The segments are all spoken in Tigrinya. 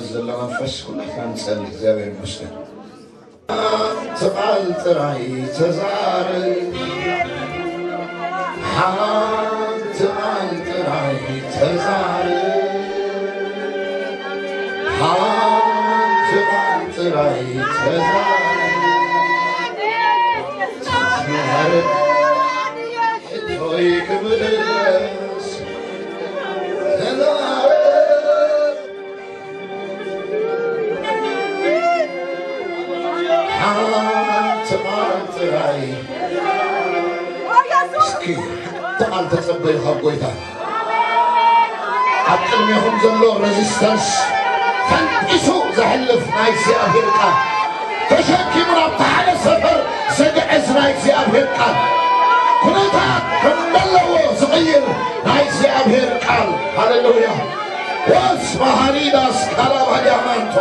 ዘሎ መንፈስ ኩላትና ንጸሊ። እግዚኣብሔር ይመስገን። ሓንቲ ቃል ጥራይ ተዛረብ፣ ሓንቲ ቃል ጥራይ ተዛረብ፣ ሓንቲ ቃል ጥራይ ተዛረብ። ተዛረብ፣ ሕቶይ ክምለስ። ተዛረብ፣ ሓንቲ ቃል ጥራይ። እስኪ ሓንቲ ቃል ተጸበዩ ካብ ጎይታ። ኣብ ቅድሜኹም ዘሎ ሬዚስታንስ ፈንጢሱ ዘሕልፍ ናይ እግዚኣብሔር ቃል፣ ተሸኪሙ ናብቲ ሓደ ሰፈር ዘግዕዝ ናይ እግዚኣብሔር ቃል፣ ኩነታት ከም ዘለዎ ዝቕይር ናይ እግዚኣብሔር ቃል። ሃሌሉያ። ወስ መሃሪዳስ ካላባዲያማንቶ።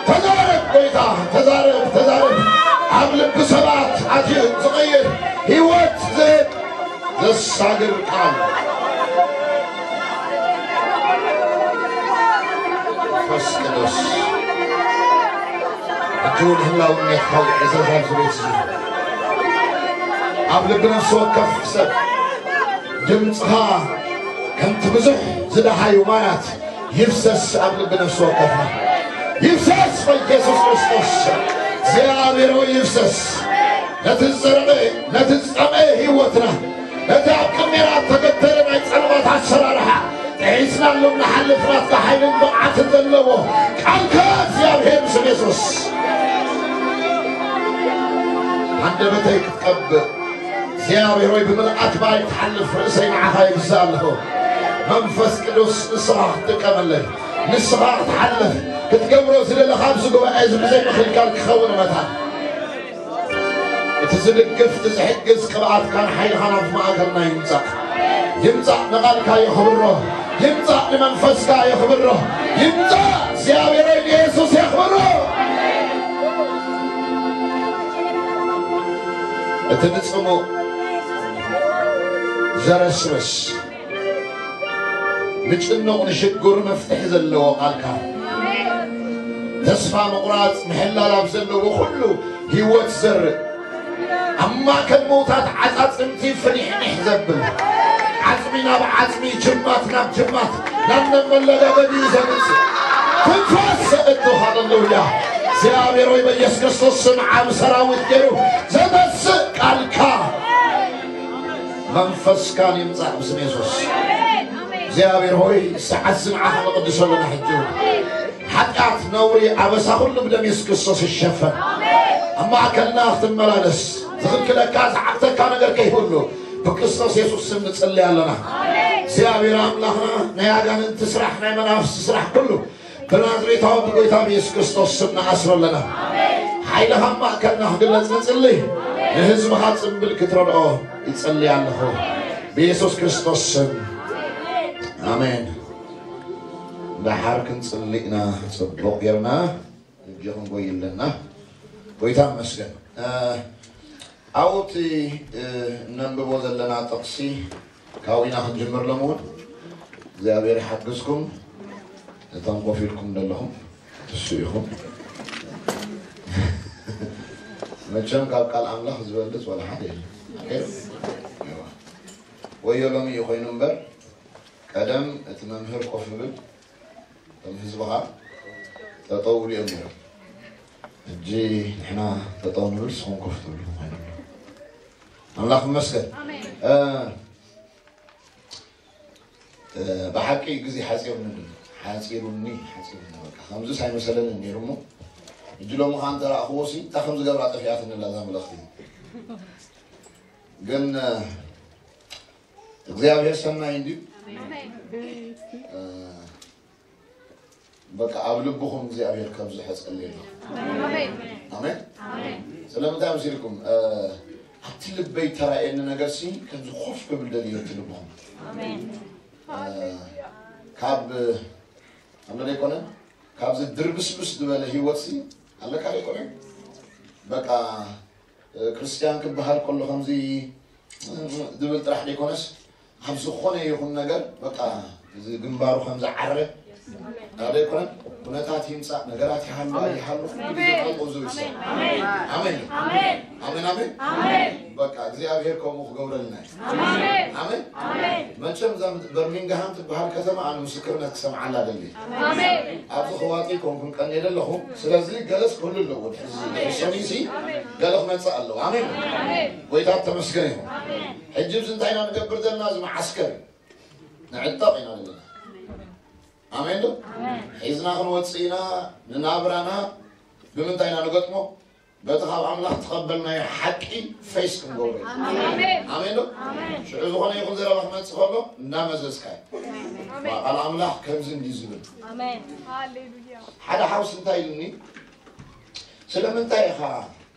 ተዛረብ ጎይታ፣ ተዛረብ፣ ተዛረብ። ኣብ ልቢ ሰባት ኣትዩ ዝቕይር ህይወት ዝህብ ዘሳግር ቃል። መንፈስ ቅዱስ፣ ሕጂ እውን ህላውነትካ ውዕዘዝ ኣብዚ ቤት እዚ። ኣብ ልቢ ነፍሲ ወከፍ ሰብ ድምፅኻ ከምቲ ብዙሕ ዝደሃዩ ማያት ይፍሰስ ኣብ ልቢ ነፍሲ ወከፍና። ይፍሰስ በኢየሱስ ክርስቶስ። እግዚኣብሔር ሆይ ይፍሰስ። ነቲ ዝጸረቐ፣ ነቲ ዝጸምአ ህይወትና፣ ነቲ ኣብ ቅድሜና እተገተረ ናይ ጸልማት ኣሰራርሓ፣ ጥሒስናሉ ንሓልፍ ናትካ ሓይልን ብቕዓትን ዘለዎ ቃልካ እግዚኣብሔር ስም የሱስ። ሃንደበተይ ክትቀብእ እግዚኣብሔር ሆይ ብምልኣት ማይ ትሓልፍ ርእሰይ ንዓኻ የብዝእ ኣለኹ። መንፈስ ቅዱስ ንስኻ ክትጥቀመለይ፣ ንስኻ ክትሓልፍ ክትገብሮ ዝደለኻ ኣብዚ ጉባኤ እዚ ብዘይ ምኽልካል ክኸውን መታን እቲ ዝድግፍ እቲ ዝሕግዝ ቅብኣትካን ሓይልኻን ኣብ ማእከልና ይምጻእ። ይምጻእ ንቓልካ የኽብሮ። ይምጻእ ንመንፈስካ የኽብሮ። ይምጻእ እግዚኣብሔር ንየሱስ የኽብሮ። እቲ ንጽሙእ ዘረስርስ ንጭኑቕ ንሽጉር መፍትሒ ዘለዎ ቃልካ ተስፋ ምቑራጽ ምሕላል ኣብ ዘለዎ ኩሉ ህይወት ዘርእ ኣብ ማእከል ምውታት ዓጻጽምቲ ፍኒሕኒሕ ዘብል ዓጽሚ ናብ ዓጽሚ ጅማት ናብ ጅማት ናብ መመለጋገዲኡ ዘምጽእ ትንፋስ ዘእቱ ሃለሉያ እግዚኣብሔር ሆይ በኢየሱስ ክርስቶስ ስም ዓብ ሰራዊት ገይሩ ዘመስእ ቃልካ መንፈስካን ይምጻእ ብስም የሱስ እግዚኣብሔር ሆይ ሰዓት ዝንዓኻ ንቕድሶ ኣለና ሕጂ ሓጢኣት ነውሪ ኣበሳ ኩሉ ብደም የሱስ ክርስቶስ ይሸፈን ኣብ ማእከልና ክትመላለስ ዝኽልክለካ ዝዓግተካ ነገር ከይህሉ ብክርስቶስ የሱስ ስም ንጽሊ ኣለና እግዚኣብሔር ኣምላኽና ናይ ኣጋንንቲ ስራሕ ናይ መናፍስቲ ስራሕ ኩሉ ብናዝሬታዊ ብጎይታ ብየሱስ ክርስቶስ ስም ንኣስሮ ኣለና ሓይልኻ ማእከልና ክግለጽ ንጽሊ ንህዝብኻ ጽምብል ክትረድኦ ይጸሊ ኣለኹ ብየሱስ ክርስቶስ ስም ኣሜን ደሓር ክንጽሊ ኢና ጽቡቕ ጌርና እጆ ክንጎይ ኣለና ጎይታ መስገን ኣብኡ እቲ እነንብቦ ዘለና ጥቕሲ ካብኡ ኢና ክንጅምር ሎም እውን እግዚኣብሔር ይሓግዝኩም እቶም ኮፍ ኢልኩም ዘለኹም እሱ ኢኹም መቸም ካብ ቃል ኣምላኽ ዝበልፅ ወላ ሓደ የለ ወዮ ሎሚ እዩ ኮይኑ እምበር ቀደም እቲ መምህር ኮፍ ይብል እቶም ህዝብኻ ጠጠው ብሉ እዮም ነይሮም ሕጂ ንሕና ጠጠው ንብል ስኹም ኮፍ ትብሉ ኮይኑ ኣሎ ኣምላኽ ይመስገን ብሓቂ ግዜ ሓፂሩኒ ሓፂሩኒ ሓፂሩኒ በቃ ከምዚ ሳይመሰለኒ ነይሩ እሞ ሕጂ ሎሚ ከዓ እንተረኣኽዎ ሲ እንታይ ከም ዝገብራ ጠፊኣትኒ ኣላ እዛ መልእኽቲ ግን እግዚኣብሔር ሰናይ እንድዩ በቃ ኣብ ልብኹም እግዚኣብሔር ከብዝሖ ጸልየ ኣለኹ ኣሜን ስለምንታይ መሲልኩም ኣብቲ ልበይ ተራእየኒ ነገር ሲ ከምዚ ኮፍ ክብል ደልዮ እቲ ልብኹም ካብ ኣመለ ኣይኮነን ካብዚ ድርብስብስ ዝበለ ህይወት ሲ ኣለካ ኣይኮነን በቃ ክርስትያን ክበሃል ከሎ ከምዚ ዝብል ጥራሕ ዘይኮነስ ኣብ ዝኾነ ይኹን ነገር በቃ እዚ ግንባሩ ከም ዝዓረ ኣደ ይኮነን። ኩነታት ይምጻእ፣ ነገራት ይሃሉ ኣይሃሉ፣ ግዜ ጠጠው ዝብል ሰብ። ኣሜን። ኣሜን። ኣሜን። ኣሜን። በቃ እግዚኣብሔር ከምኡ ክገብረልና እዩ። ኣሜን። ኣሜን። መቸም እዛ በርሚንግሃም ትበሃል ከተማ ኣነ ምስክርነት ክሰምዓላ ደሊ። ኣብዚ ክዋጢ ኮንኩን ቀን የደለኹ። ስለዚ ገለስ ክህሉ ኣለዎ። ሕዚ ሰሚሲ ገለ ክመጽእ ኣለዎ። ኣሜን። ጎይታ ተመስገን ይሁን። ሕጂ እዚ እንታይ ኢና ንገብር ዘለና? እዚ መዓስከር ንዕጠቕ ኢና ዘለና። ኣሜን ዶ? ሒዝና ክንወፅእ ኢና። ንናብራና ብምንታይ ኢና ንገጥሞ? በቲ ካብ ኣምላኽ ተቐበልናዮ ሓቂ ፌስ ክንገብሮ ኢና። ኣሜን ዶ? ሽዑ ዝኾነ ይኹን ዘረባ ክመፅእ ከሎ እንዳመዘዝካ እዩ። ቃል ኣምላኽ ከምዚ እንዲ ዝብል። ሓደ ሓውስ እንታይ ኢልኒ? ስለምንታይ ኢኻ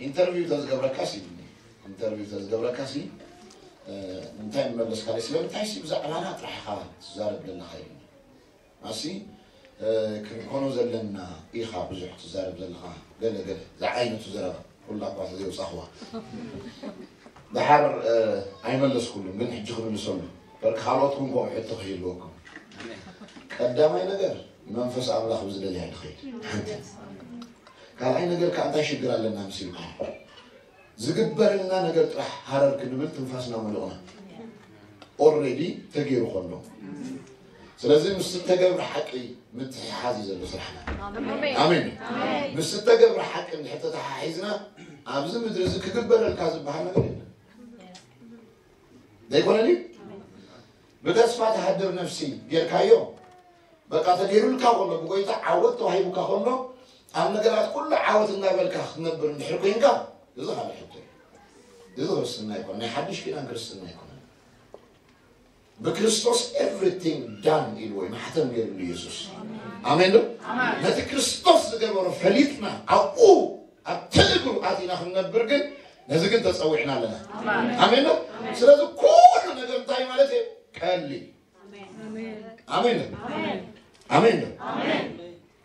ኢንተርቪው ተዝገብረካስ ኢልኒ። ኢንተርቪው ተዝገብረካሲ እንታይ መመለስካ? ስለምንታይ ሲ ብዛዕባና ጥራሕ ኢኻ ትዛረብ ዘለኻ ኢልኒ። ኣሲ ክንኮኖ ዘለና ኢኻ ብዙሕ ትዛረብ ዘለኻ፣ ገለ ገለ ዝዓይነቱ ዘረባ ኩላ እኳ ተዘይውፃኽዋ። ደሓር ኣይመለስኩሉን፣ ግን ሕጂ ክምልሰሉ በርክ ካልኦት እውን ከምኡ ሕቶ ክህልወኩም። ቀዳማይ ነገር መንፈስ ኣምላኽ ብዝደልያ ንኸይድ ሓንቲ። ካልኣይ ነገር ከዓ እንታይ ሽግር ኣለና ምስ ኢልኩም ዝግበረልና ነገር ጥራሕ ሃረር ክንብል ትንፋስና ሙሉቕና ኦልሬዲ ተገይሩ ከሎ። ስለዚ ምስ እተገብረ ሓቂ ምትሕሓዝ እዩ ዘሎ ስራሕና። ኣሜን። ምስ እተገብረ ሓቂ እንድሕር ተተሓሒዝና ኣብዚ ምድሪ እዚ ክግበረልካ ዝበሃል ነገር የለን። ዘይኮነ ድዩ? ብተስፋ ትሃድር ነፍሲ ጌርካዮ በቃ ተገይሩልካ ከሎ ብጎይታ ዓወት ተዋሂቡካ ከሎ ኣብ ነገራት ኩሉ ዓወት እናበልካ ክትነብር እንድሕር ኮይንካ እዚ ካልእ ሕቶ እዩ። እዚ ክርስትና ይኮነ ናይ ሓድሽ ኪዳን ክርስትና ይኮነ። ብክርስቶስ everything done ኢልዎ እዩ ማሕተም ገይርሉ ኢየሱስ። ኣሜን ዶ? ነቲ ክርስቶስ ዝገበሮ ፈሊጥና ኣብኡ ኣብቲ እግሩ ኣቲና ክንነብር ግን ነዚ ግን ተፀዊዕና ኣለና። ኣሜን ዶ? ስለዚ ኩሉ ነገር እንታይ ማለት እዩ? ቀሊል ኣሜን። ኣሜን። ኣሜን።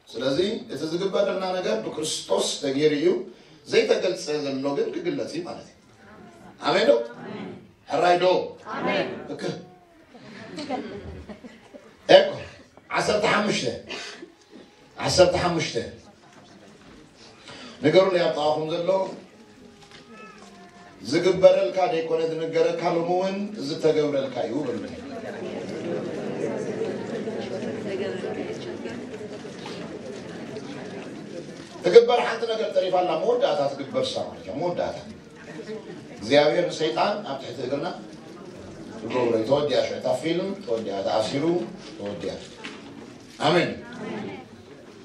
ስለዚ እቲ ዝግበረልና ነገር ብክርስቶስ ተገይሩ እዩ። ዘይተገልጸ ዘሎ ግን ክግለጽ እዩ ማለት እዩ። ኣሜን ዶ? ሕራይ ዶ? እክ እኮ ዓሰርተ ሓሙሽተ ዓሰርተ ሓሙሽተ ንገሩለይ ኣብ ጥቓኹም ዘሎ ዝግበረልካ ደይኮነ ዝንገረካ ሎሚ እውን ዝተገብረልካ እዩ በሉለይ። ትግበር ሓንቲ ነገር ተሪፋ ኣላ መወዳእታ ትግበር እሳ ማለት እያ መወዳእታ እግዚኣብሔር ንሰይጣን ኣብ ትሕቲ እግርና ይገብሮ እዩ ተወዲኣ ሽዕታ ፊልም ተወዲኣ ተኣሲሩ ተወዲኣ ኣሜን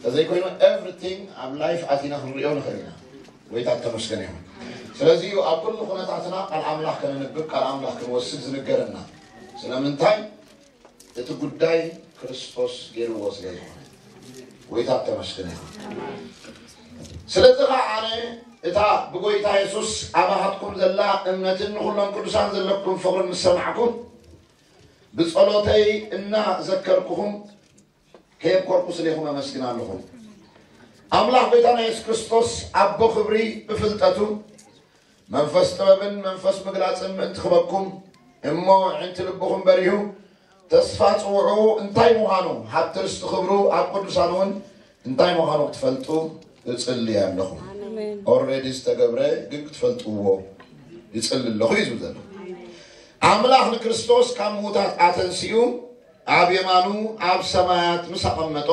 ተዘይኮይኑ everything ኣብ life ኣቲና ክንሪኦ ንኽእል ኢና። ጎይታ ተመስገን ይሁን። ስለዚ ኣብ ኩሉ ኩነታትና ቃል ኣምላኽ ከነንብብ ቃል ኣምላኽ ክንወስድ ዝንገረና ስለምንታይ? እቲ ጉዳይ ክርስቶስ ገይርዎ ስለ ዝኾነ። ጎይታ ተመስገን ይሁን። ስለዚ ኸዓ ኣነ እታ ብጎይታ የሱስ ኣባኻትኩም ዘላ እምነትን ንኹሎም ቅዱሳን ዘለኩም ፍቕርን ምስ ሰማዕኩ ብጸሎተይ እናዘከርኩኹም ከየብኮርኩ ስሌኹም ኣመስግን ኣለኹ። ኣምላኽ ጎይታና የሱስ ክርስቶስ ኣቦ ክብሪ ብፍልጠቱ መንፈስ ጥበብን መንፈስ ምግላጽን ምእንቲ ክበኩም እሞ ዕንቲ ልብኹም በሪሁ ተስፋ ጽውዑ እንታይ ምዃኑ ሃብቲ ርስቲ ክብሩ ኣብ ቅዱሳን እውን እንታይ ምዃኑ ክትፈልጡ እጽሊ ኣለኹ። ኦልሬዲ ዝተገብረ ግን ክትፈልጥዎ ይጽሊ ኣለኹ እዩ ዝብል ዘሎ። ኣምላኽ ንክርስቶስ ካብ ምዉታት ኣተንሲኡ ኣብ የማኑ ኣብ ሰማያት ምስ ኣቐመጦ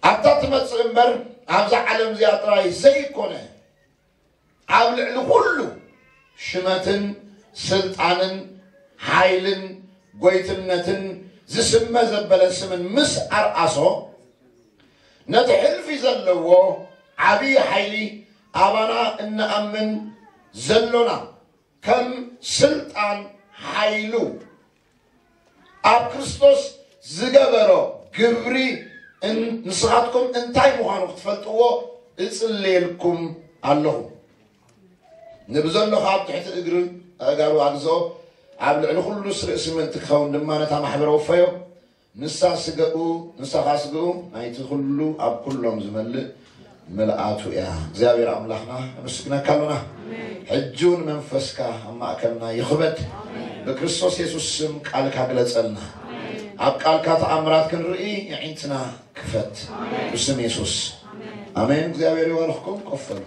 ኣብታ ትመጽእ እምበር ኣብዛ ዓለም እዚኣ ጥራይ ዘይኮነ ኣብ ልዕሊ ኩሉ ሽመትን ስልጣንን ሓይልን ጎይትነትን ዝስመ ዘበለ ስምን ምስ ኣርኣሶ ነቲ ሕልፊ ዘለዎ ዓብዪ ሓይሊ ኣባና እንኣምን ዘሎና ከም ስልጣን ሓይሉ ኣብ ክርስቶስ ዝገበሮ ግብሪ ንስኻትኩም እንታይ ምዃኑ ክትፈልጥዎ እጽልየልኩም ኣለኹ። ንብዘሎኻ ኣብ ትሕቲ እግሪ ኣእጋሩ ኣግዝኦ፣ ኣብ ልዕሊ ኩሉስ ርእሲ ምእንቲ ክኸውን ድማ ነታ ማሕበር ኣውፈዮ። ንሳ ስገኡ ንሳ ኸዓ ስገኡ ናይቲ ኩሉ ኣብ ኩሎም ዝመልእ ምልኣቱ እያ። እግዚኣብሔር ኣምላኽና ነመስግነካ ኣሎና። ሕጂ እውን መንፈስካ ኣብ ማእከልና ይኽበድ። ብክርስቶስ የሱስ ስም ቃልካ ግለጸልና። ኣብ ቃልካ ተኣምራት ክንርኢ የዒንትና ክፈት። ብስም የሱስ ኣሜን። እግዚኣብሔር ይባርኽኩም። ቆፈሉ።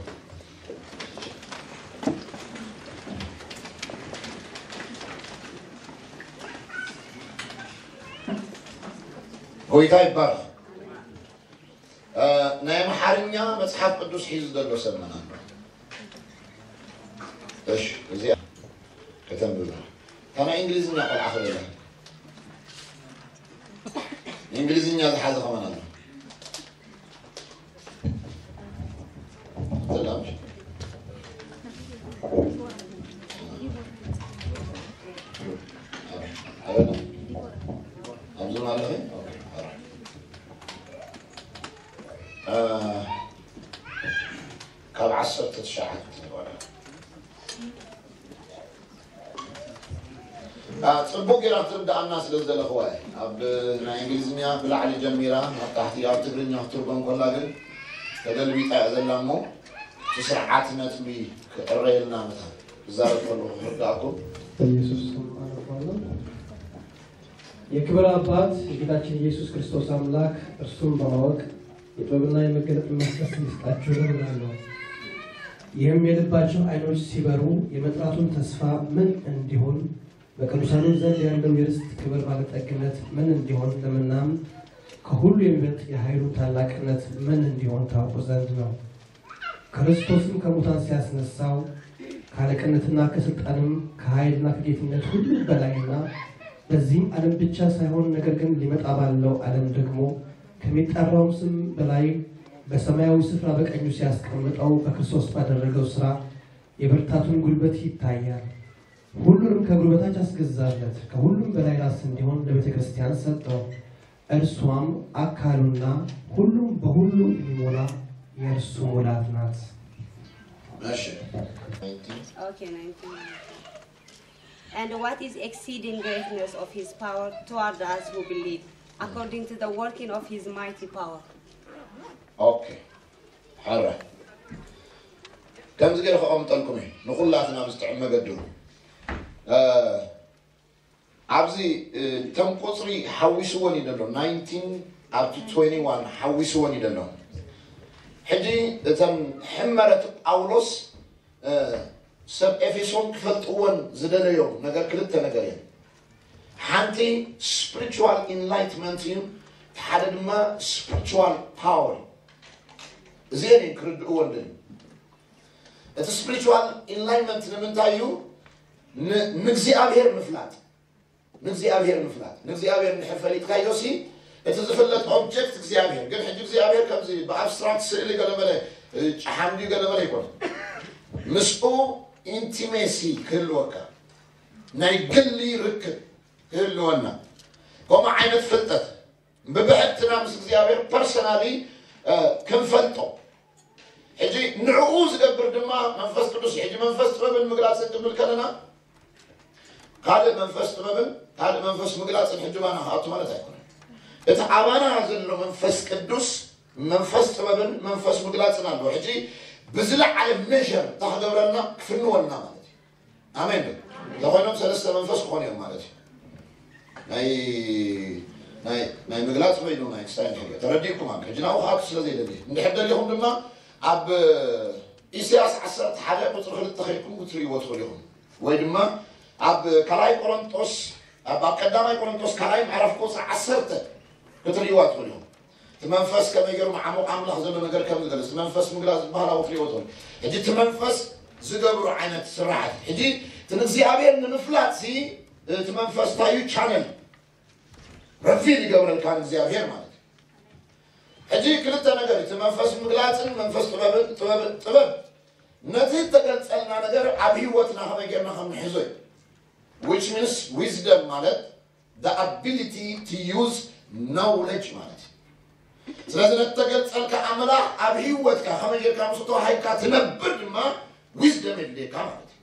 ጎይታ ይባርኽ። እ፣ ናይ ኣምሓርኛ መጽሓፍ ቅዱስ ሒዙ ዘሎ ሰብ መን ኣሎ? እሺ፣ እዚኣ ከተንብባ። እታ ናይ እንግሊዝኛ ቆልዓ ክበላ። እንግሊዝኛ ዝሓዘ ከማን ኣሎ። ሰላም። ኣበና? ኣብዚ ማለት እዩ? ኦኬ፣ ኣረ። እ፣ ካብ ዓሰርተ ትሽዓተ ንበላ። እ፣ ጽቡቅ ጌራ ክትርድኣና ስለ ዝደለኽዋ እየ። ኣብ ናይ እንግሊዝኛ ብላዕሊ ጀሚራ ናብ ታሕቲ ኣብ ትግርኛ ክትርጎም ከላ ግን ተገልቢጣ እያ ዘላ እሞ እቲ ስርዓት ነጥቢ ክዕረየልና መታን ክዛረብ ከለኹ ክርድኣኩም። በኢየሱስ ስም ኣነባለሁ። የክብር አባት የጌታችን ኢየሱስ ክርስቶስ አምላክ እርሱን በማወቅ የጥበብና የመገለጥ መንፈስ እንዲሰጣችሁ እለምናለሁ። ይህም የልባችሁ አይኖች ሲበሩ የመጥራቱን ተስፋ ምን እንዲሆን በቅዱሳኑ ዘንድ ያለው የርስት ክብር ባለጠግነት ምን እንዲሆን ለምናምን ከሁሉ የሚበልጥ የኃይሉ ታላቅነት ምን እንዲሆን ታውቁ ዘንድ ነው። ክርስቶስም ከሙታን ሲያስነሳው ከአለቅነትና ከስልጣንም ከኃይልና ከጌትነት ሁሉ በላይና በዚህም ዓለም ብቻ ሳይሆን ነገር ግን ሊመጣ ባለው ዓለም ደግሞ ከሚጠራውም ስም በላይ በሰማያዊ ስፍራ በቀኙ ሲያስቀምጠው በክርስቶስ ባደረገው ሥራ የብርታቱን ጉልበት ይታያል። ሁሉንም ከእግሩ በታች አስገዛለት፣ ከሁሉም በላይ ራስ እንዲሆን ለቤተ ክርስቲያን ሰጠው። እርሷም አካሉና ሁሉም በሁሉ የሚሞላ የእርሱ ሙላት ናት። እሺ። Okay, nineteen. And what is exceeding greatness of his power toward us who believe, according to the working of his mighty power? ኦኬ። ሓራ ከምዚ ገይረ ከቐምጠልኩም እዩ ንኹላትና ብዝጥዕም መገዱ። እ፣ ኣብዚ፣ እ፣ እተን ቁፅሪ ሓዊስወን እዩ ዘሎ፣ ናይንቲን up to ትዌንቲ ዋን ሓዊስወን እዩ ዘሎ። ሕጂ እተን ሕመረት ጳውሎስ፣ እ፣ ሰብ ኤፌሶን ክፈልጥወን ዝደለዮ ነገር ክልተ ነገር እየን። ሓንቲ ስፒሪቹዋል ኢንላይትመንት እዩ፣ እቲ ሓደ ድማ ስፒሪቹዋል ፓወር እዩ። እዚአን እየን ክርድእወን ደልዩ። እቲ ስፒሪቹዋል ኢንላይትመንት ንምንታይ እዩ? ን-፣ ንእግዚኣብሔር ምፍላጥ። ንእግዚኣብሔር ምፍላጥ። ንእግዚኣብሔር እንድሕር ፈሊጥካዮ ሲ፣ እቲ ዝፍለጥ ኦብጀክት እግዚኣብሔር። ግን ሕጂ እግዚኣብሔር ከምዚ ብኣብስትራክት ስእሊ ገለመለ፣ እ፣ ጨሓም ድዩ ገለመለ ኣይኮነን። ምስኡ ኢንቲሜሲ ክህልወካ፣ ናይ ግሊ ርክብ ክህልወና። ከምኡ ዓይነት ፍልጠት ብብሕትና ምስ እግዚኣብሔር ፐርሰናሊ፣ እ፣ ክንፈልጦ። ሕጂ ንዕኡ ዝገብር ድማ መንፈስ ቅዱስ እዩ። ሕጂ መንፈስ ጥበብን ምግላጽን ክንብል ከለና ካልእ መንፈስ ጥበብን ካልእ መንፈስ ምግላጽን ሕጂ ባና ክኣቱ ማለት ኣይኮነን። እቲ ኣባና ዘሎ መንፈስ ቅዱስ መንፈስ ጥበብን መንፈስ ምግላጽን ኣለዎ። ሕጂ ብዝለዓለ ሜዥር እንታይ ክገብረልና ክፍንወልና ማለት እዩ። ኣሜን ዶ? እንተኾይኖም ሰለስተ መንፈስ ክኾኑ እዮም ማለት እዩ። ናይ፣ ናይ፣ ናይ ምግላጽ ኮይኑ ናይ ክስታይ ንሕግዮ። ተረዲእኩም ኣሎ። ሕጂ ናብኡ ክኣቱ ስለ ዘይደሊ። እንድሕር ደሊኹም ድማ ኣብ ኢሳያስ ዓሰርተ ሓደ ቁጽሪ ክልተ ከይድኩም ክትርእይዎ ትኽእሉ ኢኹም። ወይ ድማ ኣብ ካልኣይ ቆሮንጦስ፣ ኣብ፣ ኣብ ቀዳማይ ቆሮንጦስ ካልኣይ ምዕራፍ ቁጽሪ ዓሰርተ ክትርእይዋ ትኽእሉ ኢኹም። እቲ መንፈስ ከመይ ገይሩ መዓሙቕ ኣምላኽ ዘሎ ነገር ከም ዝገልጽ፣ እቲ መንፈስ ምግላጽ ዝበሃል ኣብኡ ክትርእይዎ ትኽእሉ። ሕጂ እቲ መንፈስ ዝገብሮ ዓይነት ስራሓት። ሕጂ እቲ ንእግዚኣብሔር ንምፍላጥ ሲ፣ እቲ መንፈስ እንታይ እዩ? ቻነል ረቪል ይገብረልካ ንእግዚኣብሔር ማለት እዩ። ሕጂ ክልተ ነገር፣ እቲ መንፈስ ምግላጽን መንፈስ ጥበብን፣ ጥበብ፣ ጥበብ ነቲ እተገልጸልና ነገር ኣብ ህይወትና ከመይ ጌርና ከም ንሕዞ እዩ። Which means wisdom ማለት the ability to use knowledge ማለት እዩ። ስለዚ ነቲ ተገልጸልካ ኣምላኽ ኣብ ህይወትካ ከመይ ጌርካ ምስኡ ተዋሂብካ ትነብር ድማ ዊዝደም የድልየካ ማለት እዩ።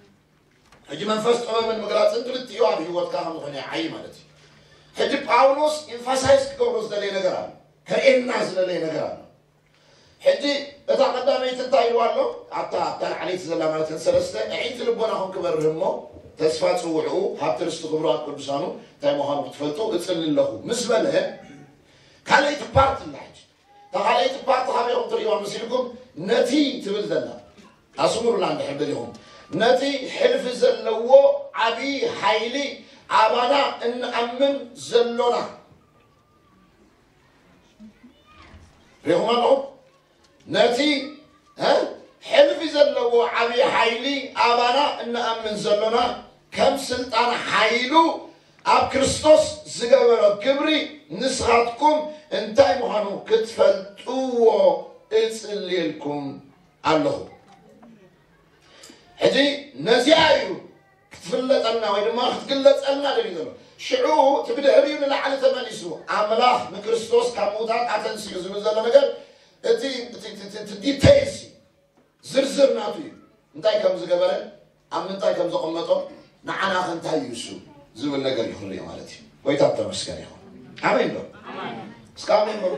ሕጂ መንፈስ ጥበብን ምግላጽን ክልቲኡ ኣብ ህይወትካ ከም ዝኾነ ይዓዪ ማለት እዩ። ሕጂ ጳውሎስ ኤምፋሳይዝ ክገብሮ ዝደለየ ነገር ኣሎ፣ ከርእየና ዝደለየ ነገር ኣሎ። ሕጂ እታ ቀዳመይቲ እንታይ ኢልዋ ኣሎ? ኣብታ፣ ኣብታ ላዕለይቲ ዘላ ማለት እተን ሰለስተ፣ ኣዒንቲ ልቦናኹም ክበርህ እሞ፣ ተስፋ ጽውዕኡ፣ ሃብቲ ርስቲ ክብሩ ኣብ ቅዱሳኑ እንታይ ምዃኑ ክትፈልጡ እጽሊ ኣለኹ ምስ በለ፣ ካልኣይቲ ፓርት ኣላ። ሕጂ እታ ካልኣይቲ ፓርት ካበይኹም ትርእይዋ መሲልኩም? ነቲ ትብል ዘላ ኣስምሩላ እንድሕር ደሊኹም፣ ነቲ ሕልፊ ዘለዎ ዓብዪ ሓይሊ ኣባና እንኣምን ዘሎና ርኢኹም ኣለኹም። ነቲ እ፣ ሕልፊ ዘለዎ ዓብዪ ሓይሊ ኣባና እንኣምን ዘሎና፣ ከም ስልጣን ሓይሉ ኣብ ክርስቶስ ዝገበሮ ግብሪ ንስኻትኩም እንታይ ምዃኑ ክትፈልጥዎ እጽልየልኩም ኣለኹ። ሕጂ ነዚኣ እዩ ክትፍለጠልና ወይ ድማ ክትግለጸልና ደልዩ ዘሎ። ሽዑ እቲ ብድሕሪኡ ንላዕሊ ተመሊሱ፣ ኣምላኽ ንክርስቶስ ካብ ምዉታት ኣተንሲኡ ዝብል ዘሎ ነገር፣ እቲ፣ እቲ፣ እቲ፣ እቲ ዲቴይልስ እዩ። ዝርዝር ናቱ እዩ። እንታይ ከም ዝገበረ፣ ኣብ ምንታይ ከም ዘቐመጦ፣ ንዓና ከ እንታይ እዩ እሱ ዝብል ነገር እዩ ክንሪኦ ማለት እዩ። ጎይታ ተመስገን ይኹን። ኣሜን ዶ? እስከ ኣሜን በሉ።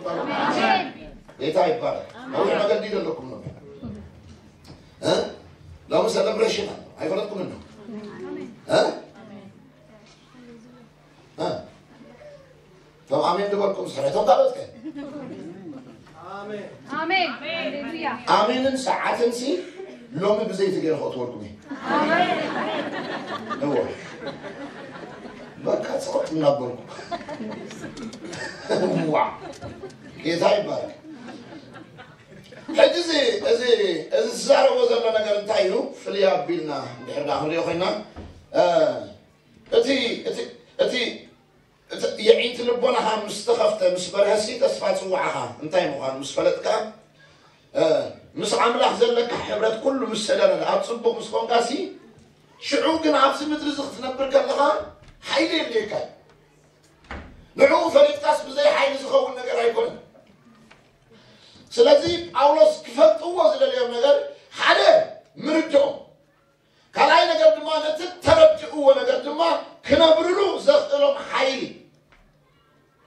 ጌታ ይባረክ። ነዊሕ መገዲ ዘለኩም ነው። እ? ሎሚ ሴሌብሬሽን ኣሎ። ኣይፈለጥኩም እንዶ? እ? እ? እቶም ኣሜን ዝበልኩም ስሕረ፣ እቶም ካልኦት ከ? ኣሜን። ኣሜን። ሃሌሉያ። ኣሜንን ሰዓትን ሲ ሎሚ ብዘይቲ ገይረ ከእትወልኩም እየ። እወ። በቃ ጽቕጥ እናበልኩ። ዋ። ጌታ ይባረክ። ሕጂ እዚ፣ እዚ፣ እዚ ዝዛረቦ ዘሎ ነገር እንታይ እዩ? ፍልይ ኣቢልና እንድሕር ደኣ ክንሪኦ ኮይና፣ እ፣ እቲ፣ እቲ፣ እቲ፣ እቲ የዒንቲ ልቦናኻ ምስ ተኸፍተ፣ ምስ በርሀሲ ተስፋ ጽዋዕኻ እንታይ ምዃኑ ምስ ፈለጥካ፣ እ፣ ምስ ኣምላኽ ዘለካ ሕብረት ኩሉ ምስ ሰደረለ፣ ኣብ ጽቡቕ ምስ ኮንካሲ፣ ሽዑ ግን ኣብዚ ምድሪ እዚ ክትነብር ከለኻ ሓይሊ የድልየካ እዩ። ንዕኡ ፈሊጥካስ ብዘይ ሓይሊ ዝኸውን ነገር ኣይኮነን። ስለዚ ጳውሎስ ክፈልጥዎ ዝደለዮም ነገር ሓደ ምርድኦም፣ ካልኣይ ነገር ድማ ነቲ ተረድእዎ ነገር ድማ ክነብርሉ ዘኽእሎም ሓይሊ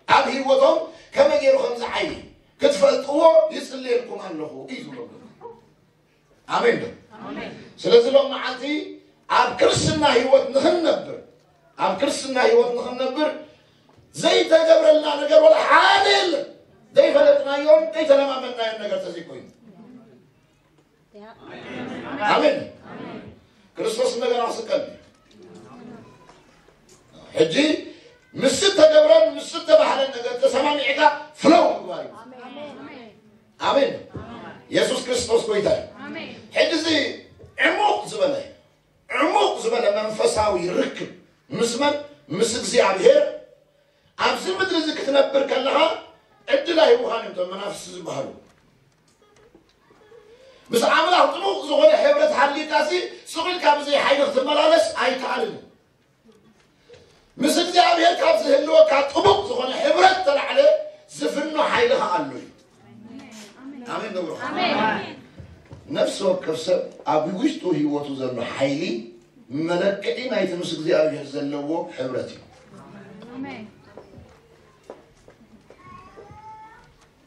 ኣብ ህይወቶም ከመይ ገይሩ ከም ዝዓዪ ክትፈልጥዎ ይጽልየልኩም ኣለኹ እዩ ዝብሎም ዘሎ። ኣሜን ዶ? ኣሜን። ስለዚ ሎም መዓልቲ ኣብ ክርስትና ህይወት ንኽንነብር፣ ኣብ ክርስትና ህይወት ንኽንነብር ዘይተገብረልና ነገር ወላ ሓደ የለን። ዘይፈለጥናዮን ዘይተለማመድናዮን ነገር ተዘይኮይኑ። ኣሜን። ክርስቶስ እንደገና ክስቀል እዩ። ሕጂ ምስ ተገብረን ምስ ተባህለን ነገር ተሰማሚዕካ ፍለው ምግባር እዩ። ኣሜን። የሱስ ክርስቶስ ጎይታ እዩ። ኣሜን። ሕጂ እዚ ዕሙቕ ዝበለ፣ ዕሙቕ ዝበለ መንፈሳዊ ርክብ ምስ መን? ምስ እግዚኣብሔር። ኣብዚ ምድሪ እዚ ክትነብር ከለኻ ዕድል ኣይህቡኻን እዮም እቶም መናፍስቲ ዝበሃሉ። ምስ ኣምላኽ ጥቡቕ ዝኾነ ሕብረት ሃልዩካሲ ስቕ ኢልካ ብዘይ ሓይሊ ክትመላለስ ኣይከኣልን እዩ። ምስ እግዚኣብሔር ካብ ዝህልወካ ጥቡቕ ዝኾነ ሕብረት ተላዕለ ዝፍኖ ሓይሊ ከኣ ኣሎ እዩ። ኣሜን ዶ? ኣሜን። ነፍሲ ወከፍ ሰብ ኣብ ውሽጡ ህይወቱ ዘሎ ሓይሊ መለክዒ ናይቲ ምስ እግዚኣብሔር ዘለዎ ሕብረት እዩ። ኣሜን።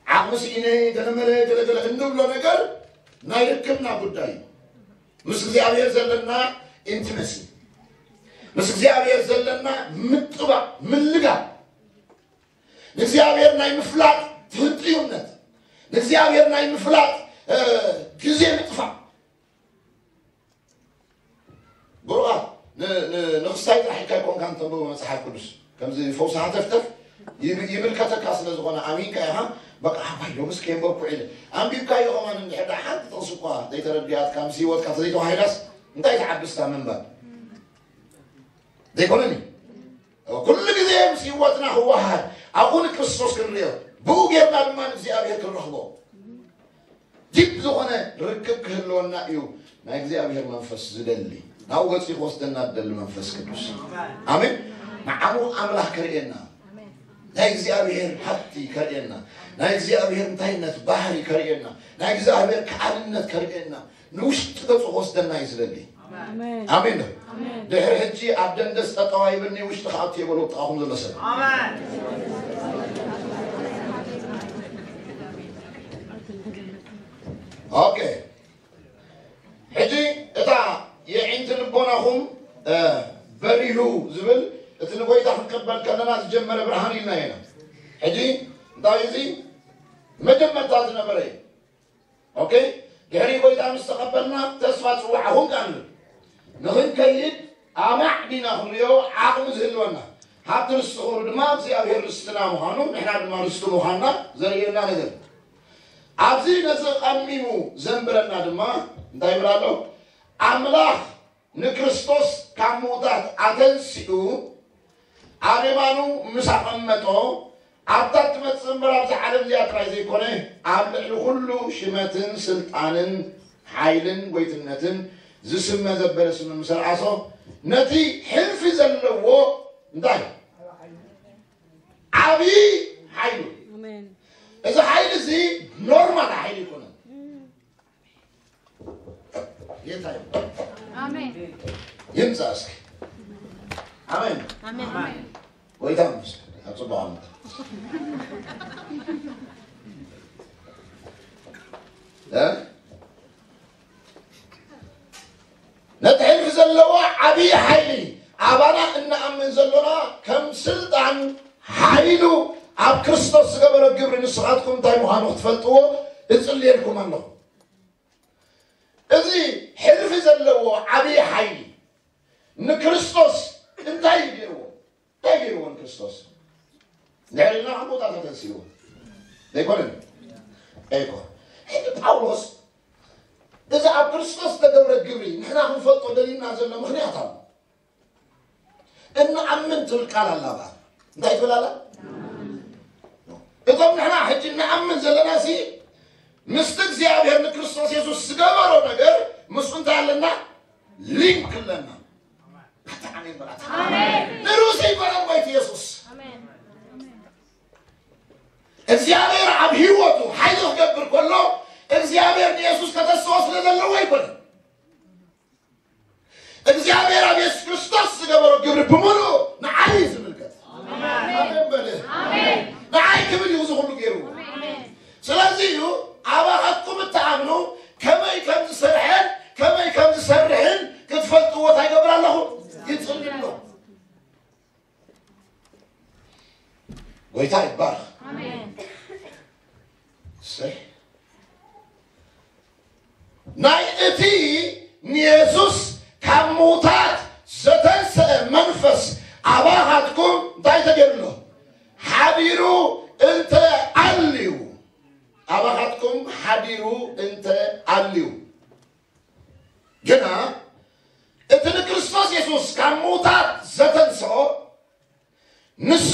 ዓቕሚ ስኢነ፣ ገለመለ፣ ገለገለ እንብሎ ነገር ናይ ርክብና ጉዳይ እዩ። ምስ እግዚኣብሔር ዘለና ኢንቲመሲ፣ ምስ እግዚኣብሔር ዘለና ምጥባቕ፣ ምልጋብ፣ ንእግዚኣብሔር ናይ ምፍላጥ ትህንጥዩነት፣ ንእግዚኣብሔር ናይ ምፍላጥ፣ እ፣ ግዜ ምጥፋእ። ብሩኻት፣ ን-፣ ን-፣ ንኽስታይ ጥራሕ ኢልካ ኣይኮንካን ተንብቦ መጽሓፍ ቅዱስ። ከምዚ ፈውሲ ሃተፍተፍ ይብ-፣ ይምልከተካ ስለ ዝኾነ ኣሚንካ ኢኻ። በቃ፣ ኣባይ፣ ሎምስ ከየንበብኩ ዒለ። ኣንቢብካዮ ከማን እንድሕር ደኣ ሓንቲ ጥቕሲ እኳ ዘይተረድያትካ፣ ምስ ህይወትካ ተዘይተዋሂዳስ፣ እንታይ ትዓቢ እስታ ምንባብ? ዘይኮነን እዩ። ኩሉ ግዜ ምስ ህይወትና ክወሃድ፣ ኣብኡ ንክርስቶስ ክንርእዮ፣ ብኡ ጌርና ድማ ንእግዚኣብሔር ክንረኽቦ። ዲፕ ዝኾነ ርክብ ክህልወና እዩ ናይ እግዚኣብሔር መንፈስ ዝደሊ። ናብኡ ገጺ ክወስደና ዝደሊ መንፈስ ቅዱስ። ኣሜን። ንዓኡ ኣምላኽ ከርእየና፣ ናይ እግዚኣብሔር ሃብቲ ከርእየና፣ ናይ እግዚኣብሔር እንታይነት ባህሪ ከርእየና፣ ናይ እግዚኣብሔር ከኣልነት ከርእየና፣ ንውሽጢ ገጹ ክወስደና እዩ ዝደሊ። ኣሜን። ኣሜን ዶ? ኣሜን። ድሕሪ ሕጂ ኣብ ደንደስ ጠጠው ኣይብልኒ፣ ውሽጢ ክኣቱ እየ በሉ ጥቓኹም ዘሎ ሰብ። ኣሜን። ኦኬ። ሕጂ እታ የዒንቲ ልቦናኹም፣ እ፣ በሪሁ ዝብል እቲ ንጎይታ ክንቀበል ከለና ዝጀመረ ብርሃን ኢልና ኢና። ሕጂ እንታይ እዚ መጀመርታ ዝነበረ እዩ። ኦኬ፣ ድሕሪ ጎይታ ምስ ተቐበልና ተስፋ ጽዋዕ ኹን ቃል ንኽንከይድ ኣማዕዲና ክንሪኦ ዓቕሚ ዝህልወና፣ ሃብቲ ርስቲ ክብሩ ድማ እግዚኣብሔር ርስትና ምዃኑ ንሕና ድማ ርስቱ ምዃንና ዘርእየና ነገር። ኣብዚ ነዚ ቀሚሙ ዘንብረና ድማ እንታይ ይብል ኣሎ? ኣምላኽ ንክርስቶስ ካብ ምዉታት ኣተንሲኡ ኣብ የማኑ ምስ ኣቐመጦ ኣብታ ትመጽእ እምበር ኣብዛ ዓለም እዚኣ ጥራይ ዘይኮነ ኣብ ልዕሊ ኩሉ ሽመትን ስልጣንን ሓይልን ጎይትነትን ዝስመ ዘበለ ስም ምስ ኣርኣሶ ነቲ ሕልፊ ዘለዎ እንታይ ዓብዪ ሓይሉ። እዚ ሓይሊ እዚ ኖርማል ሓይሊ ይኮነ። ጌታ ይባረክ። ኣሜን። ይምጻ እስኪ። ኣሜን። ኣሜን። ጎይታ ይመስገን። ኣብ ጽቡቕ ዓመት። እ? ነቲ ሕልፊ ዘለዎ ዓብዪ ሓይሊ ኣባና እንኣምን ዘሎና ከም ስልጣን ሓይሉ ኣብ ክርስቶስ ዝገበሮ ግብሪ ንስኻትኩም እንታይ ምዃኑ ክትፈልጥዎ እጽልየልኩም ኣለኹ። እዚ ሕልፊ ዘለዎ ዓብዪ ሓይሊ ንክርስቶስ እንታይ እዩ ገይርዎ? እንታይ ገይርዎ ንክርስቶስ? ንድሕሪና ካብ ቦታ ተተንሲእዎ ዘይኮነን? ኣይኮ ሕጂ ጳውሎስ እዚ ኣብ ክርስቶስ ዝተገብረ ግብሪ ንሕና ክንፈልጦ ደሊና ዘሎ ምኽንያት ኣሎ። እንኣምን ትብል ቃል ኣላ በኣል እንታይ ትብል ኣላ? እቶም ንሕና ሕጂ እንኣምን ዘለና ሲ ምስቲ እግዚኣብሔር ንክርስቶስ የሱስ ዝገበሮ ነገር ምስኡ እንታይ ኣለና? ሊንክ ኣለና። ኣታ ኣሜን በላት። ንሩስ ይበላል ወይ የሱስ እግዚኣብሔር ኣብ ህይወቱ ሓይሊ ክገብር ከሎ እግዚኣብሔር ንየሱስ ከተስኦ ስለ ዘለዎ ኣይኮነን። እግዚኣብሔር ኣብ የሱስ ክርስቶስ ዝገበሮ ግብሪ ብምሉእ ንዓይ እዩ ዝምልከት። ኣሜን በለ። ንዓይ ክብል እዩ እዚ ኩሉ ገይሩ። ስለዚ እዩ ኣባኻትኩም እትኣምኑ ከመይ ከም ዝሰርሐን ከመይ ከም ዝሰርሕን ክትፈልጥዎ እንታይ ይገብር ኣለኹ? ይጽሊ ኣሎ። ጎይታ ይባረኽ። ኣሜን። እሰይ። ናይ እቲ ንየሱስ ካብ ምዉታት ዘተንሰአ መንፈስ ኣባኻትኩም እንታይ ተገይሩ ኣሎ? ሓዲሩ እንተ ኣልዩ፣ ኣባኻትኩም ሓዲሩ እንተ ኣልዩ፣ ግና እቲ ንክርስቶስ የሱስ ካብ ምዉታት ዘተንስኦ፣ ንሱ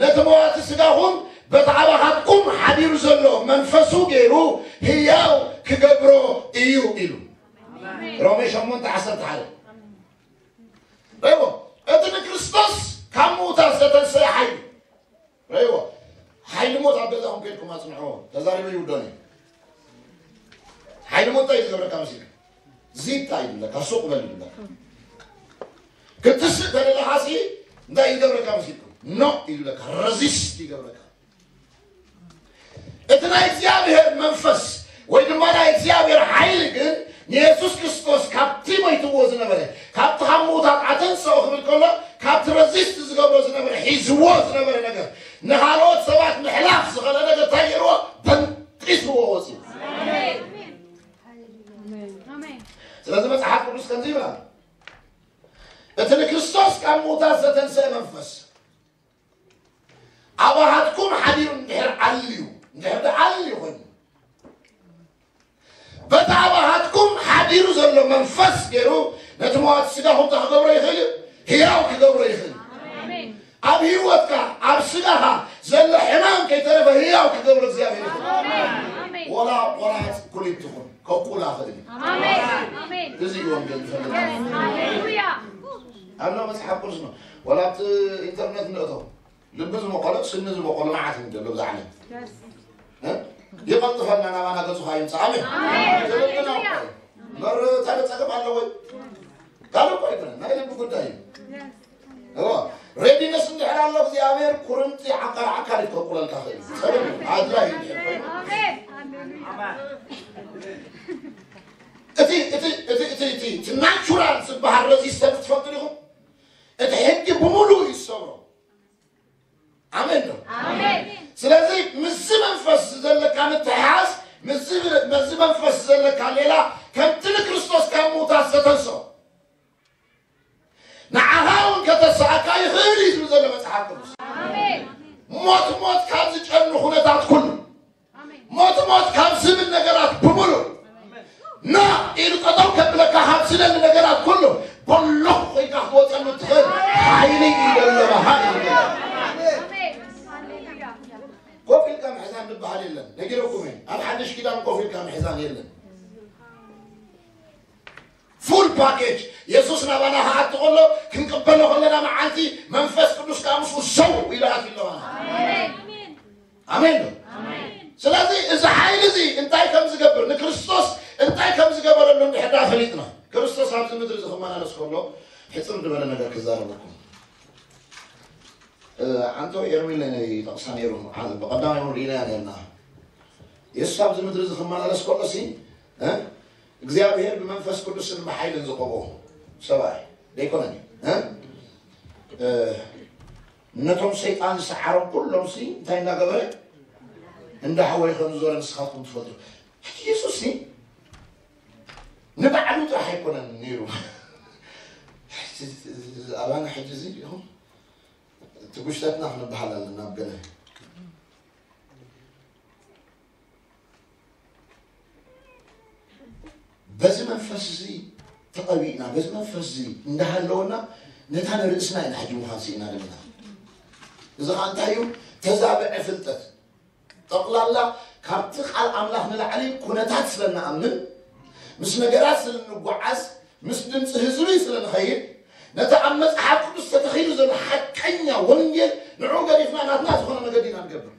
ነቲ መዋቲ ስጋኹም በቲ ኣባኻትኩም ሓዲሩ ዘሎ መንፈሱ ገይሩ ህያው ክገብሮ እዩ ኢሉ። ሮሜ ሸሞንተ ዓሰርተ ሓደ። ረይዎ፣ እቲ ንክርስቶስ ካብ ምዉታት ዘተንስአ ሓይሊ። ረይዎ፣ ሓይሊ ሞት ኣብ ገዛኹም ከይድኩም ኣጽንዕዎ። ተዛሪበ ይውደን እዩ። ሓይሊ ሞት እንታይ እዩ ዝገብረካ መሲልካ? ዚታ ይብለካ፣ ሱቕ በል ይብለካ። ክትስእ ተደለኻ ሲ እንታይ ይገብረካ መሲልኩም? ኖ ይብለካ፣ ረዚስት ይገብረካ። እቲ ናይ እግዚኣብሔር መንፈስ ወይ ድማ ናይ እግዚኣብሔር ሓይሊ ግን ንየሱስ ክርስቶስ ካብቲ ሞይትዎ ዝነበረ፣ ካብቲ ካብ ምዉታት ኣተንስኦ ክብል ከሎ፣ ካብቲ ረዚስት ዝገብሮ ዝነበረ፣ ሒዝዎ ዝነበረ ነገር፣ ንኻልኦት ሰባት ምሕላፍ ዝኸለ ነገር እንታይ ገይርዎ? በንጢስዎ ወፂኡ። ስለዚ መጽሓፍ ቅዱስ ከምዚ ይብላል፣ እቲ ንክርስቶስ ካብ ምዉታት ዘተንስአ መንፈስ ኣባኻትኩም ሓዲሩ እንድሕር ኣልዩ፣ እንድሕር ደኣ ኣልዩ ኮይኑ፣ በቲ ኣባኻትኩም ሓዲሩ ዘሎ መንፈስ ገይሩ ነቲ መዋቲ ስጋኹም እንታይ ክገብሮ ይኽእል እዩ? ህያው ክገብሮ ይኽእል እዩ። ኣብ ህይወትካ፣ ኣብ ስጋኻ ዘሎ ሕማም ከይተረፈ ህያው ክገብሮ እግዚኣብሔር ይኽእል። ወላ ቆራጽ ኩሊት ትኹን፣ ከቁላ ኽእል እዩ። እዚ እዩ ወንጌል ዝፈልጥ። ኣብ መጽሓፍ ቅዱስ ነው። ወላ ኣብቲ ኢንተርኔት ንእቶ። ልቢ ዝመቐሎ፣ ስኒ ዝመቐሎ መዓት እዩ ዘሎ ብዛ ዓለም። እ? ይቐልጥፈልና ናባና ገጹ ኸይምጽእ። ኣሜን። ኣሜን። ልብና እኮ እዩ። እምበር ካልእ ጸገም ኣለዎ? ካልእ እኮ ኣይኮነን። ናይ ልቢ ጉዳይ እዩ። እዎ። ሬዲነስ እንድሕር ኣሎ እግዚኣብሔር ኩርምቲ ዓቃር ዓካል ይከቁለልካ ኽእል። ጸገም ኣድላይ እንድሕር ኮይኑ። ኣሜን። እቲ፣ እቲ፣ እቲ፣ እቲ፣ እቲ፣ እቲ ናቹራል ዝበሃል ረዚስተንስ ትፈልጡ ዲኹም? ካሌላ ከምቲ ንክርስቶስ ካብ ምውታት ዝተንስኦ ንዓኻ እውን ከተስኣካ ይኽእል እዩ ዝብል ዘሎ መጽሓፍ ቅዱስ። ሞት ሞት ካብ ዝጨኑ ኩነታት ኩሉ፣ ሞት ሞት ካብ ዝብል ነገራት ብምሉ፣ ና ኢሉ ጠጠው ከብለካ ካብ ዝደሊ ነገራት ኩሉ በሎኽ ኮይንካ ክትወፀሉ ትኽእል ሓይሊ እዩ ዘለኻ። ኮፍ ኢልካ ምሕዛን ዝበሃል የለን። ነጊረኩም እየ። ኣብ ሓድሽ ኪዳን ኮፍ ኢልካ ምሕዛን የለን። ፉል ፓኬጅ የሱስ ናባና ክኣቱ ከሎ ክንቅበሎ ከለና መዓልቲ መንፈስ ቅዱስ ከዓ ምስኡ ሰው ኢሉ ኣትዩ ኣለዋና። ኣሜን ዶ? ስለዚ እዚ ሓይሊ እዚ እንታይ ከም ዝገብር ንክርስቶስ እንታይ ከም ዝገበረሉ እንድሕር ደኣ ፈሊጥና ክርስቶስ ኣብዚ ምድሪ እዚ ክመላለስ ከሎ ሕፅር ዝበለ ነገር ክዛረበኩም። ኣንቶ ኤርሚን ናይ ጠቕሳ ነይሩ። ብቐዳማይ እውን ርኢናያ ነርና። የሱስ ኣብዚ ምድሪ እዚ ክመላለስ ከሎ ሲ እግዚኣብሔር ብመንፈስ ቅዱስን ብሓይልን ዝቐብኦ ሰብኣይ ደይኮነን እዩ። ነቶም ሰይጣን ዝሰዓሮም ኩሎም ሲ እንታይ እናገበረ እንዳሓወየ ከም ዝዞረ ንስኻትኩም ትፈልጡ። የሱስ ሲ ንባዕሉ ጥራሕ ኣይኮነን ነይሩ። ኣባና ሕጂ እዚ ኢኹም ትጉሽተትና ክንበሃል ኣለና ኣብ ገለ በዚ መንፈስ እዚ ተቐቢእና በዚ መንፈስ እዚ እንዳሃለወና ነታ ንርእስና ኢና ሕጂ ምዃን ስኢና ዘለና። እዚ ኸዓ እንታይ እዩ? ተዛብዐ ፍልጠት። ጠቕላላ ካብቲ ቃል ኣምላኽ ንላዕሊ ኩነታት ስለ ንኣምን፣ ምስ ነገራት ስለ ንጓዓዝ፣ ምስ ድምፂ ህዝቢ ስለ ንኸይድ፣ ነቲ ኣብ መፅሓፍ ቅዱስ ተተኺሉ ዘሎ ሓቀኛ ወንጌል ንዑ ገዲፍና ናትና ዝኾነ መገዲ ኢና ንገብር።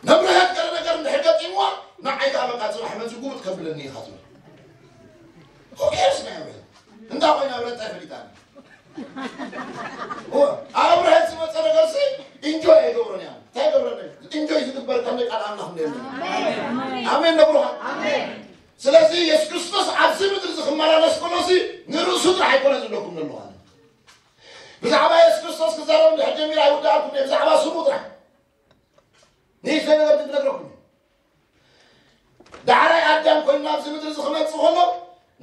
መብርሀት ገለ ነገር እንድሕር ገጢምዋ ንዓይ ከዓ በቃ ፅባሕ መፂ ጉብጥ ከብለኒ ኢኻ ትብል። ሆኬርስ ናይ ኣብርሀት እንዳ ኮይና ኣብርሀት እንታይ ፈሊጣ? ኣብርሀት ዝመፀ ነገር ሲ ኢንጆይ ኣይገብሮን እያ። እንታይ ገብረን? ኢንጆይ ዝግበር ከም ደቂ ኣምላኽ እንደ ኣሜን ነብሩኻ። ስለዚ የሱስ ክርስቶስ ኣብዚ ምድሪ እዚ ክመላለስ ከሎ ሲ ንርእሱ ጥራሕ ኣይኮነ ዝብለኩም ዘለኹ ኣነ። ብዛዕባ የሱስ ክርስቶስ ክዛረብ እንድሕር ጀሚር ኣይውዳእኩን እየ። ብዛዕባ ስሙ ጥራሕ ንእሽተይ ነገር ግን ክነግረኩም እየ። ዳሕራይ ኣዳም ኮይኑ ናብዚ ምድሪ እዚ ክመፅእ ከሎ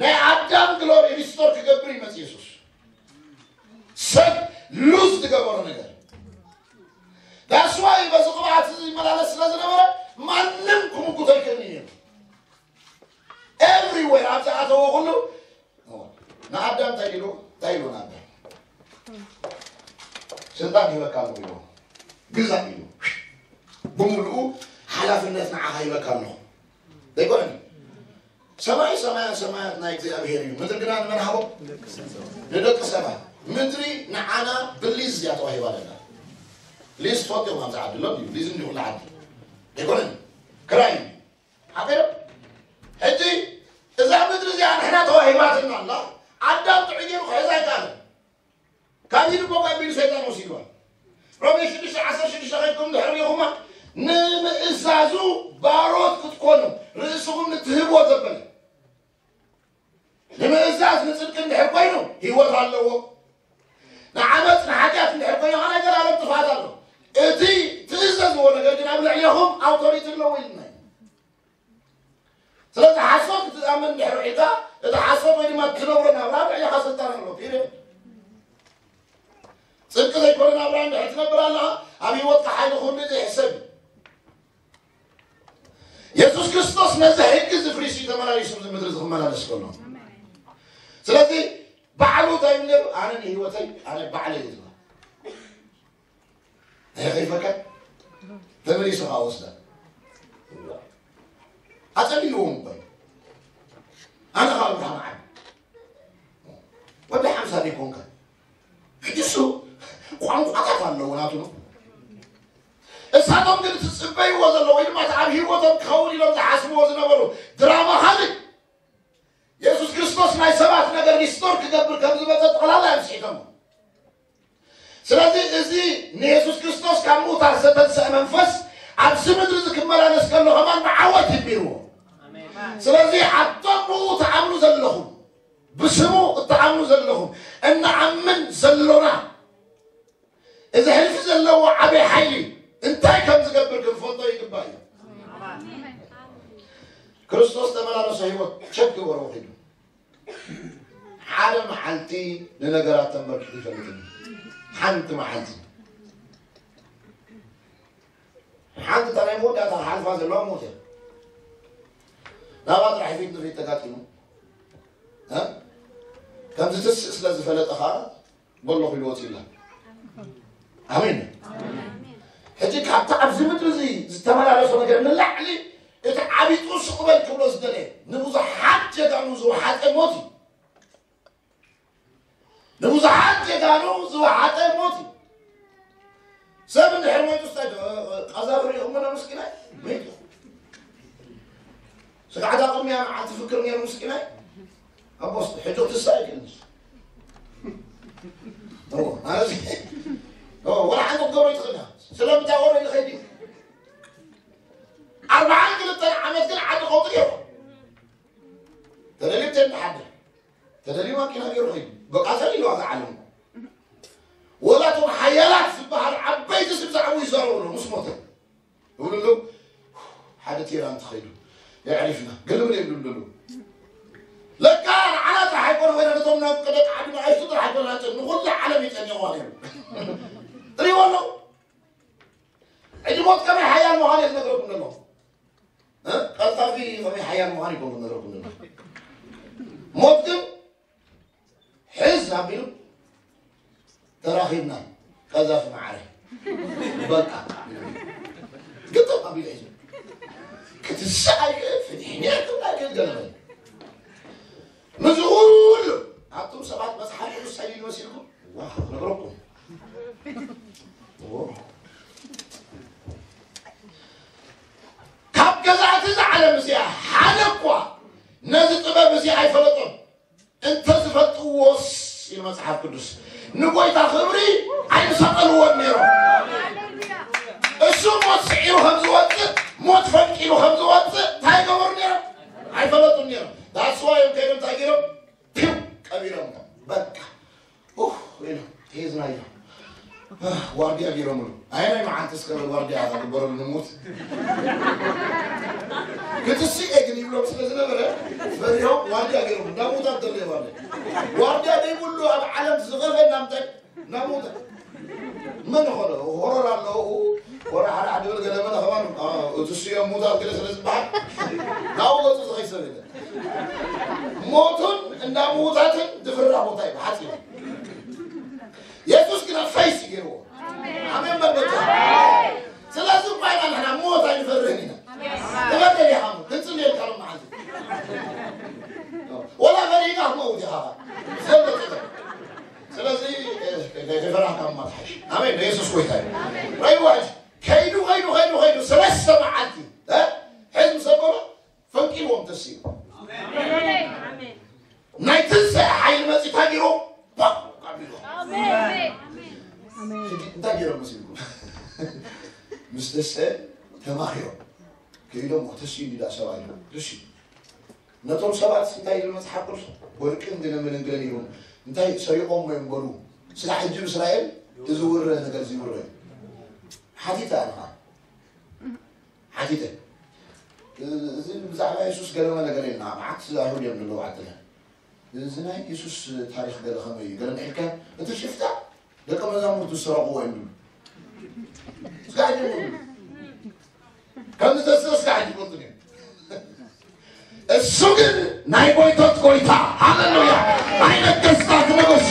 ናይ ኣዳም ግሎሪ ሪስቶር ክገብር ይመፅእ የሱስ። ሰብ ሉዝ ዝገበሮ ነገር ዳስዋይ በዚ ቅብኣት እዚ ይመላለስ ስለ ዝነበረ ማንም ክምጉቶ ይክእል እዩ። ኤቭሪዌር ኣብ ዝኣተዎ ኩሉ ንኣዳም እንታይ ኢሉ እንታይ ኢሉ ንኣዳም ስልጣን ይበካ ኣሎ ኢሉ ግዛእ ኢሉ ብምሉኡ ሓላፍነት ንዓኻ ይበካ ኣለኹ ዘይኮነን ሰማይ ሰማያን ሰማያት ናይ እግዚኣብሔር እዩ ምድሪ ግና ንመን ሃቦ ንደቂ ሰባት ምድሪ ንዓና ብሊዝ እያ ተዋሂባ ዘላ ሊዝ ትፈልጥዮም ኣብዚ ዓዲ ኣሎ ድዩ ሊዝ እንዲ ኩሉ ዓዲ ኣይኮነን ክራይ እዩ ሓቂዶ ሕጂ እዛ ምድሪ እዚኣ ንሕና ተዋሂባትና ኣላ ኣዳም ጥዑይ ገይሩ ክሕዛ ኣይከኣለን ካብ ኢዱ ቦቅ ኣቢሉ ሰይጣን ወሲድዋ ሮሜ ሽዱሽተ ዓሰርተ ሽዱሽተ ከይድኩም ድሕር ሪኹማ ንምእዛዙ ባሮት ክትኮኑ ርእስኹም ንትህብዎ ዘበለ ንምእዛዝ ንፅድቂ እንድሕር ኮይኑ ህይወት ኣለዎ ንዓመፅ ንሓጢኣት እንድሕር ኮይኑ ከናይ ዘላለም ጥፍኣት ኣሎ እቲ ትእዘዝዎ ነገር ግን ኣብ ልዕሌኹም ኣውቶሪቲ ኣለዎ ኢልና እዩ ስለዚ ሓሶት ክትኣምን እንድሕር ውዒልካ እቲ ሓሶት ወይ ድማ እትነብሮ ናብራ ኣብ ልዕሌኻ ስልጣን ኣሎ ፒሪድ ፅድቂ ዘይኮነ ናብራ እንድሕር ትነብር ኣለኻ ኣብ ህይወትካ ሓይሊ ኩሉ እዚ ይሕሰብ የሱስ ክርስቶስ ነዚ ሕጊ እዚ ፍሪስ እዩ ተመላሊሱ እዚ ምድሪ እዚ ክመላለስ ከሎ ስለዚ ባዕሉ እንታይ ይብል ነይሩ ኣነ ንህይወተይ ኣነ ባዕለይ እዩ ዝብል ናይ ከይፈቀድ ተመሊሱ ከዓ ወስዳ ኣፀሊልዎም እኮ ኣነ ከዓ ብርሃን ዓብ ወዲ ሓምሳ ዘይኮንካ ሕጂ እሱ ቋንቋታት ኣለዎ ናቱ ነው እሳቶም ግን ትፅበይዎ ዘሎ ወይ ድማ ኣብ ህይወቶም ክኸውን ኢሎም ዝሓስብዎ ዝነበሩ ድራማ ካልእ የሱስ ክርስቶስ ናይ ሰባት ነገር ሪስቶር ክገብር ከም ዝመፀ ጠቕላላ እዮም ስሒቶሞ ስለዚ እዚ ንየሱስ ክርስቶስ ካብ ምዉታት ዝተንስአ መንፈስ ኣብዚ ምድሪ እዚ ክመላለስ ከሎ ከማን ብዓወት ይቢርዎ ስለዚ ኣቶም ብኡ ትኣምኑ ዘለኹም ብስሙ እትኣምኑ ዘለኹም እንኣምን ዘሎና እዚ ሕልፊ ዘለዎ ዓበይ ሓይሊ እንታይ ከም ዝገብር ክንፈልጦ ይግባእ እዩ ክርስቶስ ተመላለሶ ህይወት ቸክ ገበሮ ኺዱ። ሓደ መዓልቲ ንነገራት ተንበርኪኹ ይፈልጥኒ። ሓንቲ መዓልቲ። ሓንቲ እታ ናይ መወዳእታ ሓልፋ ዘለዋ ሞት እያ። ናብኣ ጥራሕ ፊት ንፊት ተጋጢሙ። እ? ከምዚ ትስእ ስለ ዝፈለጠ ኸዓ በሎ ኺሉ ወፂላ። ኣሜን። ሕጂ ካብቲ ኣብዚ ምድሪ እዚ ዝተመላለሶ ነገር ንላዕሊ እቲ ዓቢጡ ስቕ በል ክብሎ ዝደለየ ንብዙሓት ጀጋኑ ዝወሓጠ ሞት እዩ። ንብዙሓት ጀጋኑ ዝወሓጠ ሞት እዩ። ሰብ እንድሕር ሞይቱ ስታይ ዶ ቀዛፍ ርኢኹሞ ዶ ምስኪናይ? ሞይቱ። ስጋዕታ ቅድሚያ መዓልቲ ፍክር ነይሩ ምስኪናይ። ኣቦስ ሕጂ ክትሳ ይክእል። ኦ፣ ማለት ኦ፣ ወላ ሓንቲ ክትገብሮ ይትኽእል ኢኻ። ስለምንታይ ወረ ይኸይድ እዩ። ኣርባዓን ክልተን ዓመት ግን ዓዲ ቀውጢ ገይሩ። ተደልዩ ተንሓደ። ተደልዩ ማኪና ገይሩ ኸይዱ። በቃ ተደልዩ ዋጋ ዓለም። ወላ እቶም ሓያላት ዝበሃሉ ዓበይቲ ስም ዝዓቡ ይዛረቡ ኣለዉ ምስ ሞተ። ይብሉ ኣለዉ፣ ሓደ ቴራ እንተኸይዱ የዕሪፍና። ግልም የብሉ ኣለዉ። ለካ ንዓና ጥራሕ ኣይኮነ ወይ ነቶም ናብ ደቂ ዓዲ ንኣሽቱ ጥራሕ ኣይኮነ ናቸው። ንኹሉ ዓለም ይጠንየዋ ነይሩ። ትሪእዎ ኣለዉ። ሕጂ ሞት ከመይ ሓያል ምዃኑ እየ ዝነግረኩም ዘለኹ። እ? ቀልጣፊ ከመይ ሓያል ምዃኑ ይኮን ዝነግረኩም ዘለኹ። ሞት ግን ሕዝ ኣቢሉ ተራኺብና ቀዛፊ መዓረ። በቃ። ግጥም ኣቢሉ ሒዙ። ክትስእ ኣይክእል፣ ፍንሕንሕ ክብል ኣይክእል ገለ በለ። ምስዚ ኩሉ ኣቱም ሰባት መጽሓፍ ቅዱስ ጸሊሉ መሲልኩም? ዋው፣ ክነግረኩም። ኦ። ካብ ገዛእቲ እዛ ዓለም እዚኣ ሓደ እኳ ነዚ ጥበብ እዚ ኣይፈለጦን። እንተ ዝፈልጥዎስ፣ ኢሉ መጽሓፍ ቅዱስ፣ ንጎይታ ክብሪ ኣይምሰቐልዎን ነይሮም። እሱ ሞት ስዒሩ ከም ዝወጽእ፣ ሞት ፈንቂሉ ከም ዝወጽእ እንታይ ይገበሩ ነይሮም? ኣይፈለጡን ነይሮም። ዳስዋ እዮም ከይዶም እንታይ ገይሮም? ፒው ቀቢሮም። በቃ ኡፍ ኢሉ ሒዝናዮ። ዋርድያ ገይሮምሉ። ኣየናይ መዓልቲ እስከ ዋርድያ ክግበረሉ ንሞት? ክትስእ ግን ይብሎም ስለ ዝነበረ ፈሪሆም ዋርድያ ገይሮም። እንዳ ሞታ እንተሎ ዋርድያ። ዋርድያ ዘይብሉ ኣብ ዓለም ዝኸፈ እናምታይ እናሞተ። መን ኾነ? ሆረር ኣለዉ። ወረ ሓደ ሓደ በል ገለ መለ ኸማን፣ አ፣ እቲ ስዮም ሙታት ገለ ስለ ዝበሃል ናብኡ ገጹ ዝኸይድ ሰብ የለን። ሞቱን እንዳ ምዉታትን ዝፍራሕ ቦታ እዩ፣ ብሓጺሩ። የሱስ ግና ፈይስ እዩ ገይርዎ። ኣሜን በል በጃ። ስለዚ እኳ ኢና ንሕና ሞት ኣይንፈርህን ኢና። ትፈርህ ኢኻ ሞት፣ ክንጽልየልካ ሎም መዓልቲ። ወላ ፈሪህካ ክትመውት ኢኻ። ስለዚ፣ እ፣ ከይፈራህካ ምማት ሓይሽ። ኣሜን። የሱስ ጎይታ እዩ። ረይዋ ሕጂ ከይዱ፣ ከይዱ፣ ከይዱ፣ ከይዱ፣ ሰለስተ መዓልቲ፣ እ፣ ሕዝቢ ሰበሎ ፈንቂልዎም ተስዩ። ኣሜን። ናይ ትንሳኤ ሓይሊ መጺኡ እንታይ ገይሩ? ፓ! ኣቢሉ። ኣሜን። ሕጂ እንታይ ገይሮም መሲልኩም? ምስ ተስአ ተማኺሮም። ከይዶም፣ "ተስዩ እንዲ ደኣ ሰብኣይ ተስዩ?" ነቶም ሰባት እንታይ ይብል መጽሓፍ ቅዱስ? "ወርቅን ግነ ምንግረን ይኹን እንታይ ሰሪቖም እዮም በሉ። ስለ ሕጂ እስራኤል እዚ ውረ ነገር እዚ ውረ እዩ." ሓቲተ ኣነ ኸዓ። ሓቲተ። እዚ ብዛዕባ የሱስ ገለመ ነገር የልና። መዓት ኣይሁድ እዮም ዘለዉ ዓድና። እዚ ናይ የሱስ ታሪኽ ገለ ኸመይ እዩ? ገለ ምሒልካ፣ እቲ ሽፍታ ደቀ መዛሙርቱ ዝሰረቕዎ እዮም ዝብሉ። እስካዕ ይፈልጡ እዮም። ከምዚ ተስእ እስካዕ ይፈልጡ እዮም። እሱ ግን ናይ ጎይቶት ጎይታ፣ ሃሌሉያ፣ ናይ ነገስታት ንጉስ፣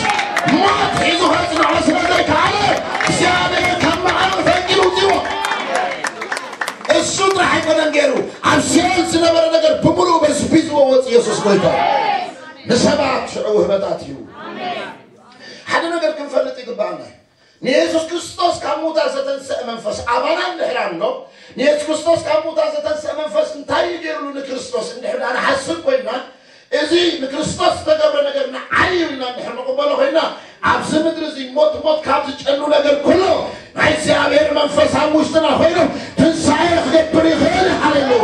ሞት ሒዙ ከጽንዖ ስለ ዘይከኣለ፣ እግዚኣብሔር ካብ መቓብር ፈንቂሉ ኣውጺዎ። እሱ ጥራሕ ኣይኮነን ገይሩ፣ ኣብ ሲኦል ዝነበረ ነገር ብምሉኡ በዝቢዝዎ ወጽእ። የሱስ ጎይታ። ንሰባት ሽዑ ውህበታት እዩ። ሓደ ነገር ክንፈልጥ ይግባኣና። ንየሱስ ክርስቶስ ካብ ሙታ ዘተንስአ መንፈስ ኣባና እንድሕር ኣሎ፣ ንየሱስ ክርስቶስ ካብ ሙታ ዘተንስአ መንፈስ እንታይ እዩ ገይሩሉ ንክርስቶስ እንድሕር ደኣ ንሓስብ ኮይንና፣ እዚ ንክርስቶስ ዝተገብረ ነገር ንዓይ እዩ ኢልና እንድሕር ንቕበሎ ኮይንና፣ ኣብዚ ምድሪ እዚ ሞት፣ ሞት ካብ ዝጨኑ ነገር ኩሉ ናይ እግዚኣብሔር መንፈስ ኣብ ውሽጥና ኮይኑ ትንሳኤ ክገብር ይኽእል። ሃሌሉያ!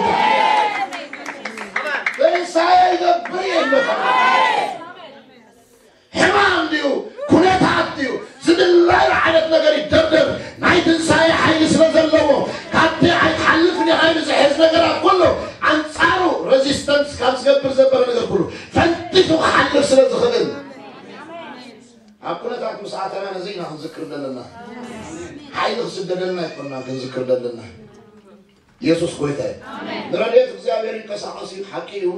ትንሳኤ ይገብር እዩ። ሕማም ድዩ? ኩነታት ድዩ? ዝድለዮ ዓይነት ነገር ይደርደር። ናይ ትንሳኤ ሓይሊ ስለ ዘለዎ፣ ካብቲ ኣይትሓልፍን ኢኻ ኢሉ ዝሕዝ ነገራት ኩሉ ኣንጻሩ ረዚስት ዘበር ዘበረ ነገር ኩሉ ፈንጢሱ ክሓልፍ ስለ ዝኽእል፣ ኣብ ኩነታት ምስ ኣተና ነዚ ኢና ክንዝክር ዘለና። ሓይሊ ክስደደልና ኣይኮና ክንዝክር ዘለና። የሱስ ጎይታ እዩ። ንረድኤት እግዚኣብሔር ይንቀሳቐስ እዩ፣ ሓቂ እዩ።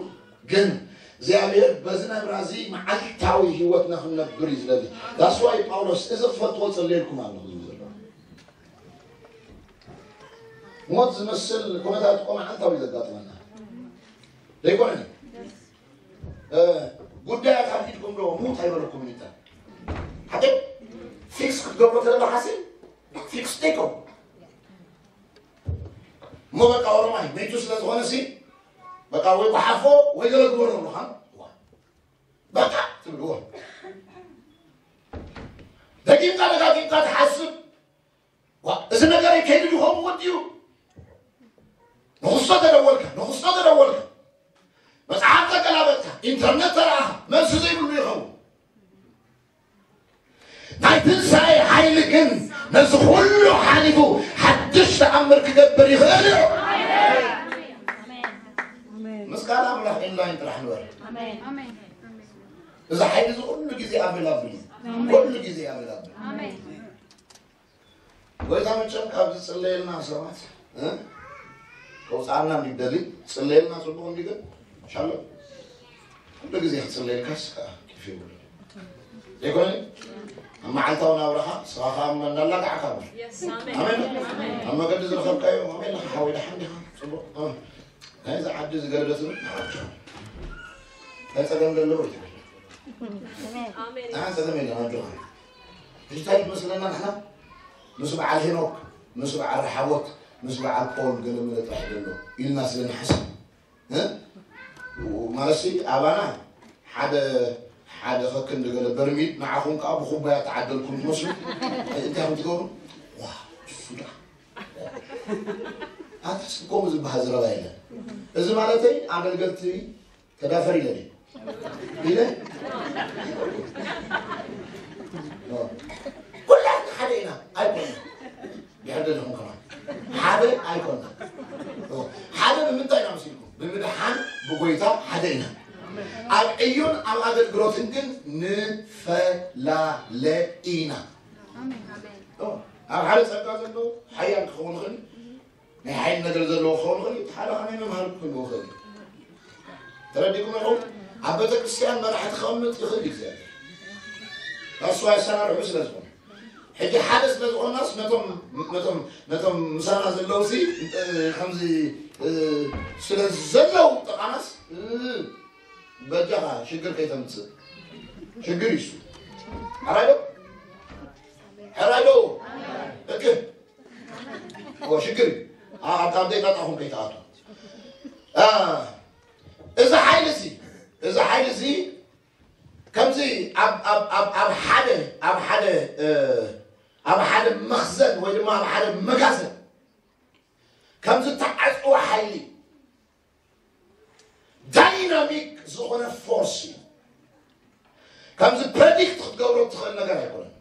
ግን እግዚኣብሔር በዚ ናብራ እዚ መዓልታዊ ህይወትና ክንነብር እዩ ዝደሊ። ዳስዋይ ጳውሎስ እዚ ክፈልጥዎ ጸልየልኩም ኣለኹ ዝብል ዘሎ። ሞት ዝመስል ኩነታት እኮ መዓልታዊ ዘጋጥመና ዘይኮነን? ጉዳያት ኣብ ኢድኩም ዶ ሙት ኣይበለኩም ይታ ሓደ ፊክስ ክትገብሮ ተለካ ሓሲ ፊክስ ቴኮ እሞ በቃ ኦሮማይ መይቱ ስለ ዝኾነ ሲ በቃ ወይ ጓሓፎ ወይ ገለ ግበሮ ኣለኻ በቃ ትብልዎ። ደጊምካ ደጋጊምካ ትሓስብ። ዋ፣ እዚ ነገር ከይዱ ድኾም ወዲኡ ንኽሶ ተደወልካ ንኽሶ ተደወልካ መጽሓፍ ተገላበጥካ ኢንተርነት ተረኣኻ መልሲ ዘይብሉ ይኸውን። ናይ ትንሳኤ ሓይሊ ግን ነዚ ኩሉ ሓሊፉ ሓድሽ ተኣምር ክገብር ይኽእል እዩ። ምስጋና ኣምላኽ ኢንላይን ጥራሕ ንበር። እዚ ሓይሊ እዚ ኩሉ ግዜ ኣቬላብል እዩ። ኩሉ ግዜ ኣቬላብል። ጎይታ መቸም ካብ ዝጽለየልና ሰባት ከውፅኣና እንዲደሊ ጽለየልና። ፅቡቅ እንዲገን ሻሎ ኩሉ ግዜ ክፅለየልካስ ከዓ ኪፍ ይብሉ ዘይኮነ ኣብ መዓልታዊ ናብራኻ ስኻ ከዓ እናላጋዕካ በር ኣሜን። ኣብ መገዲ ዝረኸብካዮ ኣሜን ለካ ሓወይ ደሓን ዲኻ? ፅቡቅ ናይዚ ዓዲ ዝገለደት ናይ ፀገም ዘለዎ ይትብል። ፀገም የለን ኣጆኻ። እንታይ ይመስለና ንሕና ምስ በዓል ሄኖክ ምስ በዓል ረሓቦት ምስ በዓል ፖል ገለመለ ጥራሕ ዘሎ ኢልና ስለ ንሓስብ ማለት ኣባና ሓደ ሓደ ከክንዲ ገለ በርሚል ንዓኹም ከዓ ብኩባያ ተዓደልኩም ትመስሉ። እንታይ ከም ትገብሩ ዋ እሱ ደኣ ኣንተስ ከምኡ ዝበሃል ዘረባ የለን። እዚ ማለተይ ኣገልገልቲ ተዳፈር ኢለ ድዩ ኢለ ኩላትና ሓደ ኢና ኣይኮና ድሕር ደለኹም ከማን ሓደ ኣይኮና ሓደ ብምንታይ ኢና መሲልኩም ብምድሓን ብጎይታ ሓደ ኢና ኣብ ዕዮን ኣብ ኣገልግሎትን ግን ንፈላለ ኢና ኣብ ሓደ ጸጋ ዘለዉ ሓያል ክኸውን ይኽእል ናይ ሓይል ነገር ዘለዎ ክኸውን ይኽእል እቲ ሓደ ከመይ መምሃር ክህልዎ ይኽእል ተረዲኩም ኢኹም ኣብ ቤተክርስትያን መራሒ ክቐምጥ ይኽእል እግዚኣብሔር እሱ ኣሰራርሑ ስለ ዝኾነ ሕጂ ሓደ ስለ ዝኾንናስ ነቶም ነቶም ነቶም ምሳና ዘለዉ ሲ ከምዚ ስለ ዘለዉ ጥቓናስ በጃኻ ሽግር ከይተምፅእ ሽግር ይሱ ሕራይ ዶ ሕራይ ዶ እክ ሽግር ኣብ ዘይጣጣኹም ከይተኣቱ እዚ ሓይሊ እዚ እዚ ሓይሊ እዚ ከምዚ ኣብ ሓደ ኣብ ሓደ ኣብ ሓደ መኽዘን ወይ ድማ ኣብ ሓደ መጋዘን ከምዚ ተዓፅወ ሓይሊ ዳይናሚክ ዝኾነ ፎርስ እዩ። ከምዚ ፕረዲክት ክትገብሮ ትኽእል ነገር ኣይኮነን።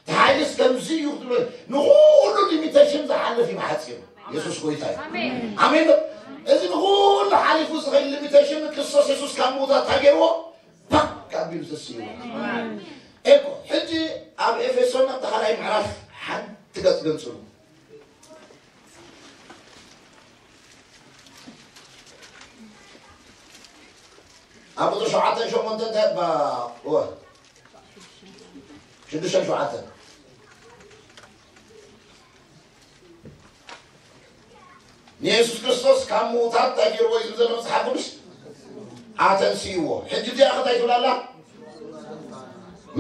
እቲ ሓይልስ ከምዚ እዩ ክትብሎ ንኹሉ ሊሚቴሽን ዝሓልፍ እዩ ብሓፂሩ። የሱስ ጎይታ እዩ። ኣሜን ዶ? እዚ ንኹሉ ሓሊፉ ዝኽእል ሊሚቴሽን ክርስቶስ የሱስ ካብ ምውታት እንታይ ገይርዎ? ፓክ ኣቢሉ ተስእዎ። ኤኮ ሕጂ ኣብ ኤፌሶን ኣብ ተኻላይ ምዕራፍ ሓንቲ ገፅ ገንፅሉ። ኣብ ቁፅሪ ሸውዓተን ሸሞንተን እንታይ እባ እወ ሽዱሽተን ሸውዓተን ንየሱስ ክርስቶስ ካብ ምዉታት እንታይ ገይርዎ እዩ ዝብል ዘሎ መፅሓፍ ቅዱስ ኣተንስይዎ ሕጂ እዚኣ ከታይ ትብላላ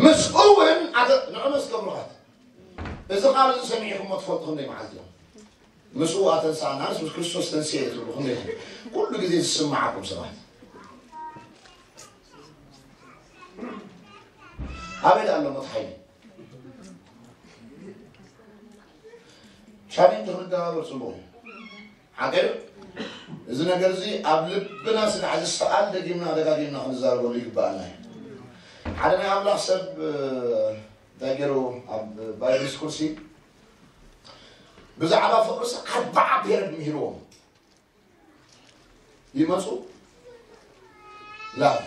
ምስኡ እውን ንዕመስ ገብሩኻት እዚ ቃል እዚ ሰሚዕኹሞ ትፈልጡ ክንደይ መዓልቲ እዮም ምስኡ ኣተንሳእና ንስ ምስ ክርስቶስ ተንስኤ ትብሉ ክንደይ ኩሉ ግዜ ዝስምዓኩም ሰባት ኣበይ ደኣ ኣሎ ሞት ሓይሊ ቻሌንጅ ክንደባበር ፅቡቅ እዩ ሓቀ እዚ ነገር እዚ ኣብ ልብና ስጋዕ ዝሰኣል ደጊምና ደጋጊምና ክንዛረበሉ ይግባኣና እዩ ሓደ ናይ ኣምላኽ ሰብ እንታይ ገይሩ ኣብ ባይብል ስኩል ሲ ብዛዕባ ፍቕርሲ ኣርባዓ ፔረድ ምሂርዎም ይመፁ ላቭ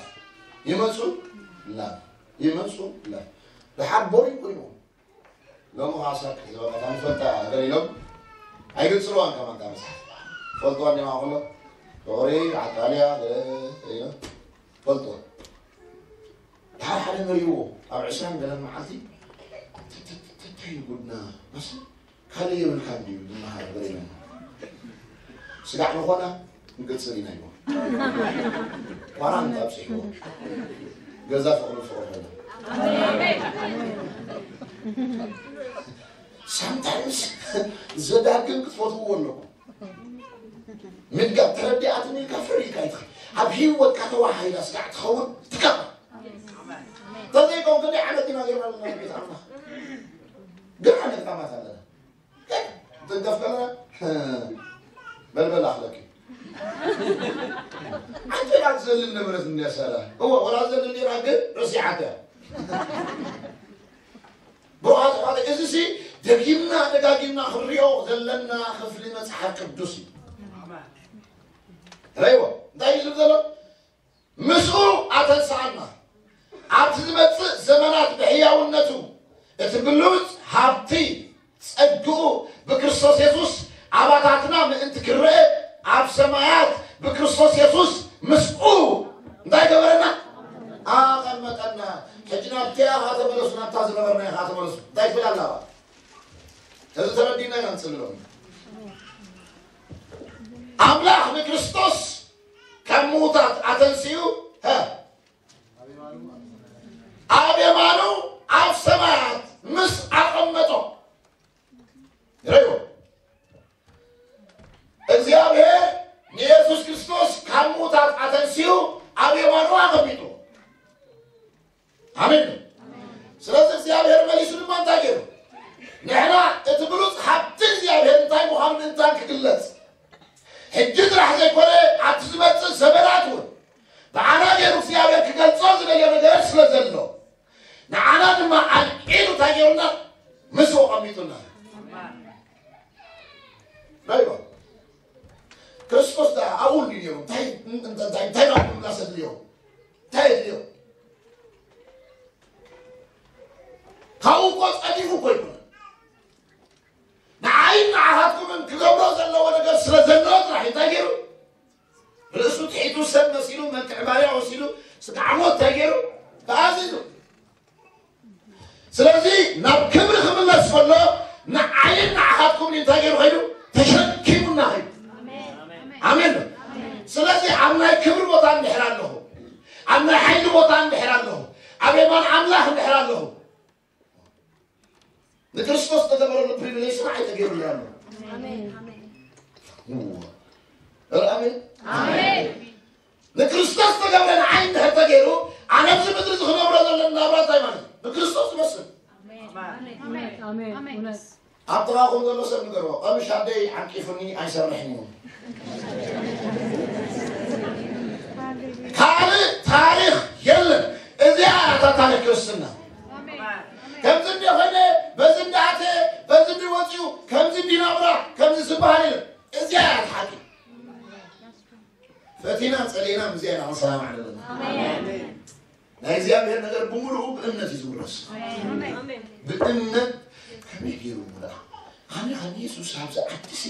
ይመጹ፣ ላቭ ይመጹ፣ ላቭ ደሓር ቦሪንግ ኮይኖም። ሎሚ ከዓ ሳክ ዝበቃ ታንፈልጣ ገሊሎም ኣይገልጽልዋን ከማን እታ መጽሓፍ። ፈልጥዋ እንዲማ ከሎ ፍቕሪ ዓጣልያ ገለ ኢሎ ፈልጥዋ። ደሓር ሓደ መሪዎ ኣብ ዕስራን ገለን መዓልቲ ተተተተዩ ጉድና መስ ካልእ የብልካ እንዲዩ ዝመሃር ገሊሎም። ስጋዕ ንኾና ንቅጽል ኢና ኢልዎ። ኳራንታ ኣብጺሕዎ። ገዛ ፍቕሪ ፍቕሪ ኾይና። ሳምታይምስ ዘዳግም ክትፈትውዎ ኣለኩም። ምድጋም ተረዲኣትኒ ኢልካ ፍርድ ኢልካ ይትኽእል። ኣብ ህይወትካ ተዋሃሂዳ ስጋዕ ትኸውን ትከፋ። ተዘይኮን ክንደይ ዓመት ኢና ጌርና ኣለና ቤት ኣምላኽ። ግን ዓመት ዓመት ኣለና። ትንከፍ ከለና በልበል ኣኽለኪ። ኣንተ ኢኻ ትዘልል ነበረት እንድያ ሳራ። እወ፣ ወላ ትዘልል ነይራ ግን ረሲዓታ። ብሩኻት ኣሕዋተይ፣ እዚ ሲ ደጊምና ደጋጊምና ክንሪኦ ዘለና ክፍሊ መጽሓፍ ቅዱስ እዩ። ረይዎ፣ እንታይ እዩ ዝብል ዘሎ? ምስኡ ኣተንስኣና፣ ኣብቲ ዝመጽእ ዘመናት ብሕያውነቱ እቲ ብሉጽ ሃብቲ ጸግኡ ብክርስቶስ የሱስ ኣባታትና ምእንቲ ክረአ፣ ኣብ ሰማያት ብክርስቶስ የሱስ ምስኡ እንታይ ገበረና? ኣቐመጠና። ሕጂ ናብቲኣ ኸዓ ተመለሱ፣ ናብታ ዝነበርናዮ ኸዓ ተመለሱ። እንታይ ትብል ኣላ? እዚ ተረዲእና ኢና ንጽሊ ሎሚ። ኣምላኽ ንክርስቶስ ካብ ምዉታት ኣተንሲኡ፣ ሀ፣ ኣብ የማኑ ኣብ ሰማያት ምስ ኣቐመጦ። ርእይዎ። እግዚኣብሔር ንየሱስ ክርስቶስ ካብ ምዉታት ኣተንሲኡ ኣብ የማኑ ኣቐሚጡ። ኣሜን። ስለዚ እግዚኣብሔር መሊሱ ድማ እንታይ ገይሩ? ንሕና እቲ ብሉጽ ሃብቲ እግዚኣብሔር እንታይ ምዃኑ ምእንታን ክግለጽ፣ ሕጂ ጥራሕ ዘይኮነ ኣብቲ ዝመጽእ ዘመናት እውን ብዓና ገይሩ እግዚኣብሔር ክገልጾ ዝደልዮ ነገር ስለ ዘሎ፣ ንዓና ድማ ኣልዒሉ እንታይ ገይሩና? ምስኡ ኣቐሚጡና። ራይዋ። ክርስቶስ ደኣ ኣብኡ እንድዩ ነይሩ። እንታይ፣ እንታይ፣ እንታይ፣ እንታይ ደኣ ክብላ ዘድልዮ? እንታይ የድልዮ? ካብኡ እኮ ጸዲፉ እኮ ኣይኮነን። ንዓይን ንዓኻትኩምን ክገብሮ ዘለዎ ነገር ስለ ዘለዎ ጥራሕ እንታይ ገይሩ? ርእሱ ትሒቱ ሰብ መሲሉ መልክዕ ባርያ ወሲዱ ስጋዕ ሞት እንታይ ገይሩ? ተኣዚዙ። ስለዚ ናብ ክብሪ ክምለስ ከሎ ንዓይን ንዓኻትኩምን እንታይ ገይሩ ከይዱ? ተሸኪሙና ከይዱ። ኣሜን። ስለዚ ኣብ ናይ ክብሪ ቦታ እንድሕር ኣለኹ፣ ኣብ ናይ ሓይሊ ቦታ እንድሕር ኣለኹ፣ ኣብ የማን ኣምላኽ እንድሕር ኣለኹ፣ ንክርስቶስ ዝተገበረሉ ፕሪቪሌጅ ስራሕ ኣይተገይሩሉ ኣሎ። ኣሜን። እዋ። ኧረ ኣሜን። ኣሜን። ንክርስቶስ ዝተገብረ ንዓይ እንድሕር ተገይሩ፣ ኣነ ኣብዚ ምድሪ እዚ ክነብሮ ዘለና ናብራ እንታይ ማለት እዩ? ንክርስቶስ ዝመስል። ኣሜን። ኣሜን። ኣሜን። እውነት። ኣብ ጥቓኹም ዘሎ ሰብ ንገርዎ፣ "ቀምሽ ኣደይ ዓንቂፉኒ ኣይሰርሕን እዩ." ካልእ ታሪኽ የለን። እዚኣ እያ እታ ታሪኽ ክርስትና። ከምዚ እንደ ኾይነ፣ በዚ እንደ ኣተ፣ በዚ እንደ ወፂኡ፣ ከምዚ እንደ ናብራ፣ ከምዚ ዝበሃል የለን። እዚኣ እያ እታ ሓቂ። ፈቲና ጸሊእና ምስዚኣ ኢና ክንሰማማዕ ዘለና። ኣሜን። ናይ እግዚኣብሔር ነገር ብምሉኡ ብእምነት እዩ ዝውረስ። ኣሜን። ብእምነት ከመይ ገይሩ እሞ ደኣ? ኣነ ከም የሱስ ኣብዚ ዓዲ ሲ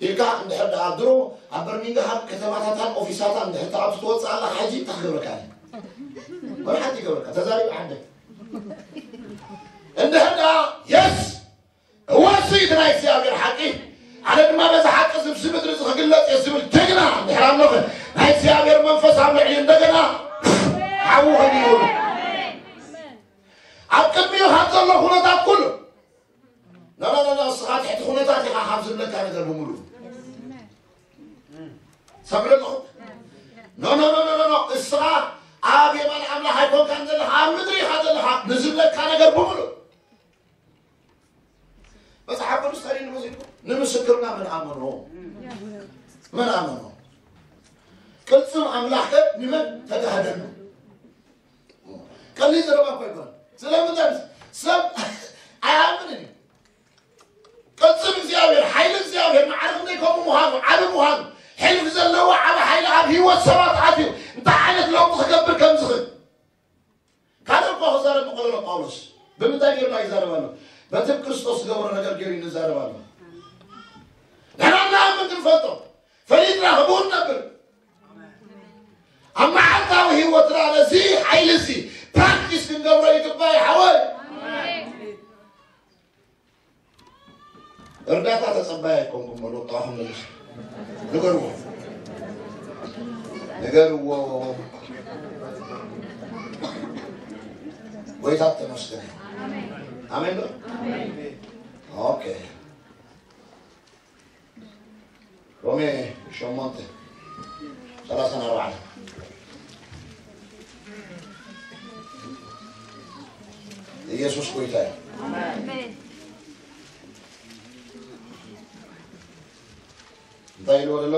ኢልካ እንድሕር ደኣ ድሮ ኣብ በርሚንግሃም ከተማታታን ኦፊሳታን እንድሕር ተኣቱ ትወጽእ ኣላ ሓጂ እንታይ ክገብረካ እየ? ወላ ሓንቲ ይገብረካ ተዛሪብ ዓደ እንድሕር ደኣ የስ እወ፣ እሱ እዩ እቲ ናይ እግዚኣብሔር ሓቂ። ኣነ ድማ በዚ ሓቂ እዚ፣ ኣብዚ ምድሪ እዚ ክግለጽ እየ ዝብል ጅግና እንድሕር ኣለኸ፣ ናይ እግዚኣብሔር መንፈስ ኣብ ልዕሊ እንደገና ሓዊ ኾይኑ ይውረድ። ኣብ ቅድሚኡ ካብ ዘሎ ኩነታት ኩሉ፣ ኖ፣ ኖ፣ ኖ፣ ኖ፣ እስኻ ትሕቲ ኩነታት ኢኻ ካብ ዝብለካ ነገር ብምሉእ። ሰምዑ ኣለኹም? ኖ፣ ኖ፣ ኖ፣ ኖ፣ ኖ፣ ኖ፣ እስኻ ኣብ የማን ኣምላኽ ኣይኮንካን ዘለኻ፣ ኣብ ምድሪ ኢኻ ዘለኻ ንዝብለካ ነገር ብምሉእ። መጽሓፍ ቅዱስ እንታይ ኢሉ መሲልኩም? ንምስክርና መን ኣመኖ? መን ኣመኖ? ቅልጽም ኣምላኽ ከ ንመን ተጋህደሉ? ቀሊል ዘረባ እኮ ኣይኮነን። ስለምንታይ? ሰብ ኣይኣምንን እዩ። ቅልጽም እግዚኣብሔር፣ ሓይሊ እግዚኣብሔር፣ ማዕረ ክንደይ ከምኡ ምዃኑ፣ ዓቢ ምዃኑ፣ ሕልፊ ዘለዎ ዓቢ ሓይሊ ኣብ ህይወት ሰባት ኣትዩ፣ እንታይ ዓይነት ለውጢ ክገብር ከም ዝኽእል ካልእ እኳ ክዛረብ ምቐለሎ ጳውሎስ ብምንታይ ገይሩ ይዛረብ ኣሎ? በቲ ክርስቶስ ዝገበሮ ነገር ገይሩ እዩ ዝዛረብ ኣሎ። ንሕና እናኣምን ክንፈልጦ ፈሊጥና ክቡር ነብር ኣብ መዓልታዊ ህይወትና ነዚ ሓይሊ እዚ ፕራክቲስ ክንገብሮ ይግባእ ይሓወይ። እርዳታ ተጸባይ ኣይኮንኩም በሉ። ወጣኹም መልስ ንገርዎ፣ ንገርዎ። ጎይታ ተመስገን። ኣሜን በሉ። ኦኬ። ሮሜ ሸሞንተ ሰላሳን ኣርባዕተን። ኢየሱስ ጎይታ እዩ። ኣሜን። እንታይ ኢልዎ ዘሎ?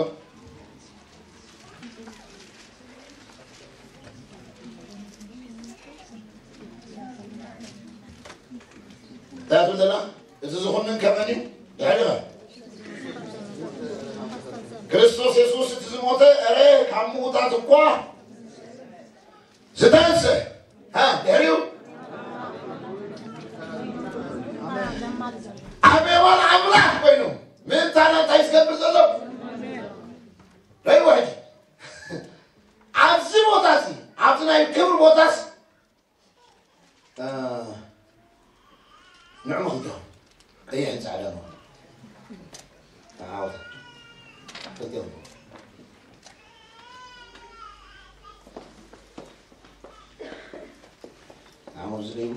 እንታይ ትብል ዘላ? እቲ ዝኹንን ከመን እዩ? ድሕሪኸ ክርስቶስ የሱስ እቲ ዝሞተ፣ እረ ካብ ምዉታት እኳ ዝተንሰ። ሃ፣ ድሕሪኡ ኣብ የማን ኣምላኽ ኮይኑ ምእንታና እንታይ ዝገብር ዘሎ? ረይ ውሕድ ኣብዚ ቦታ እዚ፣ ኣብዚ ናይ ክብሪ ቦታስ ንዕሙ ክልተ ቀይሕን ጻዕዳን ሆነ። ተዓወት። ክልተ ሆነ። ዓመር ዝደይቡ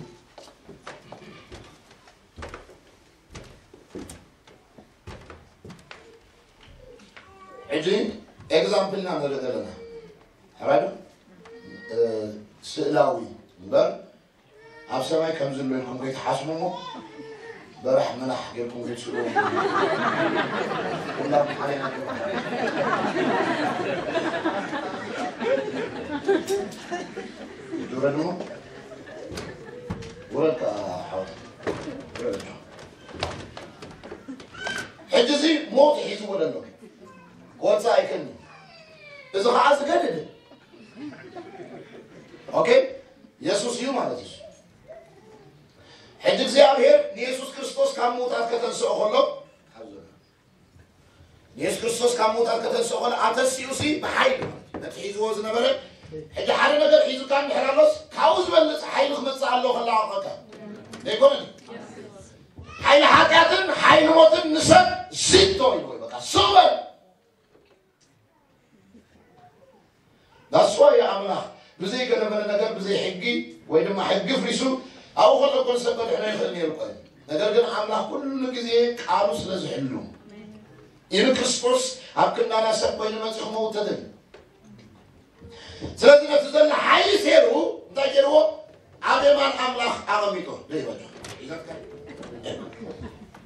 ሕጂ ኤግዛምፕልና ንርኢ ዘለና ሕራይ ዶ? ስእላዊ እምበር ኣብ ሰማይ ከም ዘሎ ኢልኩም ከይትሓስቡ እሞ በራሕ መናሕ ጌርኩም ከይትስእሉ። ኩላም ሓሊና ውረድ እሞ ውረድ ከኣ ሓወት ውረድ። ሕጂ እዚ ሞት ሒዝዎ ዘሎ ክወፅእ ኣይክእልን። እዚ ከዓ ዝገድድ ኦኬ የሱስ እዩ ማለት እዩ። ሕጂ እግዚኣብሔር ንየሱስ ክርስቶስ ካብ ምውታት ከተንስኦ ከሎ ንየሱስ ክርስቶስ ካብ ምውታት ከተንስኦ ከሎ ኣተሲኡ ሲ ብሓይሊ ነቲ ሒዝዎ ዝነበረ ሕጂ ሓደ ነገር ሒዙካ እንድሕር ኣሎስ ካብኡ ዝበልፅ ሓይሊ ክመፅእ ኣለዎ ከላቐቀካ ዘይኮነን ሓይሊ ሓጢኣትን ሓይሊ ሞትን ንሰብ ሲቶ እዩ በቃ ሱበል ዳስዋ የኣምላኽ ብዘይ ገለመለ ነገር ብዘይ ሕጊ ወይ ድማ ሕጊ ፍሪሱ ኣብኡ ከሎ እኮ ንሰብ ከድሕኖ ይኽእል ነይሩ እኮ እዩ። ነገር ግን ኣምላኽ ኩሉ ግዜ ቃሉ ስለ ዝሕሉ ኢሉ ክርስቶስ ኣብ ክንዳና ሰብ ኮይኑ መፂኡ ክመውት ተደልዩ። ስለዚ ነቲ ዘሎ ሓይሊ ሴሩ እንታይ ገይርዎ? ኣብ የማን ኣምላኽ ኣቐሚጦ ደይበጃ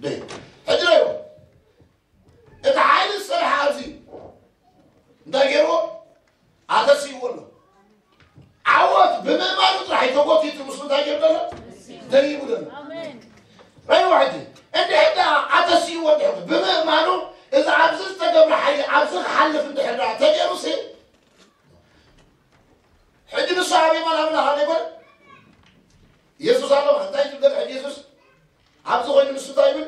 ደይ ሕጂ ደይዎ እቲ ሓይሊ ዝሰርሐ ኣብዚ እንታይ ገይርዎ? ኣተሲእዎ ኣሎ። ዓወት ብምእማኑ ጥራሕ ተጎቲቱ ምስሉ እንታይ ገይሩ ዘሎ? ደይቡ ዘሎ። ረይዋ ሕጂ እንድሕር ደኣ ኣተሲእዎ እንድሕር ብምእማኑ እዚ ኣብዚ ዝተገብረ ሓይሊ ኣብዚ ክሓልፍ እንድሕር ደኣ ተገይሩ ሲ ሕጂ ንሱ ኣብ የማን ኣምላኽ ኣሎ ይኮነ? የሱስ ኣለዋ። እንታይ ዝብል ዘሎ ሕጂ የሱስ? ኣብዚ ኮይኑ ንሱ እንታይ ይብል?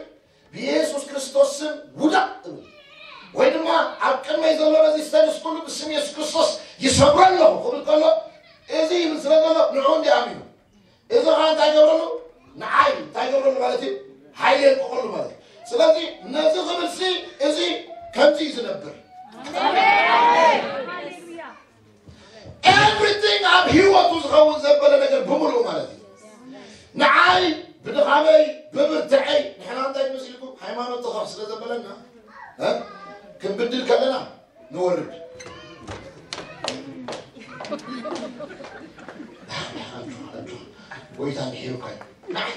ብየሱስ ክርስቶስ ስም ውዳቕ እብል ወይ ድማ ኣብ ቅድመይ ዘሎ ነዚ ስተንስ ኩሉ ብስም የሱስ ክርስቶስ ይሰብሮ ኣለኹ ክብል ከሎ እዚ ይብል ስለ ዘሎ ንዑ እንዲ ኣሚኑ እዚ ከዓ እንታይ ገብረሉ ንዓይ እንታይ ገብረሉ ማለት እዩ ሓይሊ የልቀቀሉ ማለት እዩ ስለዚ ነዚ ክብል ሲ እዚ ከምዚ እዩ ዝነብር Everything ኣብ ህይወቱ ዝኸውን ዘበለ ነገር ብምሉኡ ማለት እዩ። ንዓይ ብድኻመይ ብብርትዐይ ንሕና እንታይ ንመስልኩም ሃይማኖት ተኸፍ ስለ ዘበለና እ? ክንብድል ከለና ንወርድ ጎይታ ምሒሩካ እዩ። ንዓይ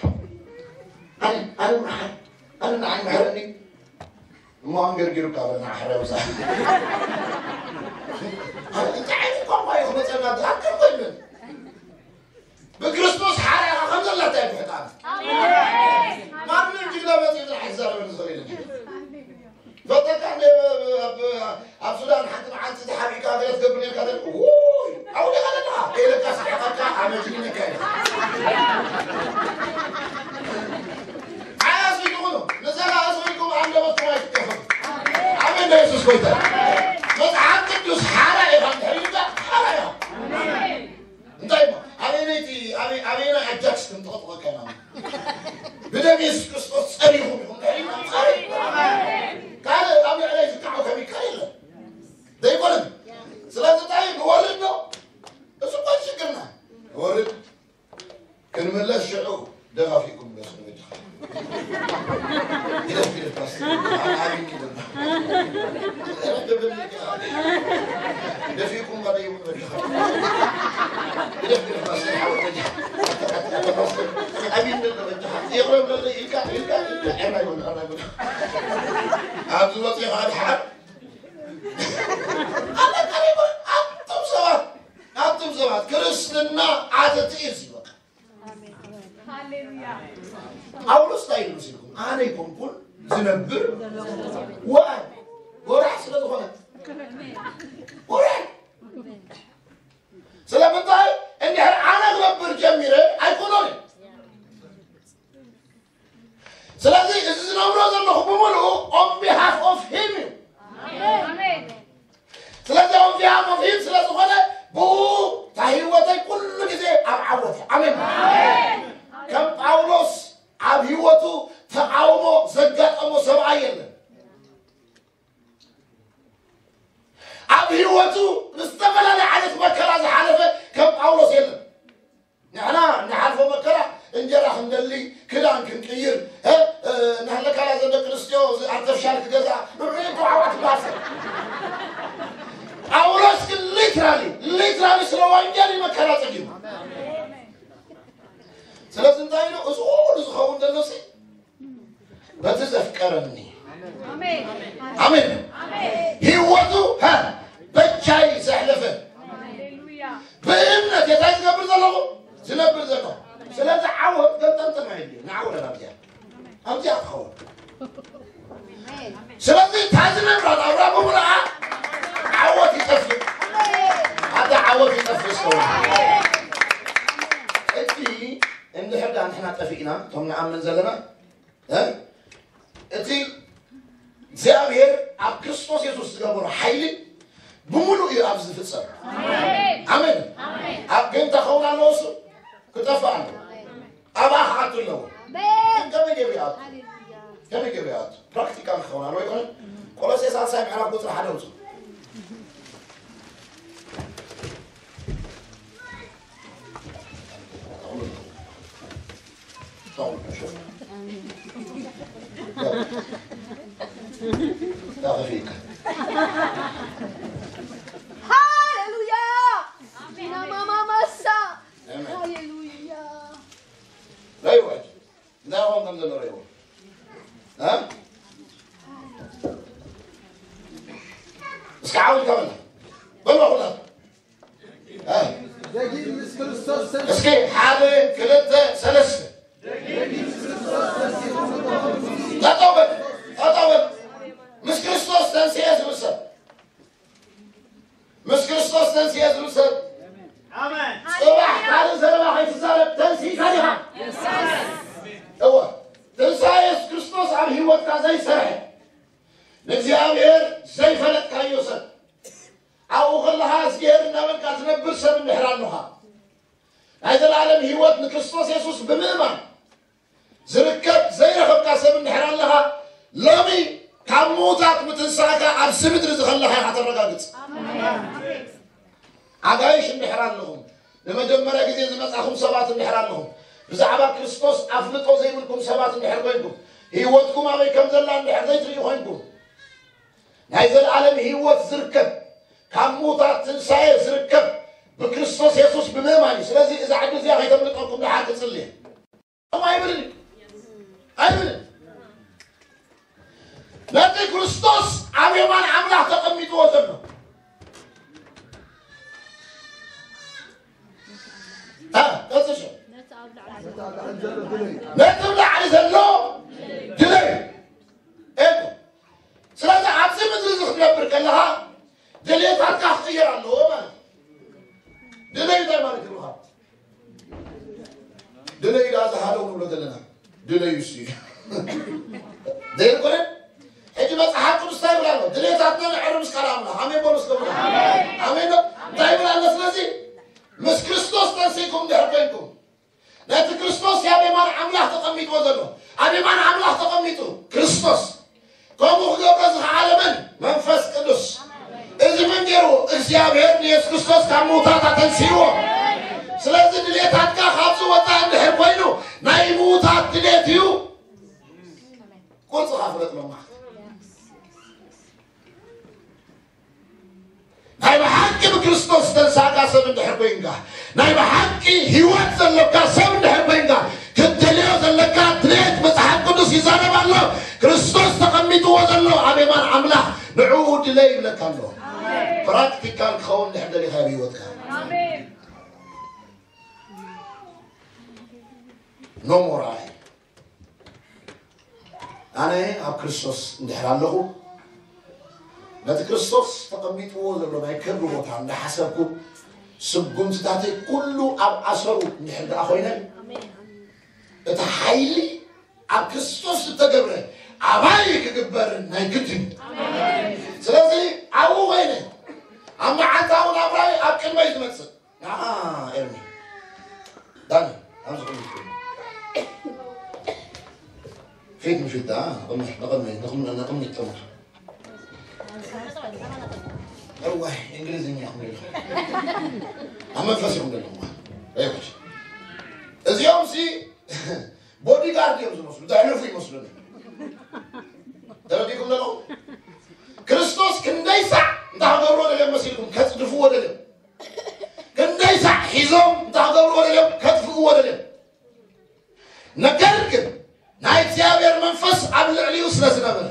ኣነ ኣነ ንዓይ ኣነ ንዓይ ምሕረኒ እሞ ኣንገርጊሩካ በልና ሓራይ ውፃእ እንታይ ዓይነት ቋንቋ እዩ ክመፀና ዝኣክል ኮይንን ብክርስቶስ ሓራይኻ ከም ዘላታ ይፍሕጣ ማንም ጅግና መፂኡ ዝሓዛረበ ዝኽእል የለን ፈተካ ኣብ ሱዳን ሓንቲ መዓልቲ ተሓቢእካ ገለ ትገብር ነርካ መጅሊስ ነካይድ። ኣስቢልኩ ነው። ንዘላ ኣስቢልኩም ኣንደበትኩም ኣይትከፈቱ። ኣሜን። ኢየሱስ ጎይታ። መጽሓፍ ቅዱስ ሓራ ኢኻ እንድሕር ኢልካ ሓራ ኢኻ። እንታይ እሞ? ኣበየነይቲ፣ ኣበይ-፣ ኣበየናይ ኣጃክስ ክንጠቕጥቀካ ኢና? ብደም የሱስ ክርስቶስ ጸሪኹም ኢኹም እንድሕር ኢልካ ጸሪኹም። ካልእ ኣብ ልዕለይ ዝከዓው ከሚካል የለን። ዘይኮነን። ስለዚ እንታይ ንወርድ ነው? እሱ እኮ ሽግርና። ንወርድ። ክንምለስ ሽዑ ደፋፊእኩም ምለሱ ንበጃኻ። ግደፍ፣ ግደፍ ፓስተር። ኣብ ዓቢ ግደፍ። ደፊእኩም ባደይቡ ንበጃኻ። ግደፍ፣ ግደፍ ፓስተር፣ ሓወት በጃኻ። ኣታ ፓስተር፣ ዓቢ እንደ ንበጃኻ። ይቕረብ ለለ ኢልካ፣ ኢልካ፣ ኢልካ፣ ዕርና ይበል፣ ዕርና ይበል። ኣብዚ ወፂኻ ድሓር። ኣለካ ይበል፣ ኣቱም ሰባት። ኣቱም ሰባት፣ ክርስትና ዓተቲ እዩ እዚ በቃ። ሃሌሉያ። ጳውሎስ እንታይ ኢሉ መሲልኩም? ኣነ ኣይኮንኩን ዝነብር፣ ዋይ፣ ጎራሕ ስለ ዝኾነ። ጎራሕ። ስለምንታይ? እንድሕር ኣነ ክነብር ጀሚረ ኣይኮኖን እዩ። ስለዚ እዚ ዝነብሮ ዘለኹ ብምሉኡ on behalf of him እዩ። ኣሜን። ስለዚ on behalf of him ስለ ዝኾነ ብኡ እታ ህይወተይ ኩሉ ግዜ ኣብ ዓወት እያ። ኣሜን። ኣሜን። ከም ጳውሎስ ኣብ ህይወቱ ተቃውሞ ዘጋጠሞ ሰብኣይ የለን። ኣብ ህይወቱ ብዝተፈላለየ ዓይነት መከራ ዝሓለፈ ከም ጳውሎስ የለን። ንሕና እንሓልፎ መከራ እንጀራ ክንደሊ፣ ክዳን ክንቅይር፣ እ፣ እ፣ እናሃለካላ ዘን ደቂ ኣንስትዮ እዚ ኣርተፍሻል ክገዝኣ፣ ንዑ እኮ ዓዋት ባሰ። ጳውሎስ ግን ሊትራሊ፣ ሊትራሊ ስለ ወንጌል እዩ መከራ ጸጊሙ። ስለዚ እንታይ ኢሉ? እዚ ኩሉ ዝኸውን ዘሎ ሲ በቲ ዘፍቀረኒ። ኣሜን። ኣሜን። ኣሜን። ህይወቱ፣ ሃ፣ በጃይ ዘሕለፈ። ሃሌሉያ። ብእምነት እንታይ ዝገብር ዘለኹ? ዝነብር ዘለኹ። ስለዚ ዓወት ገምጠምጠም ኣይድልዩ። ንዓወት ኣብዚኣ። ኣብዚኣ ትኸውን። ስለዚ እታ ዝነብራ ናብራ ብምሉኣ ዓወት ይጠፍእ። ኣታ ዓወት ይጠፍእ እስከ። እቲ እንድሕር ደኣ ንሕና ጠፊእና፣ እቶም ንኣምን ዘለና፣ እ? እቲ እግዚኣብሔር ኣብ ክርስቶስ የሱስ ዝገበሮ ሓይሊ ብምሉእ እዩ ኣብዚ ዝፍጸም። ኣሜን። ኣሜን። ኣሜን። ኣብ ግን ተኸውን ኣለዎ፣ እሱ ክጠፍእ ኣለዎ። ኣብኣ ክኣቱ ኣለዎ። ኣሜን። ከመይ ገይሩ ይኣቱ? ሃሌሉያ። ከመይ ገይሩ ይኣቱ? ፕራክቲካል ክኸውን ኣለዎ ይኾነ። ቆሎሴ ሳልሳይ ምዕራፍ ቁጽሪ ሓደ ውጹ። ሃሌሉያ። ዲና ማማ ማሳ። ኣሜን። ሃሌሉያ። ራእይዋ እንታይ ኾን ከም ዘሎ ራእይዋ። እ? እስኪ ዓው ኢልካ በላ። በላ ኩላ። እ? ደጊም ምስ ክርስቶስ ተንስ- እስኪ ሓደ፣ ክልተ፣ ሰለስተ። ጠጠው በል፣ ጠጠው በል። ምስ ክርስቶስ ተንስኤ ዝብል ሰብ። ምስ ክርስቶስ ተንስኤ ዝብል ሰብ። ኣሜን። ጽባሕ ካልእ ዘረባ ከይትዛረብ ተንሲእካ ዲኻ? እወ። ትንሳኤ የሱስ ክርስቶስ ኣብ ህይወትካ ዘይሰርሐ፣ ንእግዚኣብሔር ዘይፈለጥካዮ ሰብ፣ ኣብኡ ከለኻ እግዚኣብሔር እናበልካ ትነብር ሰብ እንድሕር ኣለኻ፣ ናይ ዘለኣለም ህይወት ንክርስቶስ የሱስ ብምእማን ዝርከብ ዘይረኸብካ ሰብ እንድሕር ኣለኻ፣ ሎሚ ካብ ምዉታት ምትንሳእካ ኣብዚ ምድሪ እዚ ከለኻ ኢኻ ተረጋግጽ። ኣጋይሽ እንድሕር ኣለኹም፣ ንመጀመርያ ግዜ ዝመጻኹም ሰባት እንድሕር ኣለኹም፣ ብዛዕባ ክርስቶስ ኣፍልጦ ዘይብልኩም ሰባት እንድሕር ኮይንኩም፣ ህይወትኩም ኣበይ ከም ዘላ እንድሕር ዘይትርእዩ ኮይንኩም፣ ናይ ዘለኣለም ህይወት ዝርከብ፣ ካብ ምዉታት ትንሳኤ ዝርከብ ብክርስቶስ የሱስ ብምእማን እዩ። ስለዚ እዛ ዕድል እዚኣ ከይተምልጠኩም ደሓር ክጽሊ እየ። ኣይብልን እዩ። ኣይብልን። ነቲ ክርስቶስ ኣብ የማን ኣምላኽ ተቐሚጥዎ ዘሎ። እ፣ ቀጽል ሸው። ነቲ ኣብ ላዕሊ ዘሎ ድለዩ። ኤኮ። ስለዚ ኣብዚ ምድሪ እዚ ክትነብር ከለኻ ድሌታትካ ክቕየር ኣለዎ ማለት እዩ። ድለዩ እንታይ ማለት እዩ? ዝሃለው ንብሎ ዘለና ድለዩ እሱ እዩ። ዘይኮነ ሕጂ መጽሓፍ ቅዱስ እንታይ ይብል ኣሎ? ድሌታትና ነዕሪ ምስ ቃል ኣምላኽ። ኣሜን በሉ እስከ። ኣሜን ነው። እንታይ ይብል ኣሎ? ስለዚ ምስ ክርስቶስ ተንሲእኩም እንድሕር ኮይንኩም፣ ነቲ ክርስቶስ ኣብ የማን ኣምላኽ ተቐሚጥዎ ዘሎ፣ ኣብ የማን ኣምላኽ ተቐሚጡ ክርስቶስ፣ ከምኡ ክገብሮ ዝኸኣለ መን? መንፈስ ቅዱስ። እዚ መን ገይርዎ? እግዚኣብሔር ንየሱስ ክርስቶስ ካብ ምውታት ኣተንሲእዎ። ስለዚ ድሌታትካ ካብዚ ወፃኢ እንድሕር ኮይኑ ናይ ምውታት ድሌት እዩ። ቁርፅኻ ፍለጥ ሎማዓንቲ። ናይ ብሓቂ ብክርስቶስ ዝተንሳእካ ሰብ እንድሕር ኮይንካ፣ ናይ ብሓቂ ህይወት ዘለካ ሰብ እንድሕር ኮይንካ፣ ክትደልዮ ዘለካ ድሌት መጽሓፍ ቅዱስ ይዛረብ ኣሎ። ክርስቶስ ተቐሚጥዎ ዘሎ ኣብ የማን ኣምላኽ ንዕኡ ድለ ይብለካ ኣሎ። ፕራክቲካል ክኸውን እንድሕር ደሊኻ ኣብ ህይወትካ። ኖ ሞር ኣይ ኣነ ኣብ ክርስቶስ እንድሕር ኣለኹ፣ ነቲ ክርስቶስ ተቐሚጥዎ ዘሎ ናይ ክብሪ ቦታ እንዳሓሰብኩ፣ ስጉምትታተይ ኩሉ ኣብ ኣሰሩ እንድሕር ደኣ ኮይነ፣ እቲ ሓይሊ ኣብ ክርስቶስ ዝተገብረ ኣባይ ክግበር ናይ ግድን። ስለዚ ኣብኡ ኮይነ ኣብ መዓልታዊ ናብራይ ኣብ ቅድመይ ዝመጽእ ንዓ ኤርሚ ዳኒ ኣብዚ ፊት ንፊት ደኣ ንቕድሚ ንቕድሚ ንቕድሚ ንቕድሚ ይጠምር። እዋይ እንግሊዝኛ ክምልኹ ኣብ መንፈስ ይኹም ዘለኹም ኣይኮች እዚኦም ሲ ቦዲጋርድ እዮም ዝመስሉ ዘሕልፉ ይመስሉኒ። ተረዲኩም ዘለኹም ክርስቶስ ክንደይ ሳዕ እንታይ ክገብርዎ ደልዮም መሲልኩም ከፅድፍዎ ደልዮም ክንደይ ሳዕ ሒዞም እንታይ ክገብርዎ ደልዮም ከጥፍእዎ ደልዮም። ነገር ግን ናይ እግዚኣብሔር መንፈስ ኣብ ልዕሊኡ ስለ ዝነበረ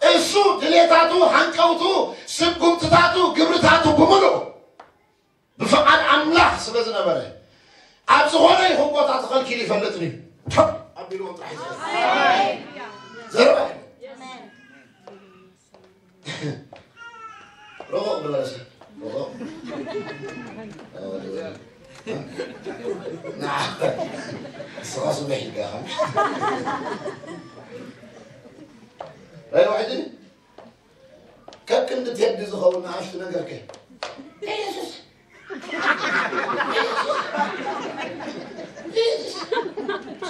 እሱ ድሌታቱ፣ ሃንቀውቱ፣ ስጉምትታቱ፣ ግብርታቱ ብምልኡ ብፍቓድ ኣምላኽ ስለ ዝነበረ ኣብ ዝኾነ ይኹን ቦታ ተኸልኪሉ ይፈልጥን እዩ። ቶብ ኣቢልዎ ጥራሕ እዩ ዝፈልጥ። ዘረባ የለን። ሮቆቕ ዝበለ ሰብ ሮቆቕ። ንዓ፣ ንስኻ ስምሕ ኢልካ ኢኻ። ራእይ ዋሕዲ ከክንዲ ቴዲ ዝኸውን ንኣሽቱ ነገር ከ ኢየሱስ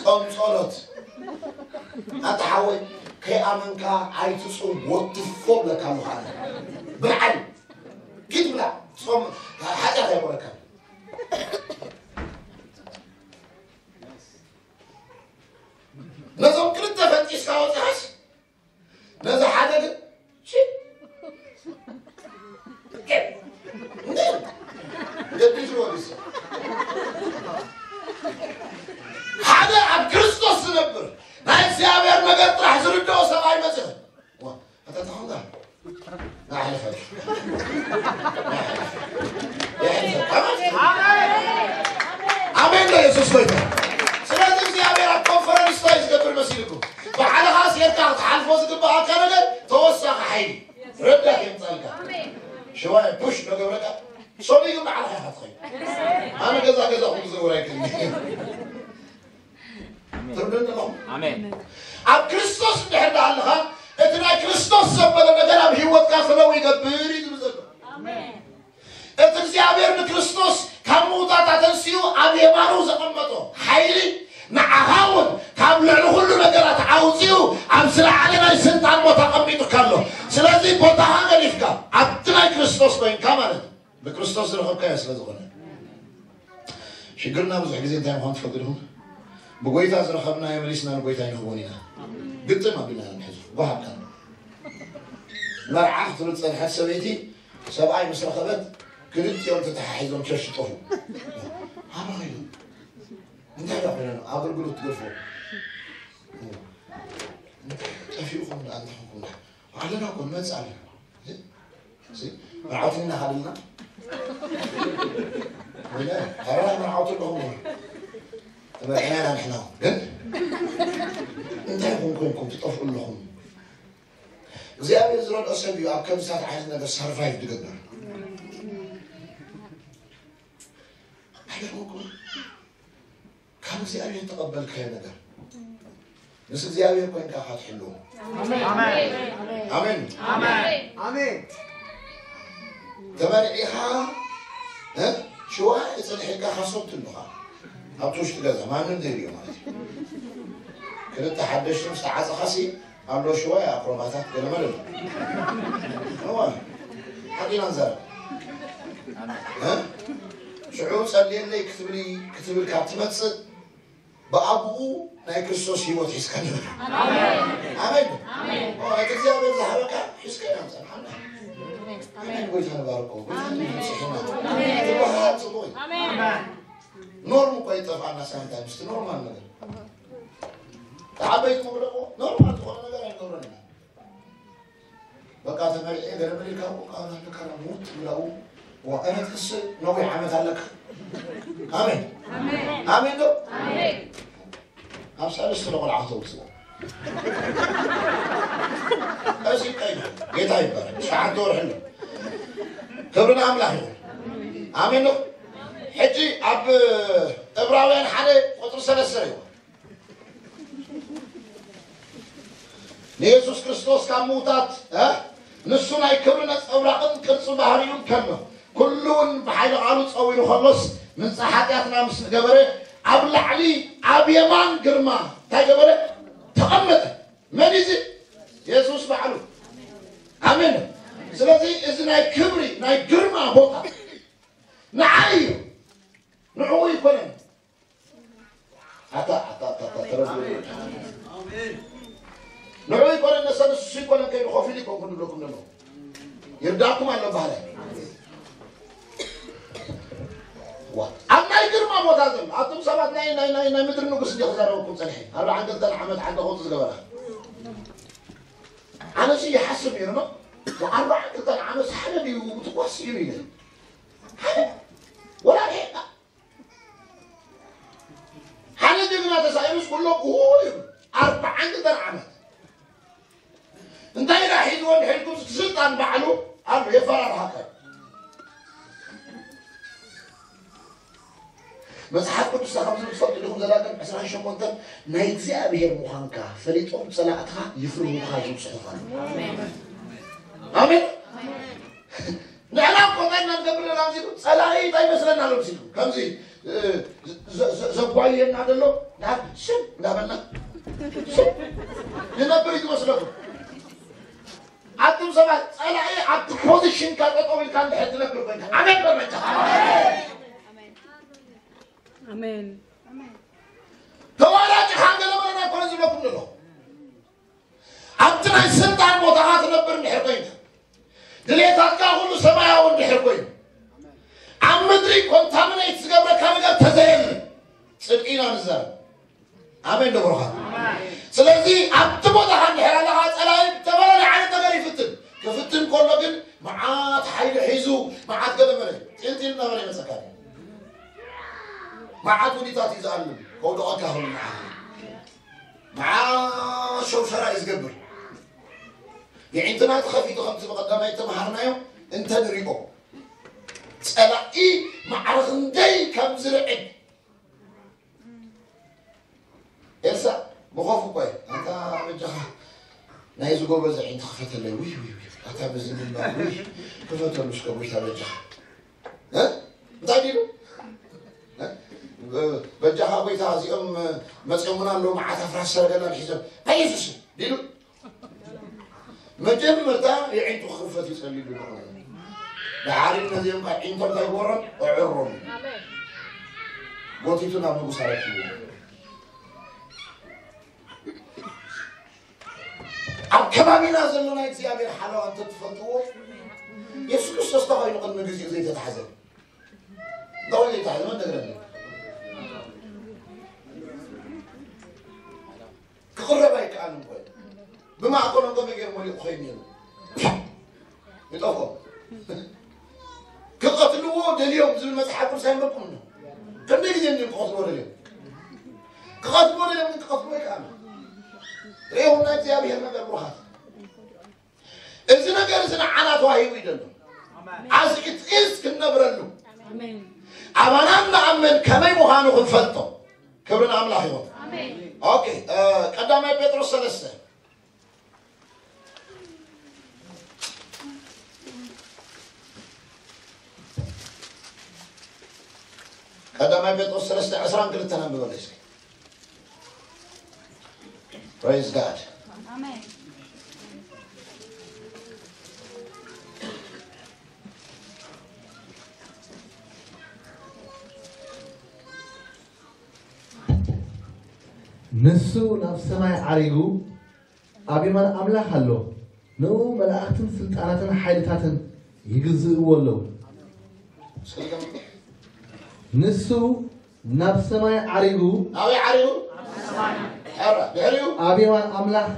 ጾም ጸሎት ኣታ ሓወይ ከይኣመንካ ኣይትጹም ወትፎ ብለካ ምዃነ ብልዓል ኪድ ብላ ጾም ሓጢኣት ኣይኮነካን። ነዞም ክልተ ፈንጢስካ ወፅኻስ ነዚ ሓደ ግን ሺ ገዲፍዎ ንሱ ሓደ ኣብ ክርስቶስ ዝነብር ናይ እግዚኣብሔር ነገር ጥራሕ ዝርድኦ ሰብኣይ መፅእ ኣተተኾንካ ናሕልፈት ኣሜን ዶ የሱስ ጎይታ። ስለዚ እግዚኣብሔር ኣብ ኮንፈረንስ እንታይ ዝገብር መሲልኩም ባዕልኻ ሴርካ ክትሓልፎ ዝግባኣካ ነገር ተወሳኺ ሓይሊ ረዳት የምፃልካ። ሽዋይ ፑሽ ዶ ገብረካ ሶሚ ግን ባዕልኻ ኢኻ ትኸይድ። ኣነ ገዛ ገዛኹም ዝውር ኣይክእል ትርዱን ኣለኹም። ኣሜን። ኣብ ክርስቶስ እንድሕር ደኣ ኣለኻ እቲ ናይ ክርስቶስ ዘበለ ነገር ኣብ ህይወትካ ፍለው ይገብር እዩ ዝብል ዘሎ። እቲ እግዚኣብሔር ንክርስቶስ ካብ ምውታት ኣተንስኡ ኣብ የማኑ ዘቐመጦ ሓይሊ ንዓኻ እውን ካብ ልዕሊ ኩሉ ነገራት ኣውፅኡ ኣብ ዝለዓለ ናይ ስልጣን ቦታ ኣቐሚጡካ ኣሎ። ስለዚ ቦታኻ ገዲፍካ ኣብቲ ናይ ክርስቶስ ኮይንካ ማለት እዩ። ብክርስቶስ ዝረኸብካዮ ስለ ዝኾነ ሽግርና ብዙሕ ግዜ እንታይ ምዃኑ ትፈልጡ ዲኹም? ብጎይታ ዝረኸብናዮ መሊስና ንጎይታ ይንህቦን ኢና። ግጥም ኣቢልና ኢና ንሕዞ። ጓሃብካ መርዓ ክትብል ዝጸንሐት ሰበይቲ ሰብኣይ ምስ ረኸበት ክልቲኦም ተተሓሒዞም ቸርች ጠፉ። ኣበይ ኸይዶም? እንታይ ዳ ኮይኖም ኣገልግሎት ትገድፎ? ጠፊኡኹም ደኣ እንታይ ኾንኩም ደኣ? ኣለና እኮ ንመጽእ ኣለና። መርዓውቲ ኢና ሃልና ወለ ኣራ መርዓውቲ ኣለኹም ተመርዕና ኢና ንሕና ግን እንታይ ኹም ኮንኩም ትጠፍኡ ኣለኹም። እግዚኣብሔር ዝረድኦ ሰብ እዩ ኣብ ከምዚታት ዓይነት ነገር ሰርቫይቭ ዝገብር። ኣይገርመኩም? እግዚኣብሔር ተቐበልካዮ ነገር ምስ እግዚኣብሔር ኮይንካ ኢኻ ትሕልዎ። ኣሜን። ኣሜን። ኣሜን። ተመርዒኻ እ ሽዋ ይፅንሕ ኢልካ ካሶት ትልኻ ኣብቲ ውሽጢ ገዛ ማንም ዘይሪኦ ማለት እዩ። ክልተ ሓደሽቲ ምስ ተዓፀኻሲ ኣሎ ሽዋ ኣክሮባታት ገለመለ ኣሎ። እዋ ሓቂና ንዛረብ እ ሽዑ ጸልየለይ ክትብል ክትብል ካብ ትመጽእ ብኣቡኡ ናይ ክርስቶስ ህይወት ሒዝካ ንበር። ኣሜን። ኣሜን። ኣሜን። ኦ፣ እቲ እግዚኣብሔር ዝሃበካ ሒዝካ ኢና ንጸንሓና። ኣሜን። ኣሜን። ጎይታ ንባርኮ። ጎይታ ንመጽሕና። ኣሜን። ትባሃር ጽቡቅ እዩ። ኣሜን። ኖርም እኮ ይጠፋና ሳምታይምስ፣ እቲ ኖርማል ነገር። ተዓበይቲ ክብለዎ ኖርማል ዝኾነ ነገር ኣይገብረን ኢና። በቃ ተመሪዐ ገለ መለ ኢልካ እኮ ቃል ኣለካ ሙት ብላው ወቀረት ክስ ነዊሕ ዓመት ኣለካ። ኣሜን። ኣሜን ዶ? ኣብ ሳልስቲ ንቆልዓ ከተውፅዎ። እዚ ቀይና ጌታ ይባረክ። ሸሓተ ወርሒ ኣሎ። ክብሪ ንኣምላኽ ይኹን። ኣሜን ዶ? ሕጂ ኣብ ዕብራውያን ሓደ ቁፅሪ ሰለስተ ይኹን። ንየሱስ ክርስቶስ ካብ ምዉታት እ ንሱ ናይ ክብሪ ነጸብራቕን ቅርጺ ባህርዩን ከሎ ኩሉ እውን ብሓይሊ ቓሉ ጸዊሩ ከሎስ ምንጻ ሓጢኣትና ምስ ገበረ ኣብ ላዕሊ ኣብ የማን ግርማ እንታይ ገበረ ተቐመጠ። መን እዚ? የሱስ ባዕሉ። ኣሜን። ስለዚ እዚ ናይ ክብሪ ናይ ግርማ ቦታ ንዓይ እዩ። ንዕኡ ይኮነን። ኣታ ኣታ ኣታ ኣታ ተረዱ ንዑ ይኮነ ነሰ ንሱ ይኮነ ከይዱ ኮፊል ይኮንኩ ንብለኩም ዘሎ ይርዳኩም ኣሎ ባህለ ኣብ ናይ ግርማ ቦታ ዘሎ ኣቱም ሰባት ናይ ናይ ናይ ናይ ምድሪ ንጉስ እንዲ ክዛረበኩም ጸኒሐ ኣርባዓን ክልተን ዓመት ዓንደ ቆጡ ዝገበራ ኣነሲ ይሓስብ ነይሩ ነው ኣርባዓን ክልተን ዓመት ሓደ ድዩ ትኳስ እዩ ኢለ ሓደ ወላ ሓደ ጀግና ተሳኢኑስ ኩሎም እሁ ይብሉ። ኣርባዓን ክልተን ዓመት እንታይ ኢላ ሒዝዎ እንድሕር ኢልኩም ስልጣን ባዕሉ ኣሎ የፈራርሃካ። መጽሓፍ ቅዱስና ከም ዝብል ትፈልጡ ዲኹም ዘዳግም ዕስራን ሸሞንተን ናይ እግዚኣብሔር ምዃንካ ፈሊጦም ጸላእትኻ ይፍርሁኻ ዝብል ጽሑፍ ኣሎ። ኣሜን። ንሕና እኮ እንታይ ኢና ንገብር ዘለና ኣብዚ ጸላኢ እንታይ ይመስለና ኣሎ ሲሉ ከምዚ ዘጓየና ዘሎ ናብ ስም እንዳበልና ስም ንነብር እዩ ዝመስለኩም ኣቱም ሰባት ጸላኢ ኣብቲ ፖዚሽንካ ጠጠው ኢልካ እንድሕር ትነብር ኮይንካ ኣሜን በል በጃኻ ኣሜን ተዋላጭ ሓንገለ መለና ኮነ ዝብለኩም ዘሎ ኣብቲ ናይ ስልጣን ቦታኻ ትነብር እንድሕር ኮይንካ ድሌታትካ ኩሉ ሰማያዊ እንድሕር ኮይኑ ኣብ ምድሪ ኮንታሚኔት ዝገብረካ ነገር ተዘየለ ጽድቂ ኢና ንዛረብ ኣሜን ዶ ብሩኻት ስለዚ ኣብቲ ቦታኻ እንድሕር ኣለኻ ጸላኢ ዝተፈላለየ ዓይነት ነገር ይፍትን ክፍትን ከሎ ግን መዓት ሓይሊ ሒዙ መዓት ገለ መለ ጢልጢል እናበለ ይመፀካ መዓት ውዲታት እዩ ዝኣምን ከውደቐካ ይኸውን ንዓኻ መዓት ሸውሸራ እዩ ዝገብር የዒንትና ተኸፊቱ ከምቲ ብቐዳማይ ተምሃርናዮ እንተ ንሪኦ ጸላኢ ማዕረ ክንደይ ከም ዝርዕድ ኤልሳ ብኸፉ ቆይ ኣንታ በጃኻ ናይዚ ጎበዝ ዒንቲ ክፈተለይ ውይ ውይ ውይ ኣታ በዚ ምንባር ውይ ክፈተሉ እስከ ጎይታ በጃኻ እ? እንታይ ዲሉ እ? በጃኻ ጎይታ እዚኦም መፅኦምና ኣለዉ መዓት ኣፍራስ ሰረገላ ሒዞም ናይ የሱስ ዲሉ መጀመርታ የዒንቱ ክኽፈት ይጸልዩ ኣለኹ። ድሓር ነዚኦም ከ ዒንቶም ከይጎሮም ኣዕሮም። ጎቲቱ ናብ ንጉስ ኣረኪቡ። ኣብ ከባቢና ዘሎ ናይ እግዚኣብሔር ሓለዋ እንተትፈልጥዎ የሱስ ክርስቶስ ተኾይኑ ቅድሚ ግዜኡ ዘይተታሕዘ። ተኾይኑ ዘይተታሕዘ መን ነገረኒ? ክቕረብ ኣይከኣልን ኮይኑ ብማእከሎም ከመይ ገይሩ መሊኡ ክኸይድ ነይሩ ይጠፎ ክቐትልዎ ደልዮም ዝብል መፅሓፍ ቅዱስ ኣይንበኩም እ ክንደይ ግዜ እዮም ክቐትልዎ ደልዮም ክቐትልዎ ደልዮም ግን ክቐትልዎ ኣይከኣሉ ርእኹም ናይ እግዚኣብሔር ነገር ብሩኻት እዚ ነገር እዚ ንዓና ተዋሂቡ እዩ ዘሎ ኣስኢት ኢዝ ክንነብረሉ ኣባና ንኣምን ከመይ ምዃኑ ክንፈልጦ ክብሪ ንኣምላኽ ይኹን። ኦኬ፣ እ፣ ቀዳማይ ጴጥሮስ ሰለስተ። ቀዳማይ ጴጥሮስ ሰለስተ ዕስራን ክልተን ኣንብበለይ እስኪ። Praise God. ንሱ ናብ ሰማይ ዓሪጉ ኣብ የማን ኣምላኽ ኣሎ። ንኡ መላእኽትን ስልጣናትን ሓይልታትን ይግዝእዎ ኣለዉ። ንሱ ናብ ሰማይ ዓሪጉ ናበይ ዓሪጉ? ሕራ ድሕሪኡ ኣብ የማን ኣምላኽ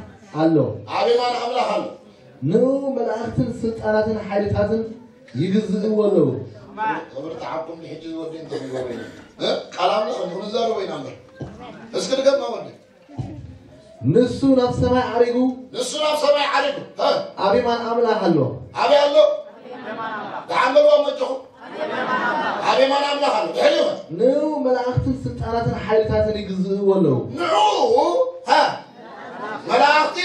ኣሎ። ኣብ የማን ኣምላኽ ኣሎ። ንኡ መላእኽትን ስልጣናትን ሓይልታትን ይግዝእዎ ኣለዉ። ክብርቲ ዓኩም ንሕጂ ዝወዲ እንተሚጎበ ቃል ኣምላኽ ንክንዛረቦ ኢና እምበር። እስኪ ድገማ ወዲ። ንሱ ናብ ሰማይ ዓሪጉ ንሱ ናብ ሰማይ ዓሪጉ እ ኣብ የማን ኣምላኽ ኣሎ። ኣበይ ኣሎ? ተሓመልዋ መጆኹም ኣብ የማን ኣምላኽ ኣሎ። ድሕሪኡ ንኡ መላእኽትን ስልጣናትን ሓይልታትን ይግዝእዎ ኣለዉ። ንዕኡ እ መላእኽቲ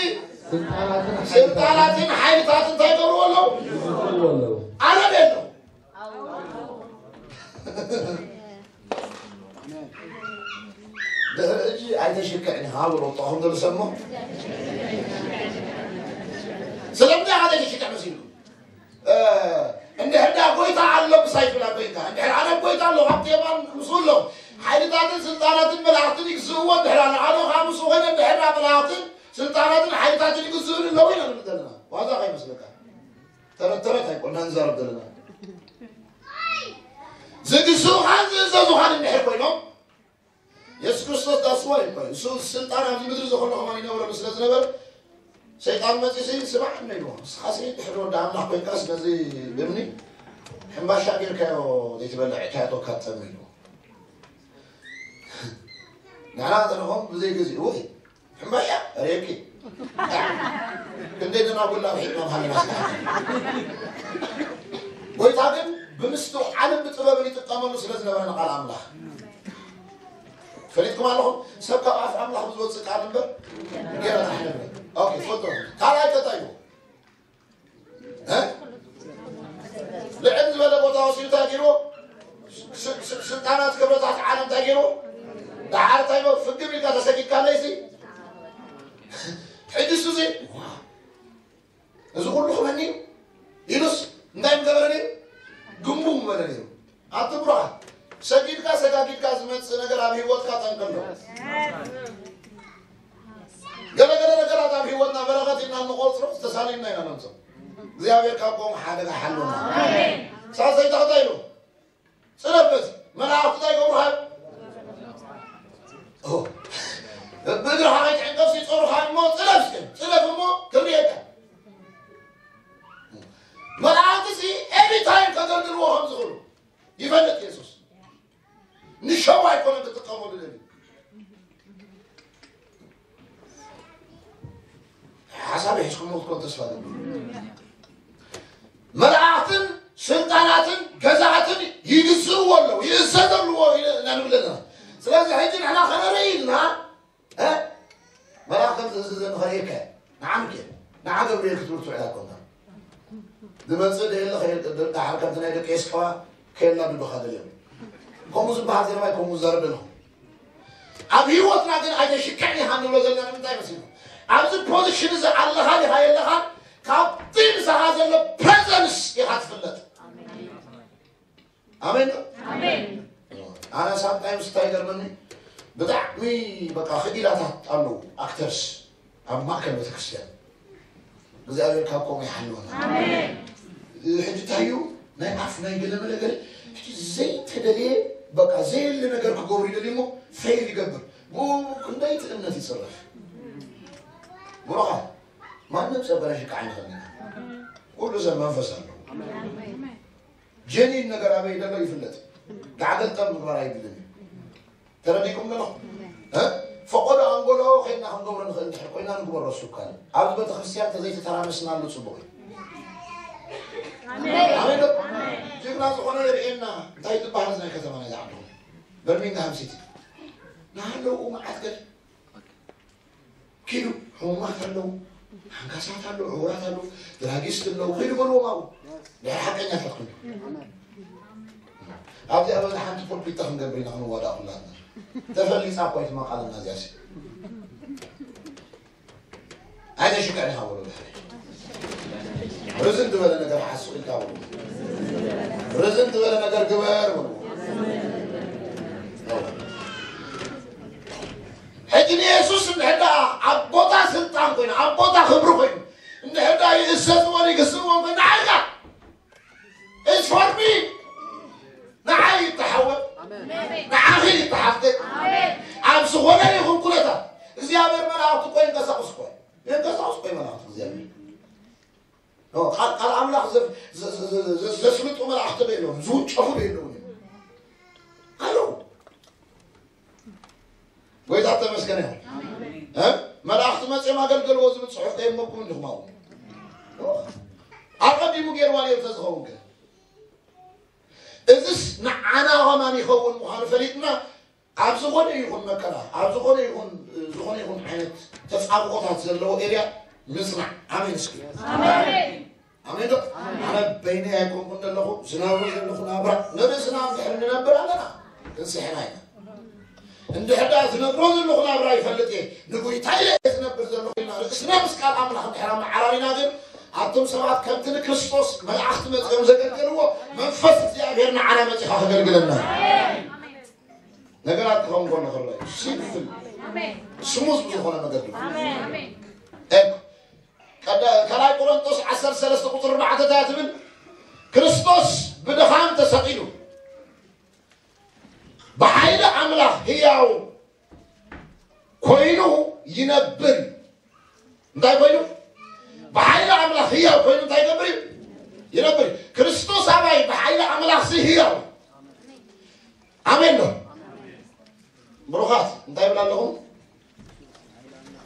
ስልጣናትን ሓይልታትን ስልጣናትን ሓይልታትን እንታይ ይገብርዎ ኣለዉ? ይግዝእዎ ኣለዉ። ኣነ ቤሎ ድሕሪ ሕጂ ኣይተሽክዕን ኢኻ ብሎ ጥቕኹም ደልሰሞ ስለምንታይ ኢኻ ዘይተሽክዕ መሲልኩም? እንድሕር ዳ ጎይታ ኣሎ ምሳይ ፍላ ጎይታ እንድሕር ኣነ ጎይታ ኣሎ ካብቲ የማን ምስኡ ኣሎ ሓይልታትን ስልጣናትን መላእኽትን ይግዝእዎ እንድሕር ኣሎ ኣነ ከዓ ምስኡ ኮይነ እንድሕር ዳ መላእኽትን ስልጣናትን ሓይልታትን ይግዝእኒ ኣለዉ ኢና ንብል ዘለና ዋዛ ከይመስለካ ተረት ተረት ኣይኮና ንዛረብ ዘለና ዝግዝኡኻን ዝእዘዙኻን እንድሕር ኮይኖም የሱስ ክርስቶስ that's why እኮ እዩ። እሱ ስልጣን ኣብዚ ምድሪ ዘኸሎ ከማን ይነብረሉ ስለ ዝነበር ሰይጣን መፂሲ ስማዕ እነ ኢልዎ ንስኻሲ ድሕሪ ወዲ ኣምላኽ ኮይንካስ ነዚ እምኒ ሕምባሻ ጌርካዮ ዘይትበልዕ እካዮ ተካተም ኢልዎ ንሕና ተለኾም ብዘይ ግዜ ውይ ሕምባሻ ሬኪ ክንደይ ደናጉላ ብሒጥና ምሃለና ስለ ጎይታ ግን ብምስትውዓልን ብጥበብን ይጥቀመሉ ስለ ዝነበረ ንቃል ኣምላኽ ፈሊጥኩም ኣለኹም ሰብ ካብ ኣፍ ኣምላኽ ብዝወፅእ ቃል እምበር ገና ታሕለለ ኦኬ ትፈልጦ ካልኣይ ከታይ እዩ ልዕል ዝበለ ቦታ ወሲዱ እንታይ ገይርዎ ስልጣናት ክብረታት ዓለም እንታይ ገይርዎ ደሓር እንታይ ፍግም ኢልካ ተሰጊድካ ኣለይሲ ሕጂ እሱ እዚ እዚ ኩሉ ክበኒ ኢሉስ እንታይ ምገበረ ነይሩ ግንቡ ምበለ ነይሩ ኣቲ ብሩኻ ሰጊድካ ሰጋጊድካ ዝመፅእ ነገር ኣብ ህይወትካ ጠንቂ ኣለዎ ገለገለ ነገራት ኣብ ህይወትና በረኸት ኢና እንቆፅሮ ዝተሳለዩና ኢና ነምፅኦ እግዚኣብሔር ካብ ከምኡ ሓደጋ ሓልወና ሳሰይታ እንታይ ኢሉ ፅለፍ በዚ መላእኽቲ እንታይ ይገብሩኻ ብእግርኻ ከይትዕንቀፍሲ ይፀሩኻ እሞ ፅለፍ እስከ ፅለፍ እሞ ክርእየካ መላእኽቲ ሲ ኤኒታይም ከገልግልዎ ከም ዝኽእሉ ይፈልጥ የሱስ ንሸው ኣይኮነን ክጥቀመሉ ደልዩ ሓሳብ ሒዝኩሞ ክትኮን ተስፋ ገ መላእኽትን ስልጣናትን ገዛእትን ይግዝእዎ ኣለዉ ይእዘዘልዎ ኢና ንብል ኣለና ስለዚ ሕጂ ንሕና ከነርኢ ኢልና መላእኽትን ዝእዝዘ ንኸርእየካ ንዓምከ ንዓ ገብርኤል ክትብል ትውዕላ ኮንካ ዝመፅእ ደየለ ዳሓር ከምቲ ናይ ደቂ ኤስከዋ ከየናድዱኻ ደልዮም ከምኡ ዝበሃል ዘረባይ ከምኡ ዝዛረብ ደለኹ ኣብ ህይወትና ግን ኣይተሽክዕን ኢኻ ንብሎ ዘለና ንምንታይ መሲሉ ኣብዚ ፖዚሽን እዚ ኣለኻ ዲኻ የለኻን ካብቲ ምሳኻ ዘሎ ፕሬዘንስ ኢኻ ትፍለጥ ኣሜን ኣነ ሳምታይምስ እንታይ ይገርመኒ ብጣዕሚ በቃ ክኢላታት ኣለዉ ኣክተርስ ኣብ ማእከል ቤተክርስትያን እግዚኣብሔር ካብ ከምኡ ይሓልወና ሕጂ እንታይ እዩ ናይ ኣፍ ናይ ገለመለ ገለ ሕጂ ዘይተደልየ በቃ ዘየለ ነገር ክገብሩ ይደልዩ እሞ ፌል ይገብር ብኡ ክንደይቲ እምነት ይፅረፍ ብሩኻ ማንም ሰብ በላሽካ ኣይንኸልና ኩሉ ሰብ መንፈስ ኣለዎ ጀኒን ነገር ኣበይ ዘሎ ይፍለጥ ጋዕገልጠም ምግባር ኣይግድን እዩ ተረዲእኩም ኣለኹም ፈቆዶ ኣንጎሎ ከይድና ክንገብሮ ንኽእል እንድሕር ኮይና ንግበሮ ሱካል ኣብዚ ቤተክርስትያን ተዘይተተራመስናሉ ፅቡቅ እዩ ኣሜን ጅግና ዝኾነ የርእየና እንታይ ዝበሃል ናይ ከተማ ናይ ዝዓድኹም በርሚንግሃም ሲቲ ናሃለዉ መዓት ገለ ኪዱ ሕሙማት ኣለዉ፣ ሓንካሳት ኣለዉ፣ ዕውራት ኣለዉ፣ ድራጊስት ኣለዉ፣ ኪዱ በልዎም ኣብኡ። ድሕሪ ሓቀኛ ተትኮኑ። ኣብዚኣ በዛ ሓንቲ ፖልፒታ ክንገብር ኢና ክንዋዳእ ኩላትና። ተፈሊጻ እኮ እትመቃለና እዚኣ ሲ። ኣይተሽግዕን ኢኻ በሉ ድሕሪ። ርዝን ዝበለ ነገር ሓስብ ኢልካ በሉ። ርዝን ዝበለ ነገር ግበር በሉ። ሕጂ ንየሱስ እንድሕር ደኣ ኣብ ቦታ ስልጣን ኮይኑ፣ ኣብ ቦታ ክብሪ ኮይኑ፣ እንድሕር ደኣ ይእዘዝዎን ይግስእዎን ኮይኑ፣ ንዓኻ It's for me. ንዓይ ይተሓወ። ንዓኺ ይተሓፍተ። ኣብ ዝኾነ ይኹን ኩነታት እግዚኣብሔር መላእኽቱ እኮ ይንቀሳቕስ እኮ። ይንቀሳቕስ እኮ መላእኽቱ እግዚኣብሔር። ኦ፣ ቃል፣ ቃል ኣምላኽ ዘ-፣ ዘ-፣ ዘ-፣ ዘ-፣ ዘ-፣ ዘስልጡ መላእኽቲ ዶ የለውን? ዝውጨፉ ዶ የለውን? ኣለዉ። ጎይታ ተመስገን ይኹን። እ? መላእኽቲ መጺኦም ኣገልገልዎ ዝብል ጽሑፍ ከየንበብኩም እንዲኹም ኣብኡ። ኣቐዲሙ ገይርዋ ነይሩ ተዝኸውን ከ? እዝስ ንዓና ኸማን ይኸውን ምዃኑ ፈሊጥና፣ ኣብ ዝኾነ ይኹን መከራ፣ ኣብ ዝኾነ ይኹን፣ ዝኾነ ይኹን ዓይነት ተጻብኦታት ዘለዎ ኤርያ ምጽናዕ። ኣሜን እስኪ። ኣሜን። ኣሜን ዶ? ኣነ በይነይ ኣይኮንኩን ዘለኹ፣ ዝነብሮ ዘለኹ ናብራ ንርእስና እንድሕር ንነብር ኣለና፣ ክንስሕና ኢና። እንድሕር ደኣ ዝነብሮ ዘለኹ ናብራ ይፈልጥ እየ፣ ንጎይታ ኢለ እየ ዝነብር ዘለኹ ኢልና ርእስና ምስ ቃል ኣምላኽ እንድሕር ኣመዓራሪና ግን፣ ኣቱም ሰባት ከምቲ ንክርስቶስ መላእኽቲ መጺኦም ዘገልገልዎ መንፈስ እግዚኣብሔር ንዓና መጺኻ ከገልግለና እዩ። ነገራት ክኸውን ከሎ ክረአ እዩ። ሲምፕል፣ ስሙዝ ብዝኾነ መገዲ። ኤክ-፣ ቀዳ-፣ ካልኣይ ቆሮንቶስ ዓሰርተ ሰለስተ ቁጽሪ ኣርባዕተ እንታይ ትብል? ክርስቶስ ብድኻም ተሰቒሉ ብሓይሊ ኣምላኽ ህያው ኮይኑ ይነብር እዩ። እንታይ ኮይኑ? ብሓይሊ ኣምላኽ ህያው ኮይኑ እንታይ ይገብር እዩ? ይነብር እዩ። ክርስቶስ ኣባይ ብሓይሊ ኣምላኽ ሲ ህያው። ኣሜን ዶ? ብሩኻት፣ እንታይ ይብል ኣለኹም?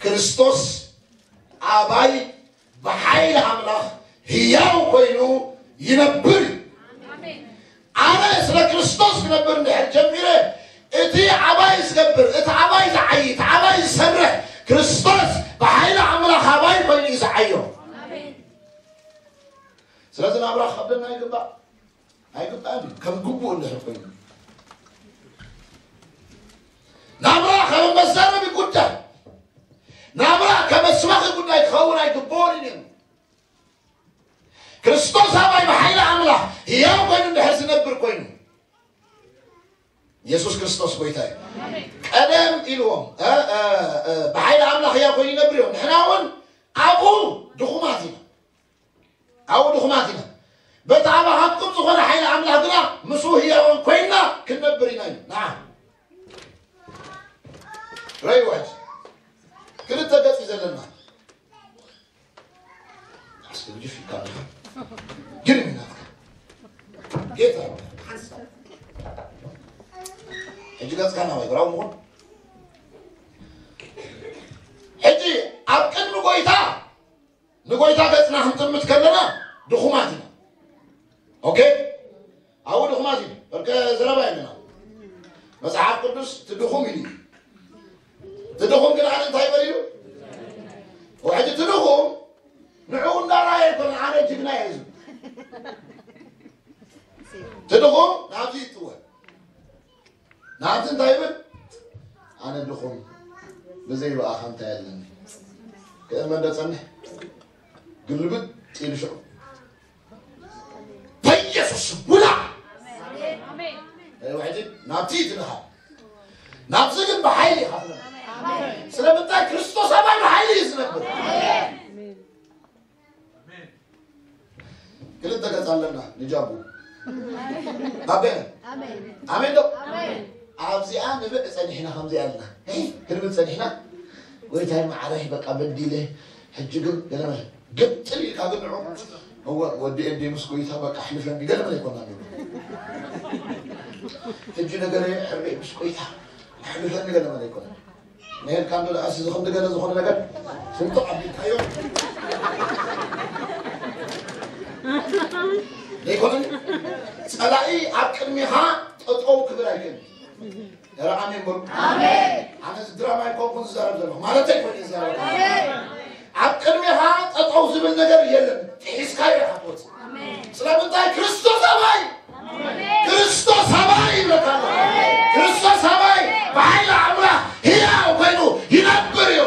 ክርስቶስ ኣባይ ብሓይሊ ኣምላኽ ህያው ኮይኑ ይነብር እዩ። ኣነ ስለ ክርስቶስ ክነብር እንድሕር ጀሚረ፣ እቲ ኣባይ ዝገብር፣ እቲ ኣባይ ዝዓዪ፣ እቲ ኣባይ ዝሰርሕ ክርስቶስ ብሓይሊ ኣምላኽ ኣባይ ኮይኑ እዩ ዝዓዮ። ስለዚ ናብራ ክኸብደና ይግባእ? ኣይግባእን እዩ። ከም ግቡእ እንድሕር ኮይኑ። ናብራ ከም መዛረቢ ጉዳይ፣ ናብራ ከም መስባኺ ጉዳይ ክኸውን ኣይግብኦን እዩ ነይሩ። ክርስቶስ ኣባይ ብሓይሊ ኣምላኽ ህያው ኮይኑ እንድሕር ዝነብር ኮይኑ፣ የሱስ ክርስቶስ ጎይታ እዩ። ቀደም ኢልዎም፣ እ፣ እ፣ እ፣ ብሓይሊ ኣምላኽ ህያው ኮይኑ ይነብር እዮም። ንሕና እውን ኣብኡ ድኹማት ኢና። ኣብኡ ድኹማት ኢና። በቲ ኣባኻትኩም ዝኾነ ሓይሊ ኣምላኽ ግና ምስኡ ህያዋን ኮይንና ክንነብር ኢና እዩ። ንዓ። ረእይዎ ሕጂ። ክልተ ገጽ እዩ ዘለና። ኣስገድፍ ኢልካ ኣለኻ። ግርም እዩ ናትካ። ጌታ እዩ። ሕጂ ገጽካ ናባይ ግራው ምኾን። ሕጂ ኣብ ቅድሚ ጎይታ ንጎይታ ገጽና ክንጥምት ከለና ድኹማት ኢና። ኦኬ? ኣብኡ ድኹማት ኢና። በርከ ዘረባ የለና። መጽሓፍ ቅዱስ እቲ ድኹም ኢሉ እዩ። እቲ ድኹም ግን ኣነ እንታይ ይበል ኢሉ? ወሕጂ እቲ ድኹም ንዕኡ እንዳረኣየ ኣይኮነ ኣነ ጅግና እየ ዝብል። እቲ ድኹም ናብዚ ይጥወ። ናብቲ እንታይ ይብል? ኣነ ድኹም፣ ብዘይ ብኣኻ እንታይ ኣለኒ? ክእመን ዶ ጸንሕ? ግልብጥ ኢሉ ሽዑ፣ በኢየሱስ ውላ! ኣሜን። ሕጂ ናብቲ ትልኻ። ናብዚ ግን ብሓይሊ ኢኻ ትነብር። ስለምንታይ? ክርስቶስ ኣባይ ብሓይሊ እዩ ዝነብር። ክልተ ገጽ ኣለና ንጃቡ። ኣሜን። ኣሜን። ኣሜን ዶ? ኣሜን። ኣብዚኣ ንብዕ ጸኒሕና ከምዚኣ ኣለና። ሄይ፣ ክንብል ጸኒሕና። ጎይታይ መዓረይ በቃ በዲለ። ሕጂ ግን ገለ መለ ግጥል ኢልካ ግን ንዑ። እወ፣ ወዲ ኤዲ ምስ ጎይታ በቃ ኣሕልፈኒ ገለ መለ ኣይኮናን ንብል። ሕጂ ነገረይ ሕርበይ ምስ ጎይታ ኣሕልፈኒ ገለ መለ ኣይኮነን። ነሄድካ እንዶ ደኣ እዚ ዝኽንዲ ገለ ዝኾነ ነገር ስንጥቕ ኣቢልካዮ። ዘይኮነን ጸላኢ ኣብ ቅድሚኻ ጠጠው ክብል ኣይክእልን። ኧረ ኣሜን በሉ። ኣነ እዚ ድራማ ኣይኮንኩን ዝዛረብ ዘለኹ፣ ማለተይ ኮይነ ዝዛረብ። ኣብ ቅድሜኻ ጠጠው ዝብል ነገር የለን፣ ጥሒስካዮ ኢኻ ትወፅእ። ስለምንታይ? ክርስቶስ ኣባይ፣ ክርስቶስ ኣባይ ይብለካ ኣሎ። ክርስቶስ ኣባይ ብሓይሊ ኣምላኽ ህያው ኮይኑ ይነብር እዩ።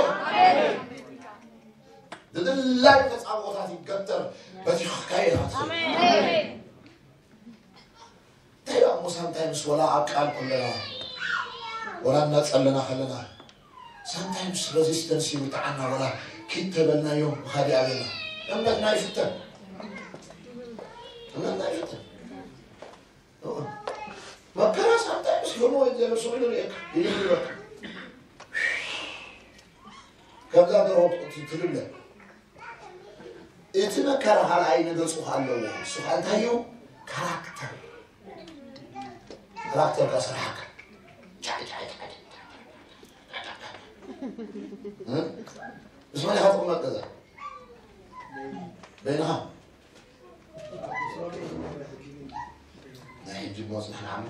ድድላይ ተጻብኦታት ይገተር፣ በቲኽካዮ ኢኻ ትኸይድ። እንታይ እሞ ሳምታይምስ ወላ ኣብ ቃል ኩለና ወላ እናጸለና ከለና ሳምታይምስ ሬዚስተንስ ይውጥዓና ወላ ኪድ ተበልናዮ ምኻድ ይኣብየና። እምነትና ይፍተን። እምነትና ይፍተን። መከራ ሳምታይምስ ይሆን ወይ ዘለ ሰው ይደል ይክ ይደል ይበቃ። ከምዛ ደርሆ ትልብለ እቲ መከራ ካልኣይ ነገር ጽሑፍ ኣለዎ። እሱ ከዓ እንታይ እዩ? ካራክተር። ካራክተር ከስራሕካ። ጫይ፣ ጫይ፣ ጫይ፣ ጫይ። እ? ምስ መን ኢኻ ትቕመጥ ገዛ? በይንኻ? ናይ ሕጂ እሞ ንሕና ዓሞ።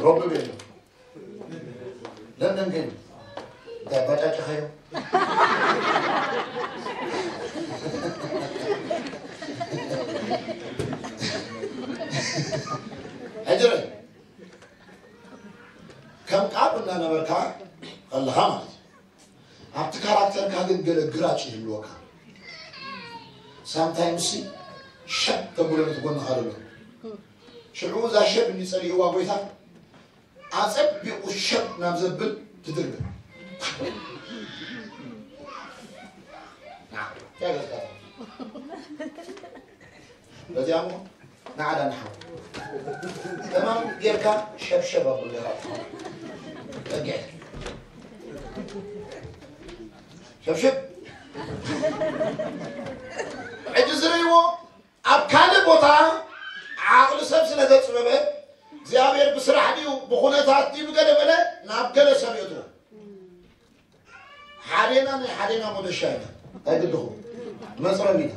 ሮቢ ቤሎ። ለንደን ከይዱ እንታይ ባጫጭኻዮ? ሕጂ ርእ፣ ከም ቃሉ እናነበርካ ከለኻ ማለት እዩ። ኣብቲ ካራክተርካ ግን ገለ ግራጭ ይህልወካ። ሳምታይምስ ሲ ሸብ ተብሎ ነቲ ጎንኻ ዘሎ። ሽዑ እዛ ሸብ እንዲጸልይዋ ጎይታ ኣጸቢቑ ሸብ ናብ ዘብል ትድርብን። ና፣ ያገዝካታ። በዚኣ እሞ ንዓዳ ንሓው። ተማም ጌርካ ሸብሸብ ኣብሉ ኢኻ። ጸጊዐ። ሸብሸብ። ሕጂ ዝርእይዎ ኣብ ካልእ ቦታ ዓቕሊ ሰብ ስለ ዘጽበበ እግዚኣብሔር ብስራሕ ድዩ ብኹነታት ድዩ ብገለ በለ ናብ ገለ ሰብ የእትዎ። ሓዴና ናይ ሓዴና ሞደሻ ኢና ኣይግድኹም መፅረብ ኢና።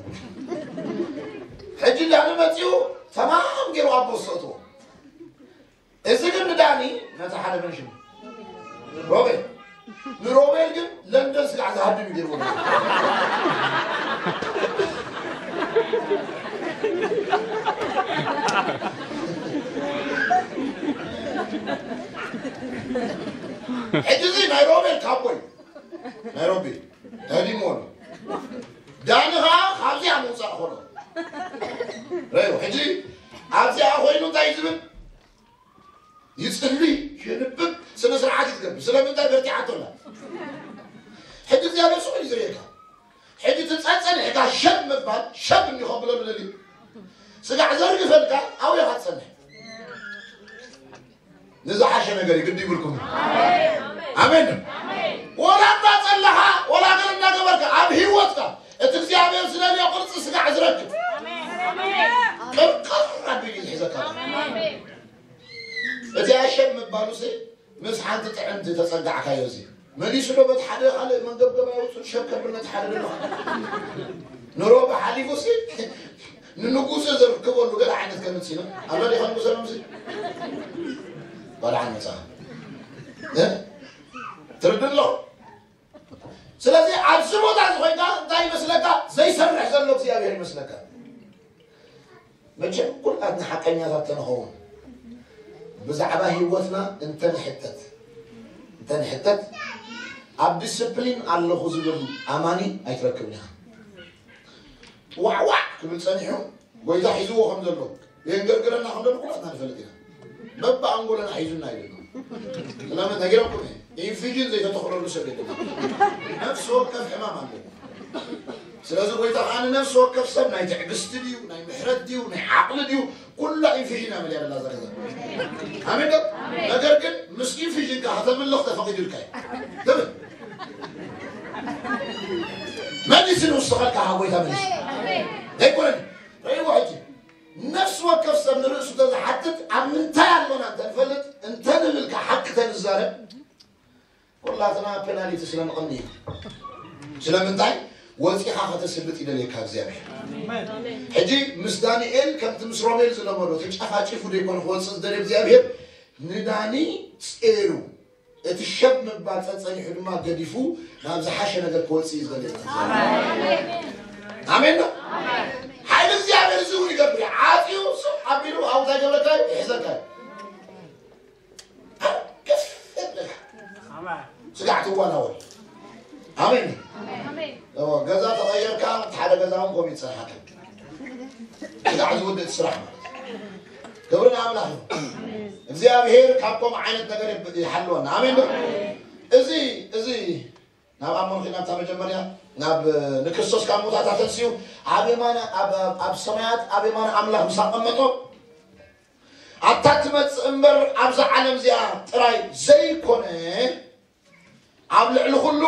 ሕጂ ዳኒ መፂኡ ተማም ገይሩ ኣብ ቦስ ዘእትዎ። እዚ ግን ንዳኒ ነቲ ሓደ መን ሽሙ ሮቤል ንሮቤል ግን ለንደን ስጋዕ ዝሃድም እዩ ገይርዎ። ሕጂ እዚ ናይ ሮቤል ካቦይ ናይ ሮቤል ተዲሞ ኣሎ። ዳኒ ኸዓ ካብዚኣ ምውፃእ ኾሎ ረዮ። ሕጂ ኣብዚኣ ኮይኑ እንታይ እዩ ዝብል? ይጽሊ፣ ይንብብ፣ ስነ ስርዓት ይትገብር። ስለምንታይ በርቲዓቶ ኣላ። ሕጂ እግዚኣብሔር ስቕ እዩ ዝርእየካ። ሕጂ ትጸጸንሕካ ሸብ ምባል ሸብ እንዲኾ ብለሉ ደልዩ ስጋዕ ዘርግፈልካ ኣብኡ ኢኻ ትጸንሕ። ንዝሓሸ ነገር ግዲ ይብልኩም። ኣሜን። ወላ እንዳጸለኻ ወላ ገለ እንዳገበርካ ኣብ ህይወትካ እቲ እግዚኣብሔር ዝደልዮ ቅርጺ ስጋዕ ዝረክብ ቅርቅር ኣቢሉ እዩ ዝሕዘካ። እቲ ኣሸብ ምባሉሲ ምስ ሓንቲ ጥዕምቲ ተጸጋዕካዮ እዚ መሊሱ ዶ በቲ ሓደ ካልእ መንገብገብ ኣውፅኡ ሸብ ከብል ነቲ ሓደ ደሎ ንሮቢ ሓሊፉሲ ንንጉሱ ዘርክበሉ ገለ ዓይነት ከምፅእ ኣሎ ዲኻ ንጉሰ ነምሲ ባልዓን መፅኣ ትርድ ኣለኹ። ስለዚ ኣብዚ ቦታ እዚ ኮይንካ እንታይ ይመስለካ? ዘይሰርሕ ዘሎ እግዚኣብሔር ይመስለካ። መቸም ኩላትና ሓቀኛታት ተንኸውን ብዛዕባ ህይወትና እንተንሕተት እንተንሕተት ኣብ ዲስፕሊን ኣለኹ ዝብል ኣማኒ ኣይትረክብን ኢኻ። ዋዕዋዕ ክብል ጸኒሑ ጎይታ ሒዝዎ ከም ዘሎ የንገርግረና ከም ዘሎ ኩላትና ንፈልጥ ኢና። በብኣንጎለና ሒዙና እዩ ዘሎ። ስለምን ነጊረኩም እየ። ኢንፊዥን ዘይተተኽለሉ ሰብ የለን። ነፍሲ ወከፍ ሕማም ኣለዎ። ስለዚ ጎይታ ከዓ ንነፍሲ ወከፍ ሰብ ናይ ትዕግስቲ ድዩ ናይ ምሕረት ድዩ ናይ ዓቕሊ ድዩ ኩላ ኢንፊዥን እያ መሊኣ ዘላ እዛ ገዛ። ኣሜን ዶ? ነገር ግን ምስ ኢንፊዥን ከዓ ከተምልኽ ተፈቒዱልካ እዩ። ትብል መሊሲ ንውስኸልካ ካብ ጎይታ መሊሲ ኣይኮነን። ረእይዎ ሕጂ ነፍሲ ወከፍ ሰብ ንርእሱ ተዝሓትት ኣብ ምንታይ ኣሎና እንተንፈልጥ እንተንብል ከዓ ሓቂ ተንዛረብ ኩላትና ፔናሊቲ ስለንቐኒ ኢና። ስለምንታይ ወፂኻ ከተስልጥ ይደልየካ እግዚኣብሔር። ሕጂ ምስ ዳንኤል ከምቲ ምስ ሮቤል ዝለመዶ ተጨፋጭፉ ዘይኮነ ክወፅእ ዝደልየ እግዚኣብሔር ንዳኒ ጼሩ፣ እቲ ሸብ ምባል ጸጸኒሑ ድማ ገዲፉ ናብ ዝሓሸ ነገር ክወጽእ እዩ ዝደሊ። ኣሜን ዶ? ሓይሊ እግዚኣብሔር እዚ እውን ይገብር እዩ። ዓጽዩ ሱቕ ኣቢሉ ኣብኡ እንታይ ይገብረካ እዩ? ይሕዘካ እዩ። ገፊሕ የብለካ። ስጋዕ ትዋናወል። ኣሜን። እዎ፣ ገዛ ተቐየርካ፣ ሓደ ገዛ እውን ከምኡ ይጸንሓካ። ስጋዕ ዝውድእ ስራሕ ማለት እዩ። ክብሪ ንኣምላኽ ይኹን። እግዚኣብሔር ካብ ከምኡ ዓይነት ነገር ይብ-፣ ይሓልወና። ኣሜን ዶ? እዚ፣ እዚ ናብ ኣሞን ኺድ ናብታ መጀመርያ ናብ ንክርስቶስ ካብ ሙታት ኣተንስኡ ኣብ የማን፣ ኣብ፣ ኣብ፣ ኣብ ሰማያት ኣብ የማን ኣምላኽ ምስ ኣቐመጦ፣ ኣታ ትመጽእ እምበር ኣብዛ ዓለም እዚኣ ጥራይ ዘይኮነ፣ ኣብ ልዕሊ ኩሉ፣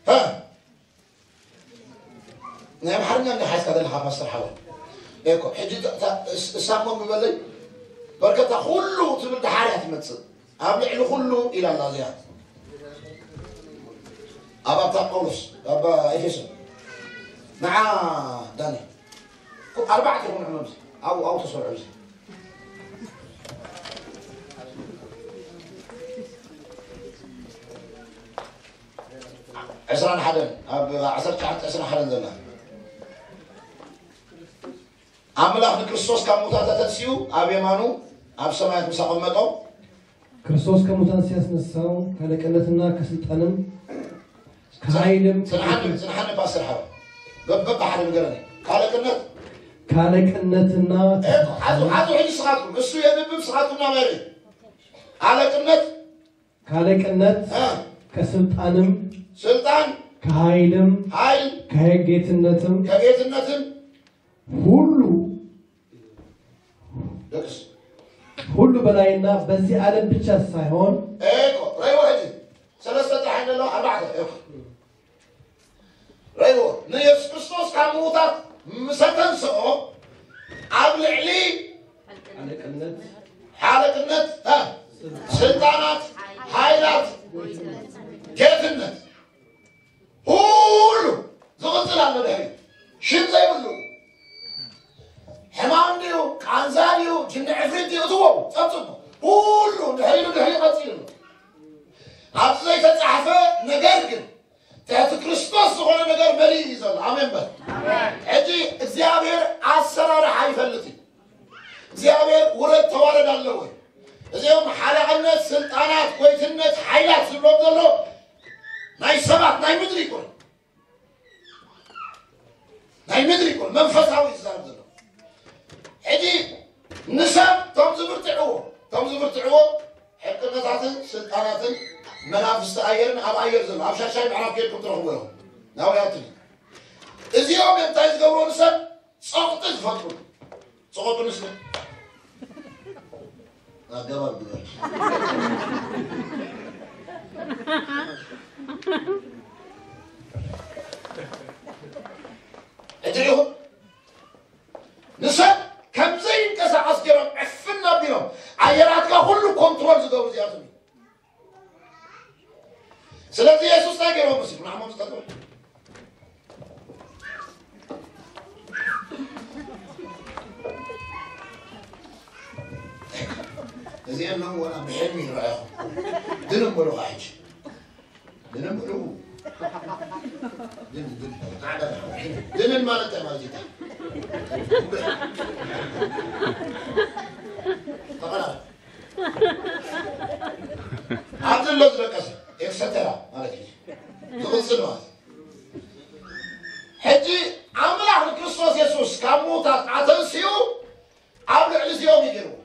ሀ? ናይ ኣምሓርኛ እንዲ ሓዝካ ዘለኻ ፓስተር ሓወይ? እኮ፣ ሕጂ ታ-፣ ታ-፣ እስ-፣ እሳሞ ምበለይ፣ በርከታ ኩሉ ትብል ደሓር እያ ትመጽእ። ኣብ ልዕሊ ኩሉ ኢላ ኣላ እዚኣ። ኣብ ኣብታ ጳውሎስ፣ ኣብ ኤፌሶን። ንዓ ዳኒ። ኩ-፣ ኣርባዕተ ይኹን ዕመም እዚ። ኣብኡ፣ ኣብኡ ተሰርዑ እዚ። ዕስራን ሓደን፣ ኣብ ዓሰርተ ትሽዓተ ዕስራን ሓደን ዘላ። ኣምላኽ ንክርስቶስ ካብ ሙታት ኣተንሲኡ ኣብ የማኑ ኣብ ሰማያት ምስ ኣቐመጦ። ክርስቶስ ከሙታን ሲያስነሳው ካለቅነትና ከስልጣንም ከኃይልም ጽንሓኒ፣ ጽንሓኒ ፓስተር ሓው። በበ ሓደ ንገረኒ። ካለቅነት? ካለቅነትና እኮ፣ ሓዙ፣ ሓዙ ሕጂ ስኻትኩም። እሱ የንብብ ስኻትኩም ናበሪ። ካለቅነት? ካለቅነት፣ እ። ከስልጣንም፣ ስልጣን፣ ከኃይልም፣ ኃይል፣ ከጌትነትም፣ ከጌትነትም፣ ሁሉ ደቅስ። ሁሉ በላይና በዚህ ዓለም ብቻ ሳይሆን እኮ፣ ረይዎ ሕጂ። ሰለስተ ጥራሕ ኣለዋ፣ ኣርባዕተ፣ እኮ። ረይዎ፣ ንየሱስ ክርስቶስ ካብ ምዉታት ምስ ኣተንስኦ፣ ኣብ ልዕሊ ሓለቅነት፣ ሓለቅነት፣ እ፣ ስልጣናት፣ ኃይላት፣ ጌትነት፣ ሁሉ ዝቕጽል ኣሎ ድሕሪ። ሽም ዘይብሉ። ሕማም ድዩ፣ ቃንዛ ድዩ፣ ጅኒ ዕፍሪት ድዩ፣ እትዎ፣ ጸብጽቦ። ሁሉ ድሕሪ ኢሉ ድሕሪ ቀጺሉ ኣሎ። ኣብዚ ዘይተጻሕፈ ነገር ግን፣ ትሕቲ ክርስቶስ ዝኾነ ነገር መሊኡ እዩ ዘሎ። ኣሜን በል። ኣሜን። ሕጂ እግዚኣብሔር ኣሰራርሓ ይፈልጥ እዩ። እግዚኣብሔር ውረድ ተዋረድ ኣለዎ። እዚኦም ሓለቕነት፣ ስልጣናት፣ ጎይትነት፣ ሓይላት ዝብሎም ዘሎ ናይ ሰባት፣ ናይ ምድሪ ይኮን። ናይ ምድሪ ይኮን። መንፈሳዊ እዩ ዝዛረብ ዘሎ። ሕጂ ንሰብ ቶም ዝብርትዕዎ፣ ቶም ዝብርትዕዎ ሕቅነታትን ስልጣናትን መናፍስቲ ኣየርን ኣብ ኣየር ዘሎ፣ ኣብ ሻሻይ ምዕራፍ ጌርኩም ትረኽብዎ ኢኹም። ናብያትን እዚኦም እንታይ ዝገብሩ ንሰብ ጸቕጢ ዝፈጥሩ። ጸቐጡ ንስለ ኣገባብ ግበር። ሕጂ ኢኹም ንሰብ ከም ዘይንቀሳቐስ ገይሮም ዕፍን ኣቢሎም ኣየራትካ ኩሉ ኮንትሮል ዝገብሩ እዚኣቶም እዮም። ስለዚ የሱስ እንታይ ገይሮም መሲሉ ንዓሞም ዝጠጥሩ? እዚኦም ሎም ወላ ብሕልሚ ይረኣኹም። ድንም በሉ ኸዓ ሕጂ። ድንን በሉ። ድንን፣ ድንን። ድንን ማለት እንታይ ማለት እዩ? ተቐራረብ። ኣብዚ ኣሎ ዝደቀሰ፣ ኤክሰተራ ማለት እዩ። ዝቕጽል ማለት እዩ። ሕጂ ኣምላኽ ንክርስቶስ የሱስ ካብ ምዉታት ኣተንሲኡ ኣብ ልዕሊ እዚኦም እዩ ገይርዎ።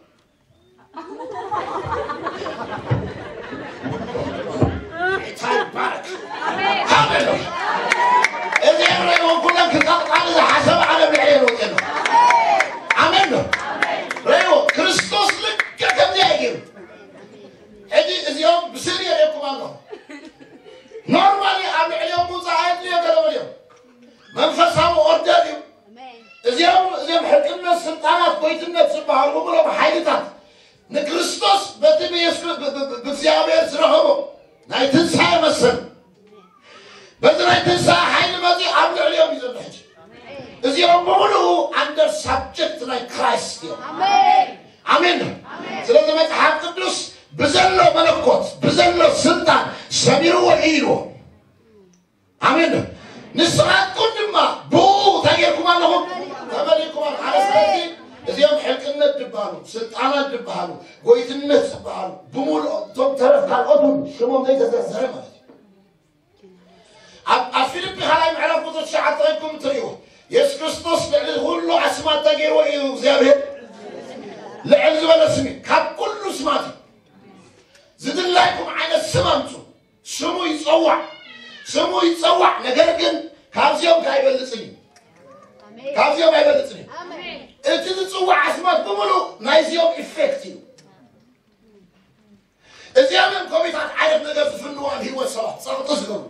ጌታ ይባረክ። ሃሌሉያ። እዚኦም ረይዎም ኩለን ክቐቕጣኒ ዝሓሰበ ዓለም ልዕሊ የለውጥ የሎ። ኣሜን ዶ? ረይዎ፣ ክርስቶስ ልክዕ ከምዚኣ እዩ ገይሩ። ሕጂ እዚኦም ብስእሊ የርእየኩም ኣለኹ። ኖርማሊ ኣብ ልዕሊኦም ምውፃእ ኣየድልዮ ገለ በልዮም። መንፈሳዊ ኦርደር እዩ። እዚኦም፣ እዚኦም ሕቅነት፣ ስልጣናት፣ ጎይትነት ዝበሃሉ ብምሎም ሓይልታት ንክርስቶስ በቲ ብየሱስ፣ ብ-፣ ብ-፣ ብ-፣ ብእግዚኣብሔር ዝረኸቦ ናይ ትንሳኤ መሰል፣ በዚ ናይ ትንሳኤ ሓይሊ መፂኡ ኣብ ልዕሊኦም እዩ ዘሎ ሕጂ። እዚኦም ብምሉኡ ኣንደር ሳብጀክት ናይ ክራይስት እዮም። ኣሜን። ኣሜን። ስለዚ መጽሓፍ ቅዱስ ብዘሎ መለኮት ብዘሎ ስልጣን ሰሚርዎ እዩ ኢልዎ። ኣሜን። ንስኻትኩም ድማ ብኡ እንታይ ጌርኩም ኣለኹም? ተመሊእኩም ኣለኹም። ኣነ ስለዚ እዚኦም ሕልቅነት ዝበሃሉ፣ ስልጣናት ዝበሃሉ፣ ጎይትነት ዝበሃሉ ብምሉኦም እቶም ተረፍ ካልኦት እውን ሽሞም ዘይተዘርዘረ ማለት እዩ። ኣብ ኣብ ፊልጲ ካልኣይ ምዕራፍ ቁፅሪ ትሽዓተ ኮይንኩም እትርእይዎ የሱስ ክርስቶስ ልዕሊ ኩሉ ኣስማት እንታይ ገይርዎ እዩ እግዚኣብሔር? ልዕል ዝበለ ስም እዩ። ካብ ኩሉ ስማት እዩ። ዝድላይኩም ዓይነት ስም ኣምፁ። ስሙ ይፀዋዕ፣ ስሙ ይፀዋዕ። ነገር ግን ካብዚኦም ከ ኣይበልፅን እዩ። ካብዚኦም ኣይበልፅን እዩ። እቲ ዝፅዋዕ ኣስማት ብምሉእ ናይዚኦም ኢፌክት እዩ። እዚኦም እዮም ከመይታት ዓይነት ነገር ዝፍንዎ ኣብ ህይወት ሰባት ፀቕጢ ዝገብሩ።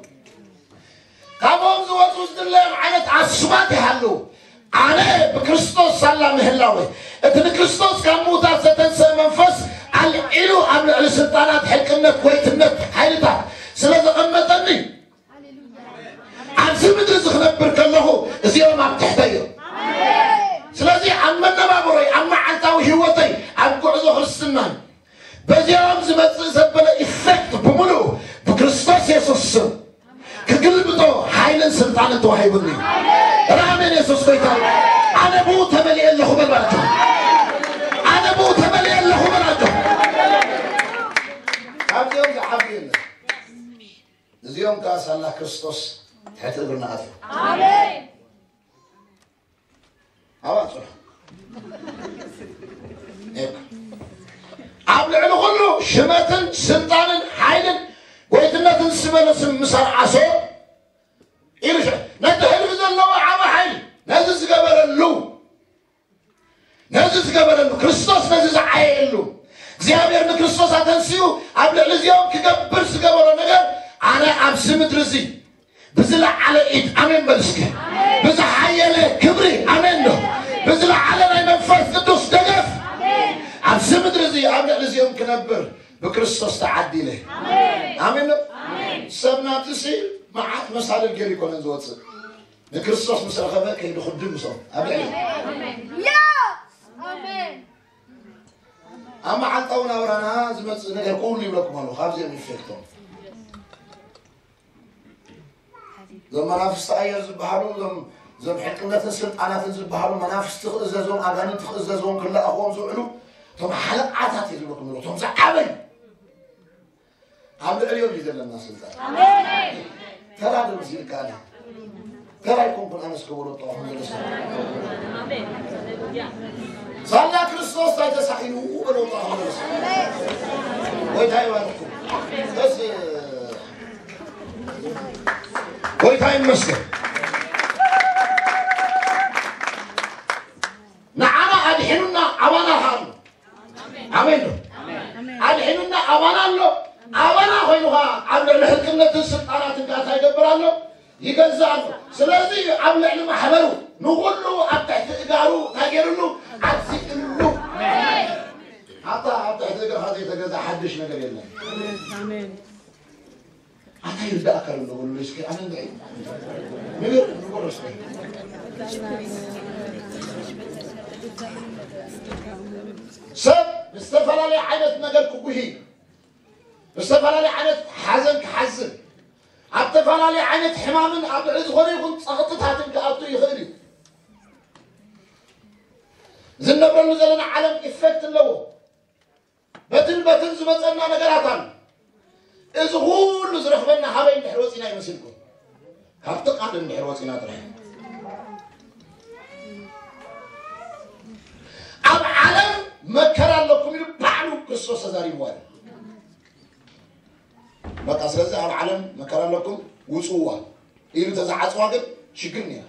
ካብኦም ዝወፁ ዝድለዮም ዓይነት ኣስማት ይሃልዉ። ኣነ ብክርስቶስ ሳላ ምህላወ እቲ ንክርስቶስ ካብ ምዉታት ዘተንሰ መንፈስ ኣልዒሉ ኣብ ልዕሊ ስልጣናት ሕልቅነት ጎይትነት ሓይልታት ስለ ዘቐመጠኒ ኣብዚ ምድሪ እዚ ክነብር ከለኹ እዚኦም ኣብ ትሕተይ እዮም። ስለዚ ኣብ መነባብሮይ ኣብ መዓልታዊ ህይወተይ ኣብ ጉዕዞ ክርስትናይ በዚኦም ዝመጽእ ዘበለ ኢፌክት ብምሉኡ ብክርስቶስ የሱስ ስም ክግልብጦ ሓይልን ስልጣንን ተዋሂቡኒ። ራሜን የሱስ ጎይታ እዩ። ኣነ ብኡ ተመሊኤ ኣለኹ በል ማለት እዩ። ኣነ ብኡ ተመሊኤ ኣለኹ በል ኣጆ። ካብዚኦም ዝዓቢ የለን። እዚኦም ከኣ ሳላ ክርስቶስ ትሕቲ እግርና ኣትዮም። ኣሜን። ኣብኣ ጽንሑ። እወ። ኣብ ልዕሊ ኩሉ ሽመትን ስልጣንን ሓይልን ጎይትነትን ዝበለ ስም ምስ ኣርዓሶ ኢሉ ሸ-፣ ነቲ ህልፊ ዘለዎ ዓቢ ሓይሊ ነዚ ዝገበረሉ ነዚ ዝገበረሉ፣ ክርስቶስ ነዚ ዝዓየሉ፣ እግዚኣብሔር ንክርስቶስ ኣተንሲኡ ኣብ ልዕሊ እዚኦም ክገብር ዝገበሮ ነገር፣ ኣነ ኣብዚ ምድሪ እዚ ብዝለዓለ ኢድ፣ ኣሜን በል እስከ፣ ብዝሓየለ ክብሪ፣ ኣሜን ዶ፣ ብዝለዓለ ናይ መንፈስ ቅዱስ ደገፍ፣ ኣብዚ ምድሪ እዚ ኣብ ልዕሊ እዚኦም ክነብር ብክርስቶስ ተዓዲለ። ኣሜን ዶ? ሰብ ናብዚ ሲል መዓት መሳልል ገይሩ ይኮነን ዝወፅእ። ንክርስቶስ ምስ ረኸበ ከይዱ ክድም ምስኦም ኣብ ልዕሊ ኣሜን። ኣብ መዓልታዊ ናብራና ዝመጽእ ነገር ኩሉ ይብለኩም ኣለኹ። ካብዚኦም ኢፌክቶም እዞም መናፍስቲ ኣየር ዝበሃሉ፣ እዞም እዞም ሕልቅነትን ስልጣናትን ዝበሃሉ መናፍስቲ ክእዘዞም፣ ኣጋንንቲ ክእዘዞም ክለኣኽዎም ዝውዕሉ እቶም ሓለቓታት እየ ዝብለኩም ኣለኹ። እቶም ዝዓበዩ ኣብ ልዕሊኦም እዩ ዘለና ስልጣን። ኣሜን። ተራ ዶ መሲልካ ኣነ? ተራ ኣይኮንኩን ኣነስ ክበሎ ጠዋኹም ዘሎ ሰብ። ኣሜን። ሳላ ክርስቶስ እንታይ ተሳኢኑ በሎ ጠዋኹም ዘሎ ሰብ። ጎይታ ይባርኩም። ደስ ጎይታ ይመስገን። ንዓና ኣድሒኑና ኣባና ኸኣ ኣሎ። ኣሜን ዶ? ኣድሒኑና ኣባና ኣሎ። ኣባና ኮይኑ ኸዓ ኣብ ልዕሊ ሕልቅነትን ስልጣናትን ከኣ እንታይ ይገብር ኣሎ? ይገዝእ ኣሎ። ስለዚ ኣብ ልዕሊ ማሕበሩ ንኹሉ ኣብ ትሕቲ እጋሩ እንታይ ገይሩሉ? ኣዚእሉ። ኣታ ኣብ ትሕቲ እግርኻ ዘይተገዝኣ ሓድሽ ነገር የለን። ኣታ ይርዳእካ ኣሎ በሉ እስኪ ኣነ እንታይ ንገር ንጎረስ ሰብ ብዝተፈላለየ ዓይነት ነገር ክጉሂ ብዝተፈላለየ ዓይነት ሓዘን ክሓዝን ኣብ ዝተፈላለየ ዓይነት ሕማምን ኣብ ልዕሊ ዝኾነ ይኹን ጸቕጥታትን ክኣቱ ይኽእል እዩ። ዝነብረሉ ዘለና ዓለም ኢፌክት ኣለዎ። በትን በትን ዝመጸና ነገራት ኣሎ። እዚ ኩሉ ዝረኽበና ሃበይ እንድሕር ወጺና ይመስልኩም? ካብቲ ቃል እንድሕር ወጺና ጥራይ። ኣብ ዓለም መከራ ኣለኩም ኢሉ ባዕሉ ክርስቶስ ተዛሪብዋ እዩ። በቃ ስለዚ ኣብ ዓለም መከራ ኣለኩም ውጽዋ ኢሉ ተዝዓጽዋ ግን ሽግር ነይራ።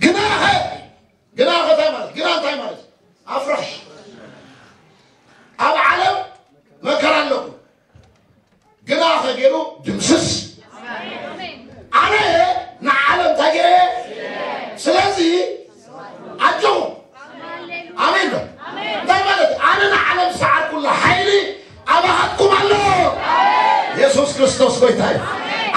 ግናኸ ግና እንታይ ማለት ግና እንታይ ማለት ኣፍራሽ ኣብ ዓለም መከራ ኣለኩም ግና ከገይሩ ድምስስ ኣነ ንዓለም እንታይ ገይረ ስለዚ ኣጆኹም ኣሜን ዶ እንታይ ማለት ኣነ ንዓለም ዝሰዓርኩላ ሓይሊ ኣባኻትኩም ኣሎ የሱስ ክርስቶስ ጎይታ እዩ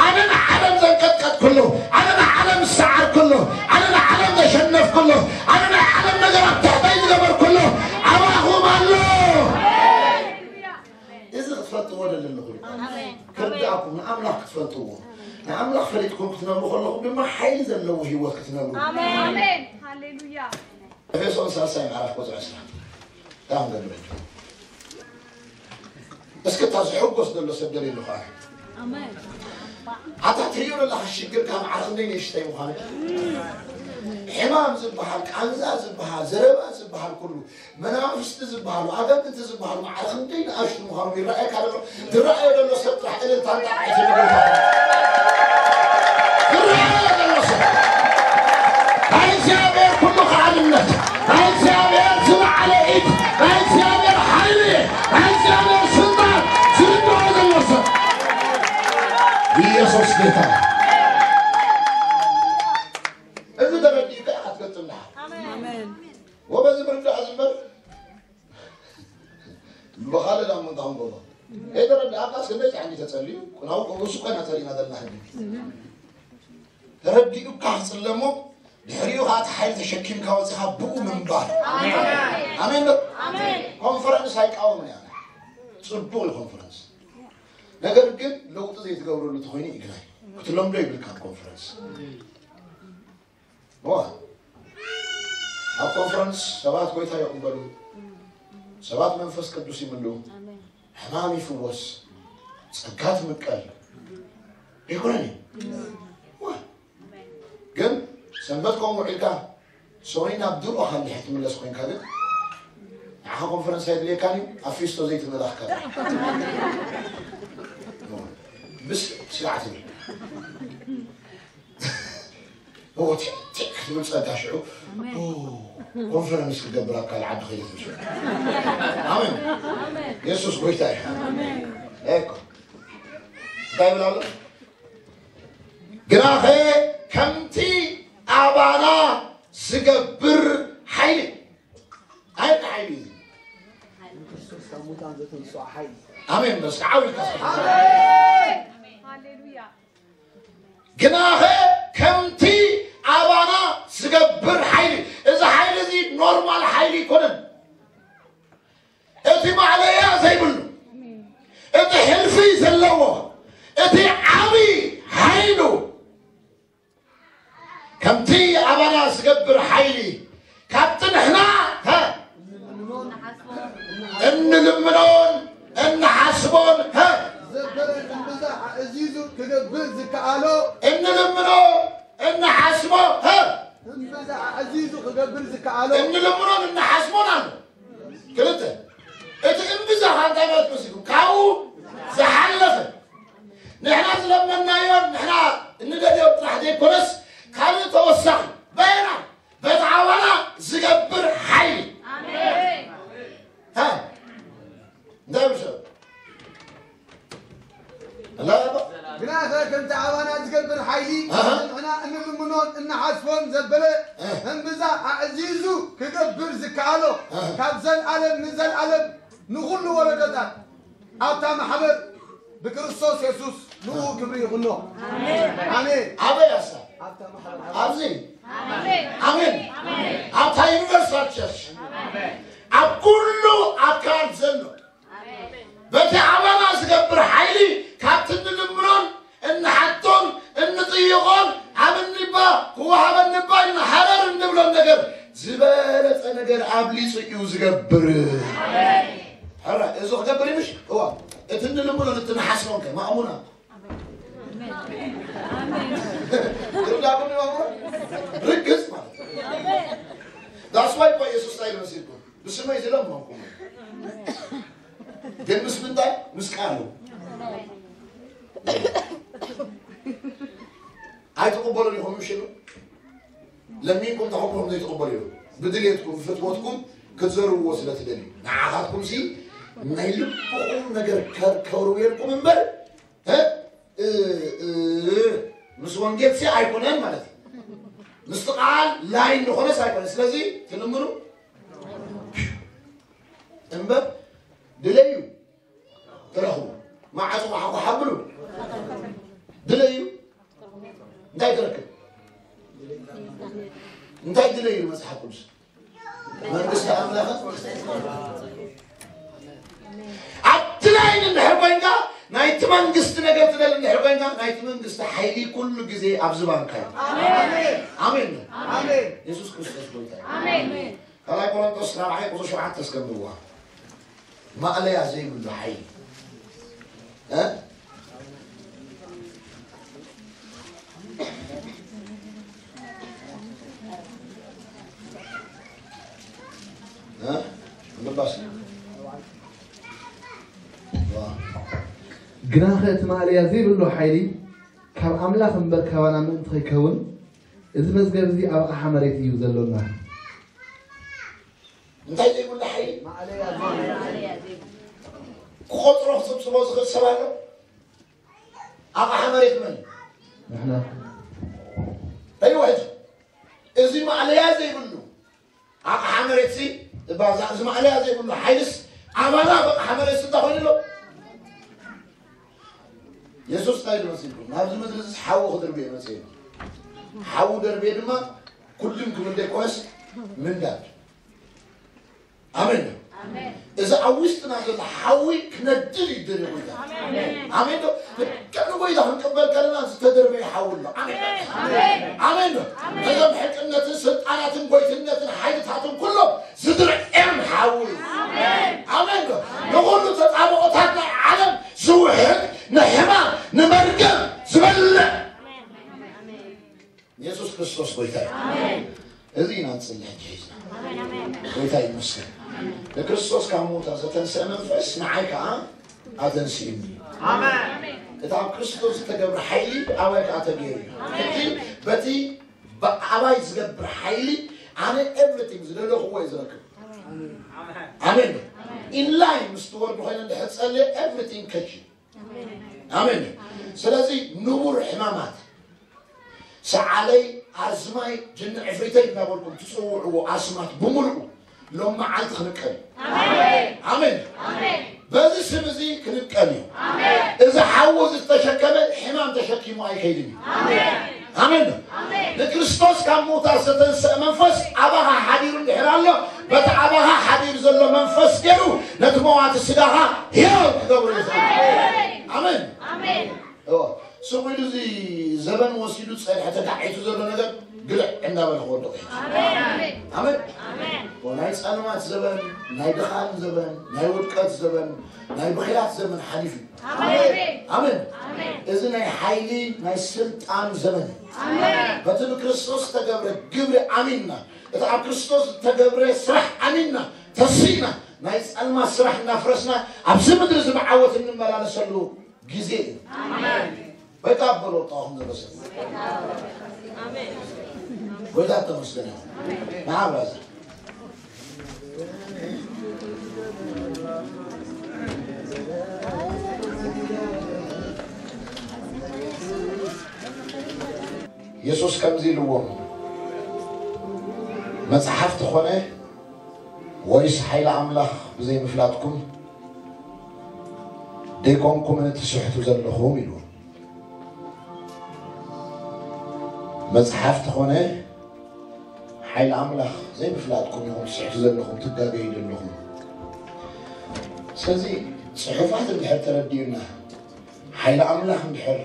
ኣነ ንዓለም ዘንቀጥቀጥኩሉ ኣነ ንዓለም ዝሰዓርኩሉ ኣነ ንዓለም ዘሸነፍኩሉ ኣነ ናይ ዓለም ነገር ኣብ ትሕተይ ዝገበርኩሉ ኣሜን። ክርዳእኩም፣ ንኣምላኽ ክትፈልጥዎ። ንኣምላኽ ፈሊጥኩም ክትነብሩ ከለኹም ድማ ሓይሊ ዘለዎ ህይወት ክትነብሩ። ኣሜን። ኣሜን። ሃሌሉያ። ኤፌሶን ሳልሳይ ምዕራፍ ቁጽሪ ዕስራ። ዳም ገድበል። እስኪ እታ ዝሕጎስ ዘሎ ሰብ ደልየሉ ኸዓ። ኣሜን። ኣታ ትርእዮ ዘለኻ ሽግር ካብ ዓርኺ ክንደይ ንእሽተይ ምዃኑ። ሕማም ዝበሃል፣ ቃንዛ ዝበሃል፣ ዘረባ ዝበሃል ኩሉ፣ መናፍስቲ ዝበሃሉ፣ ኣጋንንቲ ዝበሃሉ ማዕረ ክንደይ ንኣሽቱ ምዃኖም ይረኣየካ ዘሎ። ዝረኣየ ዘሎ ሰብ ጥራሕ እልልታን ጣቕዒትን ይግበር። ዝረኣየ ዘሎ ሰብ። ናይ እግዚኣብሔር ኩሉ ከኣልነት፣ ናይ እግዚኣብሔር ዝለዓለ ኢድ፣ ናይ እግዚኣብሔር ሓይሊ፣ ናይ እግዚኣብሔር ስልጣን ዝርድኦ ዘሎ ሰብ። ኢየሱስ ጌታ። እዚ ተረዲእካ ኢኻ ትገጥም ደሓር። ኣሜን። ወበዚ ምርዳእ ዝንበር ብኻልእ ዳሞ እንታይ ንገብሮ? ከይተረዳእካስ ክንደይ ጫኒ ተጸልዩ? ናብኡ እሱ ኮይና ጸሊእና ዘለና ሕጂ። ተረዲኡካ ክጽለሞ፣ ድሕሪኡ ኸዓ እቲ ሓይሊ ተሸኪምካ ወጺኻ ብኡ ምንባር። ኣሜን። ኣሜን ዶ? ኣሜን። ኮንፈረንስ ኣይቃወምን እያ። ጽቡቕ እዩ ኮንፈረንስ። ነገር ግን ለውጢ ዘይትገብረሉ ተኾይኑ ይግናይ። ክትለምዶ ይብልካ ኮንፈረንስ። ዋ፣ ኣብ ኮንፈረንስ ሰባት ጎይታ ይቕበሉ፣ ሰባት መንፈስ ቅዱስ ይምልኡ፣ ኣሜን። ሕማም ይፍወስ፣ ጸጋ ትምቀል። ኣይኮነን እዩ? ዋ፣ ግን ሰንበት ከምኡ ውዒልካ፣ ሶኒ ናብ ድሮ ካልሕ ትምለስ ኮይንካ ግን፣ ንዓኻ ኮንፈረንስ ኣይድልየካን እዩ፣ ኣብ ፊስቶ ዘይትመላኽካ። ምስ ስርዓት እዩ። እዎ፣ ቲክ፣ ቲክ ክትብል ጸጋ ሽዑ፣ ኣሜን። ኦ፣ ኮንፈረንስ ክገብር ኣብ ካልእ ዓዲ ከይደ ትብል ሽዑ። ኣሜን። ኣሜን። የሱስ ጎይታ እዩ። ኣሜን። እኮ። እንታይ ይብል ኣሎ? ግናኸ ከምቲ ኣባና ዝገብር ሓይሊ። እንታይ ሓይሊ እዩ? ክርስቶስ ካብ ሙታን ዘተንስኦ ሓይሊ። ኣሜን። በስ ዓው ኢልካ እስኪ። ኣሜን። ሃሌሉያ። ግናኸ ከምቲ ኣባና ዝገብር ሓይሊ፣ እዚ ሓይሊ እዚ ኖርማል ሓይሊ ኣይኮነን። እቲ ማዕለያ ዘይብሉ፣ እቲ ሕልፊ ዘለዎ፣ እቲ ዓቢ ሓይሉ፣ ከምቲ ኣባና ዝገብር ሓይሊ፣ ካብቲ ንሕና፣ ሃ፣ እንልምኖን እንሓስቦን፣ ሃ፣ ዘበለ እምብዛ ኣዕዚዙ ክገብር ዝከኣሎ። እንልምኖ እንሓስቦ፣ ሃ፣ እምብዛ ኣዕዚዙ ክገብር ዝከኣሎ። እንልምኖን እንሓስቦን ኣሎ። ክልተ። እቲ እምብዛ እንታይ ማለት መሲልኩም? ካብኡ ዝሓለፈ። ንሕና ዝለመናዮን ንሕና እንደልዮን ጥራሕ ዘይኮነስ፣ ካልእ ተወሳኺ። በየና? በቲ ኣባና ዝገብር ሓይሊ። ኣሜን። ሃ? እንታይ ይብል ሰብ? ኣላ ያባ? ግናኸ ከምቲ ኣባና ዝገብር ሓይሊ፣ ኣሃ። ንሕና እንልምኖን እንሓስቦን ዘበለ፣ ኣሃ። እምብዛ ኣዕዚዙ ክገብር ዝከኣሎ፣ ኣሃ። ካብ ዘልኣለም ንዘልኣለም ንኹሉ ወለዶታት ኣብታ ማሕበር ብክርስቶስ የሱስ ንኡ ክብሪ ይኹኖ። ኣሜን። ኣሜን። ኣበይ ኣሳ? ኣብታ ማሕበር። ኣብዚ? ኣሜን። ኣሜን። ኣብታ ዩኒቨርሳል ቸርች። ኣብ ኩሉ ኣካል ዘሎ። በቲ ኣባና ዝገብር ሓይሊ ካብቲ እንልምኖን እንሓቶን እንጥይቖን ኣብ እኒባ ክወሃበኒ እባ ኢልና ሃረር እንብሎን ነገር ዝበለጸ ነገር ኣብሊጹ እዩ ዝገብር። ሕራ፣ እዚ ክገብር እዩ ምሽ? እዋ፣ እቲ እንልምኖን እቲ ንሓስቦን ከ ማእሙና። ትርዳእኩም እዩ ማእሙና? ርግጽ ማለት እዩ። That's why እኮ የሱስ እንታይ ኢሉ መሲልኩም? ብስመይ ዝለመንኩም። ግን ምስ ምንታይ? ምስ ቃሉ። ኣይትቕበሉን ኢኹም ምሽ ኢሉ? ለሚንኩም ተኸብኩም ዘይትቕበሉ ኢኹም። ብድልየትኩም፣ ብፍትወትኩም ክትዘርብዎ ስለ ትደልዩ። ንዓኻትኩም ሲ ናይ ልብኹም ነገር ከ-፣ ከውርውየልኩም እምበር፣ እ፣ እ፣ እ፣ ምስ ወንጌል ሲ ኣይኮነን ማለት እዩ። ምስቲ ቃል ላይን ዝኾነስ ኣይኮነን። ስለዚ ትልምኑ እምበር ድለዩ። ትረኽቡ። ማዕጾ ኳሓኳሓ ብሉ። ድለዩ። እንታይ ትረክብ? እንታይ ድለዩ መጽሓፍ ቅዱስ? መንግስቲ ኣምላኽ። ኣብቲ ላይን እንድሕር ኮይንካ ናይ ናይቲ መንግስቲ ነገር ትደሊ እንድሕር ኮይንካ፣ ናይቲ መንግስቲ ሓይሊ ኩሉ ግዜ ኣብ ዝባንካ እዩ። ኣሜን። ኣሜን። ኣሜን። የሱስ ክርስቶስ ጎይታ እዩ። ኣሜን። ካልኣይ ቆሮንቶስ ራብዓይ ቁጽሪ ሸውዓተ እስከ ንብዋ። ማእለያ ዘይብሉ ሓይሊ። እ? እ? ምባስ። ዋ። ግናኸ እቲ ማእለያ ዘይብሉ ሓይሊ ካብ ኣምላኽ እምበር ካባና ምእንቲ ከይከውን፣ እዚ መዝገብ እዚ ኣብ ኣቕሓ መሬት እዩ ዘሎና። እንታይ ዘይብሉ ሓይሊ? ክቖጽሮ ክጽብጽቦ ዝኽእል ሰብ ኣሎ? ኣቕሓ መሬት መን እዩ? ንሕና። እዩ ሕጂ። እዚ ማእለያ ዘይብሉ ኣቕሓ መሬትሲ፣ እባ እዛ፣ እዚ ማእለያ ዘይብሉ ሓይልስ ኣባና ኣብ ኣቕሓ መሬትሲ እንታይ ኮይኑ ኣሎ? የሱስ እንታይ ኢሉ መሲልኩም? ናብዚ ምድሪ እዚ ሓዊ ክድርብየ መጽእ እዩ። ሓዊ ደርብየ ድማ ኩሉም ክብል ዘይኮነስ ምንዳድ። ኣሜን ዶ? ኣሜን። እዚ ኣብ ውሽጥና ዘሎ ሓዊ ክነድድ እዩ ደልዩ ጎይታ። ኣሜን። ኣሜን ዶ? ልክዕ ንጎይታ ክንቅበል ከለና ዝተደርበየ ሓዊ ኣሎ። ኣሜን ዶ? ኣሜን። ኣሜን ዶ? ኣሜን። ነዞም ሕቅነትን ስልጣናትን ጎይትነትን ሓይልታትን ኩሎም ዝድርዕም ሓዊ እዩ። ኣሜን። ኣሜን ዶ? ንኹሉ ተጣብኦታት ናይ ዓለም ዝውሕድ፣ ንሕማም፣ ንመርገም ዝበልዕ። ኣሜን። ኣሜን። የሱስ ክርስቶስ ጎይታ እዩ። ኣሜን። እዚ ኢና ንጽሊ ሕጂ ሒዝና። ኣሜን፣ ኣሜን። ጎይታ ይመስገን። ንክርስቶስ ካብ ምዉታት ዘተንስአ መንፈስ ንዓይ ከኣ ኣተንስእኒ። ኣሜን። እቲ ኣብ ክርስቶስ ዝተገብረ ሓይሊ ኣባይ ከኣ ተገይሩ እዩ። ሕጂ በቲ ብኣባይ ዝገብር ሓይሊ ኣነ ኤቭሪቲንግ ዝደለኽዎ እየ ዝረክብ። ኣሜን። ኢንላይን ምስ ትወርዱ ኮይነ እንድሕር ጸልየ ኤቭሪቲንግ ከች እዩ። ኣሜን። ስለዚ ንቡር ሕማማት፣ ሰዓለይ፣ ኣዝማይ፣ ጅኒ ዕፍሪተይ እናበልኩም ትጽውዕዎ ኣስማት ብምሉኡ ሎም መዓልቲ ክንቀል እዩ። ኣሜን። ኣሜን። ኣሜን። በዚ ስም እዚ ክንቀል እዩ። ኣሜን። እዚ ሓዊ እዚ ዝተሸከመ ሕማም ተሸኪሙ ኣይከይድን እዩ። ኣሜን። ኣሜን። ኣሜን። ንክርስቶስ ካብ ምዉታት ዘተንስአ መንፈስ ኣባኻ ሓዲሩ እንድሕር ኣሎ፣ በቲ ኣባኻ ሓዲሩ ዘሎ መንፈስ ገይሩ ነቲ መዋቲ ስጋኻ ህያው ክገብሮ እዩ ዝኽእል። ኣሜን። ኣሜን። ኣሜን። እዎ፣ ስቕ ኢሉ እዚ ዘበን ወሲዱ ጸኒሐ ተጋዒቱ ዘሎ ነገር ግልዕ እናበለ ክወድቕ እዩ። ኣሜን። ኣሜን። ኣሜን። ኣሜን። ናይ ጸልማት ዘበን፣ ናይ ድኻም ዘበን፣ ናይ ውድቀት ዘበን፣ ናይ ብኽያት ዘመን ሓሊፉ እዩ። ኣሜን። ኣሜን። ኣሜን። እዚ ናይ ሓይሊ፣ ናይ ስልጣን ዘመን እዩ። ኣሜን። በቲ ንክርስቶስ ዝተገብረ ግብሪ ኣሚንና፣ እቲ ኣብ ክርስቶስ ዝተገብረ ስራሕ ኣሚንና፣ ተሲእና፣ ናይ ጸልማት ስራሕ እናፍረስና፣ ኣብዚ ምድሪ እዚ ብዓወት እንመላለሰሉ ግዜ እዩ። ኣሜን። ወይታ በሎ፣ ጣኹም ዘሎ ሰብ። ኣሜን። ጎይታ ተመስገን ይኹን። ንዓ ብራዘር። የሱስ ከምዚ ኢልዎም፣ መጽሓፍቲ ኾነ ወይስ ሓይሊ ኣምላኽ ብዘይምፍላጥኩም ደይኮንኩምን ትስሕቱ ዘለኹም? ኢልዎም። መጽሓፍቲ ኾነ ሓይሊ ኣምላኽ ዘይምፍላጥኩም ኢኹም ትስሕቱ ዘለኹም፣ ትጋገዩ ዘለኹም። ስለዚ ጽሑፋት እንድሕር ተረዲኡና፣ ሓይሊ ኣምላኽ እንድሕር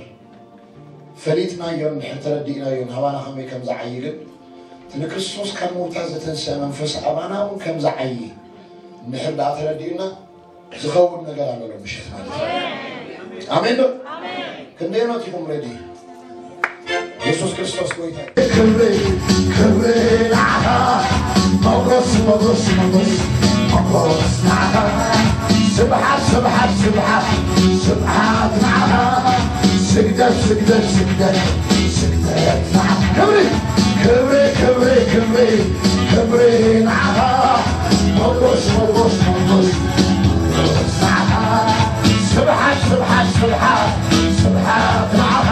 ፈሊጥናዮ፣ እንድሕር ተረዲእናዮ፣ ናባና ከመይ ከም ዝዓዪ ግን፣ እቲ ንክርስቶስ ካብ ምዉታት ዘተንስአ መንፈስ ኣባና እውን ከም ዝዓዪ እንድሕር ደኣ ተረዲኡና፣ ዝኸውን ነገር ኣሎ ሎም ምሸት ማለት እዩ። ኣሜን ዶ? ኣሜን። ክንደይ ኖት ኢኹም ሬዲ? የሱስ ክርስቶስ ጎይታ እዩ። ክብሪ፣ ክብሪ ንዓኻ። ሞጎስ፣ ሞጎስ፣ ሞጎስ፣ ሞጎስ ንዓኻ። ስብሓት፣ ስብሓት፣ ስብሓት፣ ስብሓት ንዓኻ። ስግደት፣ ስግደት፣ ስግደት፣ ስግደት ንዓኻ። ክብሪ፣ ክብሪ፣ ክብሪ፣ ክብሪ፣ ክብሪ ንዓኻ። ሞጎስ፣ ሞጎስ፣ ሞጎስ፣ ሞጎስ ንዓኻ። ስብሓት፣ ስብሓት፣ ስብሓት፣ ስብሓት ንዓኻ።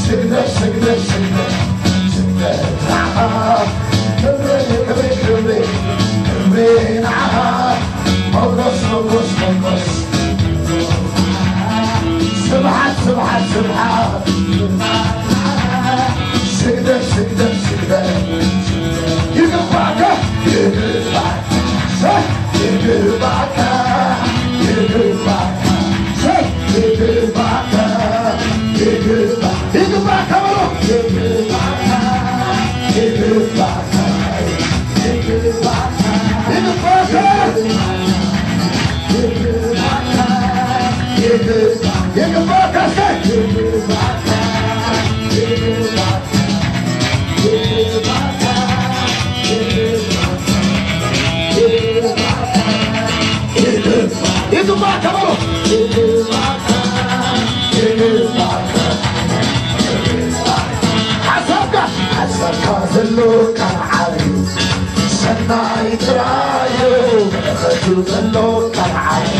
ስግደት፣ ስግደት፣ ስግደት፣ ስግደት ንዓኻ። ክብሪ፣ ክብሪ፣ ክብሪ፣ ክብሪ ንዓኻ። ሞጎስ፣ ሞጎስ፣ ሞጎስ። ስብሓት፣ ስብሓት፣ ስብሓት። ስግደት፣ ስግደት፣ ስግደት። ይግባካ፣ ይግባካ፣ ይግባካ፣ ይግባካ፣ ይግባካ። ሓሳብካ ሓሳብካ ዘሎ ካብ ዓቢ ሰናይ ጥራዩ በረኸቱ ዘሎ ካብ ዓቢ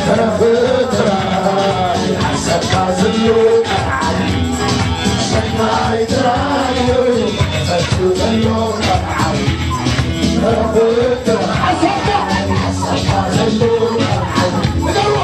በረኸት ጥራይ ሓሳብካ ዘሎ ካብ ዓቢ ሰናይ ጥራዩ በረኸቱ ዘሎ ካብ ዓቢ በረኸት ጥራይ ሓሳብካ ሓሳብካ ዘሎ ካብ ዓቢ ንገርዎ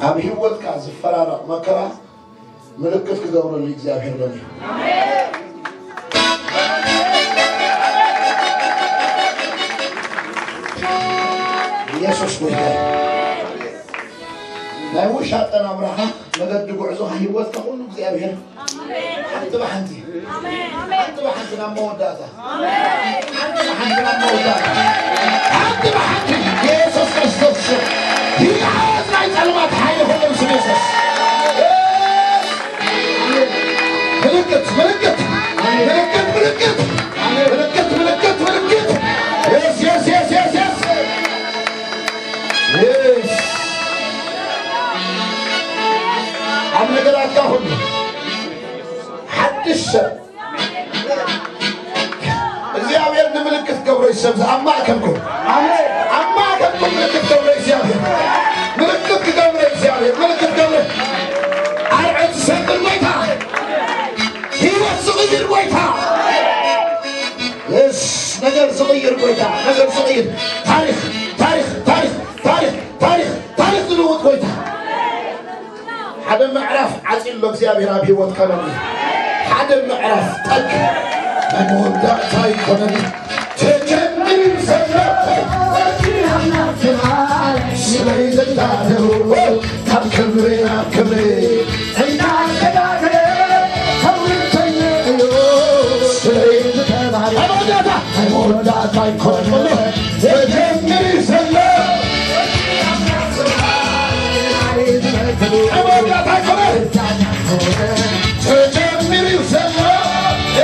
ኣብ ህይወትካ ዝፈራረቕ መከራ ምልክት ክገብረሉ እግዚኣብሔር ሎሚ ኢየሱስ ጎይታ እዩ። ናይ ውሻጠ ናብራኻ መገዲ ጉዕዞኻ ህይወትካ ኩሉ እግዚኣብሔር ሓንቲ ብሓንቲ ሓንቲ ብሓንቲ ናብ መወዳእታ ሓንቲ ብሓንቲ ናብ መወዳእታ ሓንቲ ብሓንቲ ምልክት ገብረ እግዚኣብሔር፣ ምልክት ክገብረ እግዚኣብሔር፣ ምልክት ገብረ ኣርዑት ዝሰቅል ጎይታ፣ ህይወት ዝቕይር ጎይታ። የስ፣ ነገር ዝቕይር ጎይታ፣ ነገር ዝቕይር፣ ታሪኽ፣ ታሪኽ፣ ታሪኽ፣ ታሪኽ፣ ታሪኽ፣ ታሪኽ ዝልውጥ ጎይታ። ሓደ ምዕራፍ ዓጺሎ እግዚኣብሔር ኣብ ህይወትካ ሎሚ። ሓደ ምዕራፍ ጠግ ናይ መወዳእታ ኣይኮነን። ተጀሚሩ ዘሎ ስለይ ዝዳለው ካብ ክብሪ ናብ ክብሪ እንዳተጋገረ ተውርተኛ እዩ ስለይ ዝተባለ መወዳእታ ኣይኮነን። ተጀሚሩ ዘሎ መወዳእታ ኣይኮነን። ተጀሚሩ ዘሎ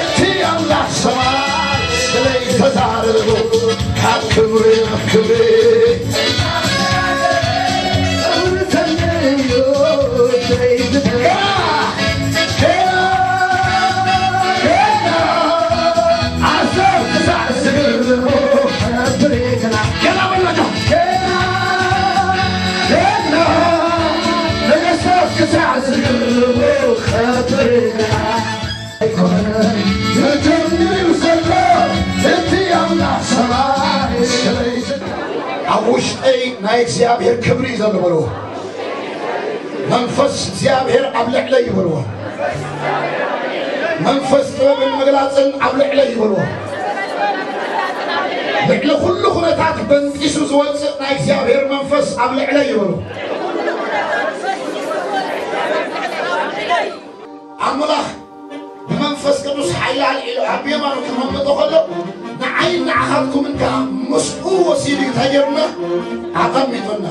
እቲ ኣምላኽ ሰማይ ስለይ ተዛረቡ ካብ ክብሪ ናብ ክብሪ ኣብ ውሽጠይ ናይ እግዚኣብሔር ክብሪ እዩ ዘሎ በልዎ። መንፈስ እግዚኣብሔር ኣብ ልዕለይ ይበልዎ። መንፈስ ጥበብን ምግላጽን ኣብ ልዕለይ ይበልዎ። ልዕሊ ኩሉ ኩነታት በንጢሱ ዝወጽእ ናይ እግዚኣብሔር መንፈስ ኣብ ልዕለይ ይበልዎ። ኣምላኽ ብመንፈስ ቅዱስ ሓይሊ ኣልዒሉ ኣብ የማኑ ከመምጦ ከሎ ንዓይን ንዓኻትኩምን ከዓ ምስኡ ወሲዱ እዩ እንታይ ገይሩና? ኣቐሚጡና።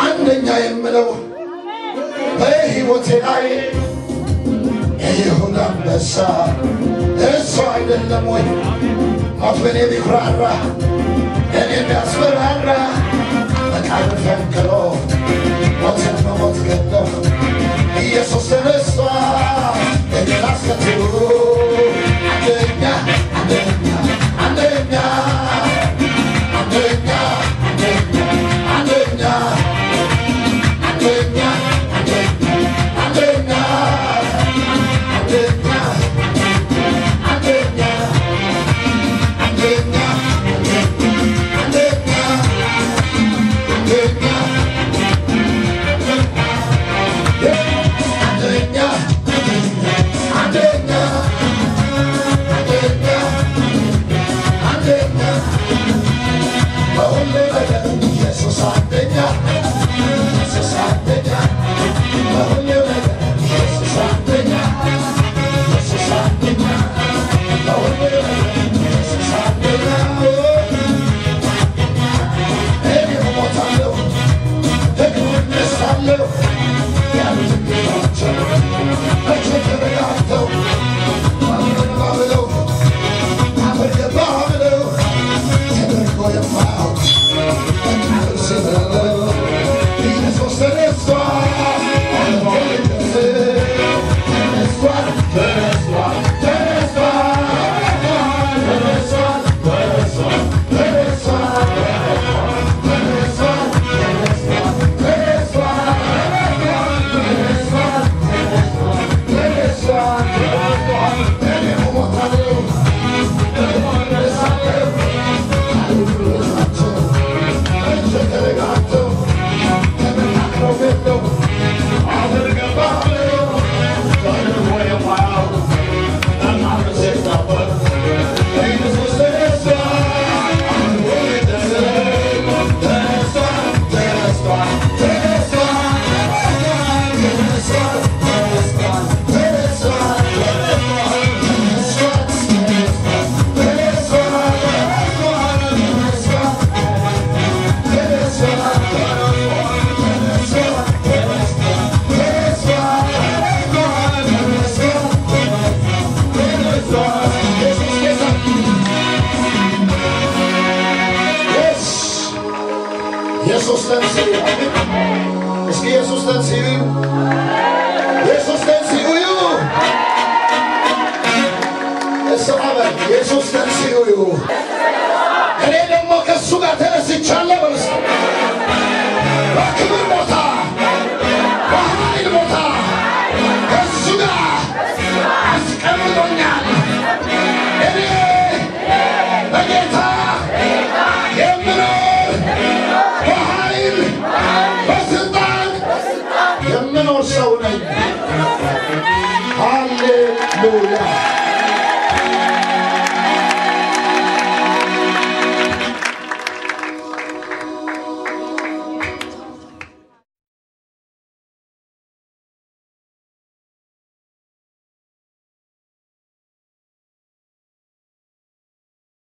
አንደኛ የምለው በህይወቴ ላይ የይሁዳ አንበሳ እሱ አይደለም ወይ? ሞት በኔ ቢኩራራ እኔ ቢያስፈራራ መቃብር ፈንቅሎ ሞትን በሞት ገደፍ ኢየሱስ ተነስቷል። እኔን አስከትሎ አንደኛ አንደኛ አንደኛ አንደኛ አንደኛ አንደኛ አንደኛ አንደኛ ኢየሱስ ተንስኡ እዩ። እስኪ ኢየሱስ ተንስኡ እዩ። ኢየሱስ ተንስኡ እዩ። እስኻ በል፣ ኢየሱስ ተንስኡ እዩ። እኔ ደግሞ ከእሱ ጋር ተነስቻለሁ በሉ እስኪ።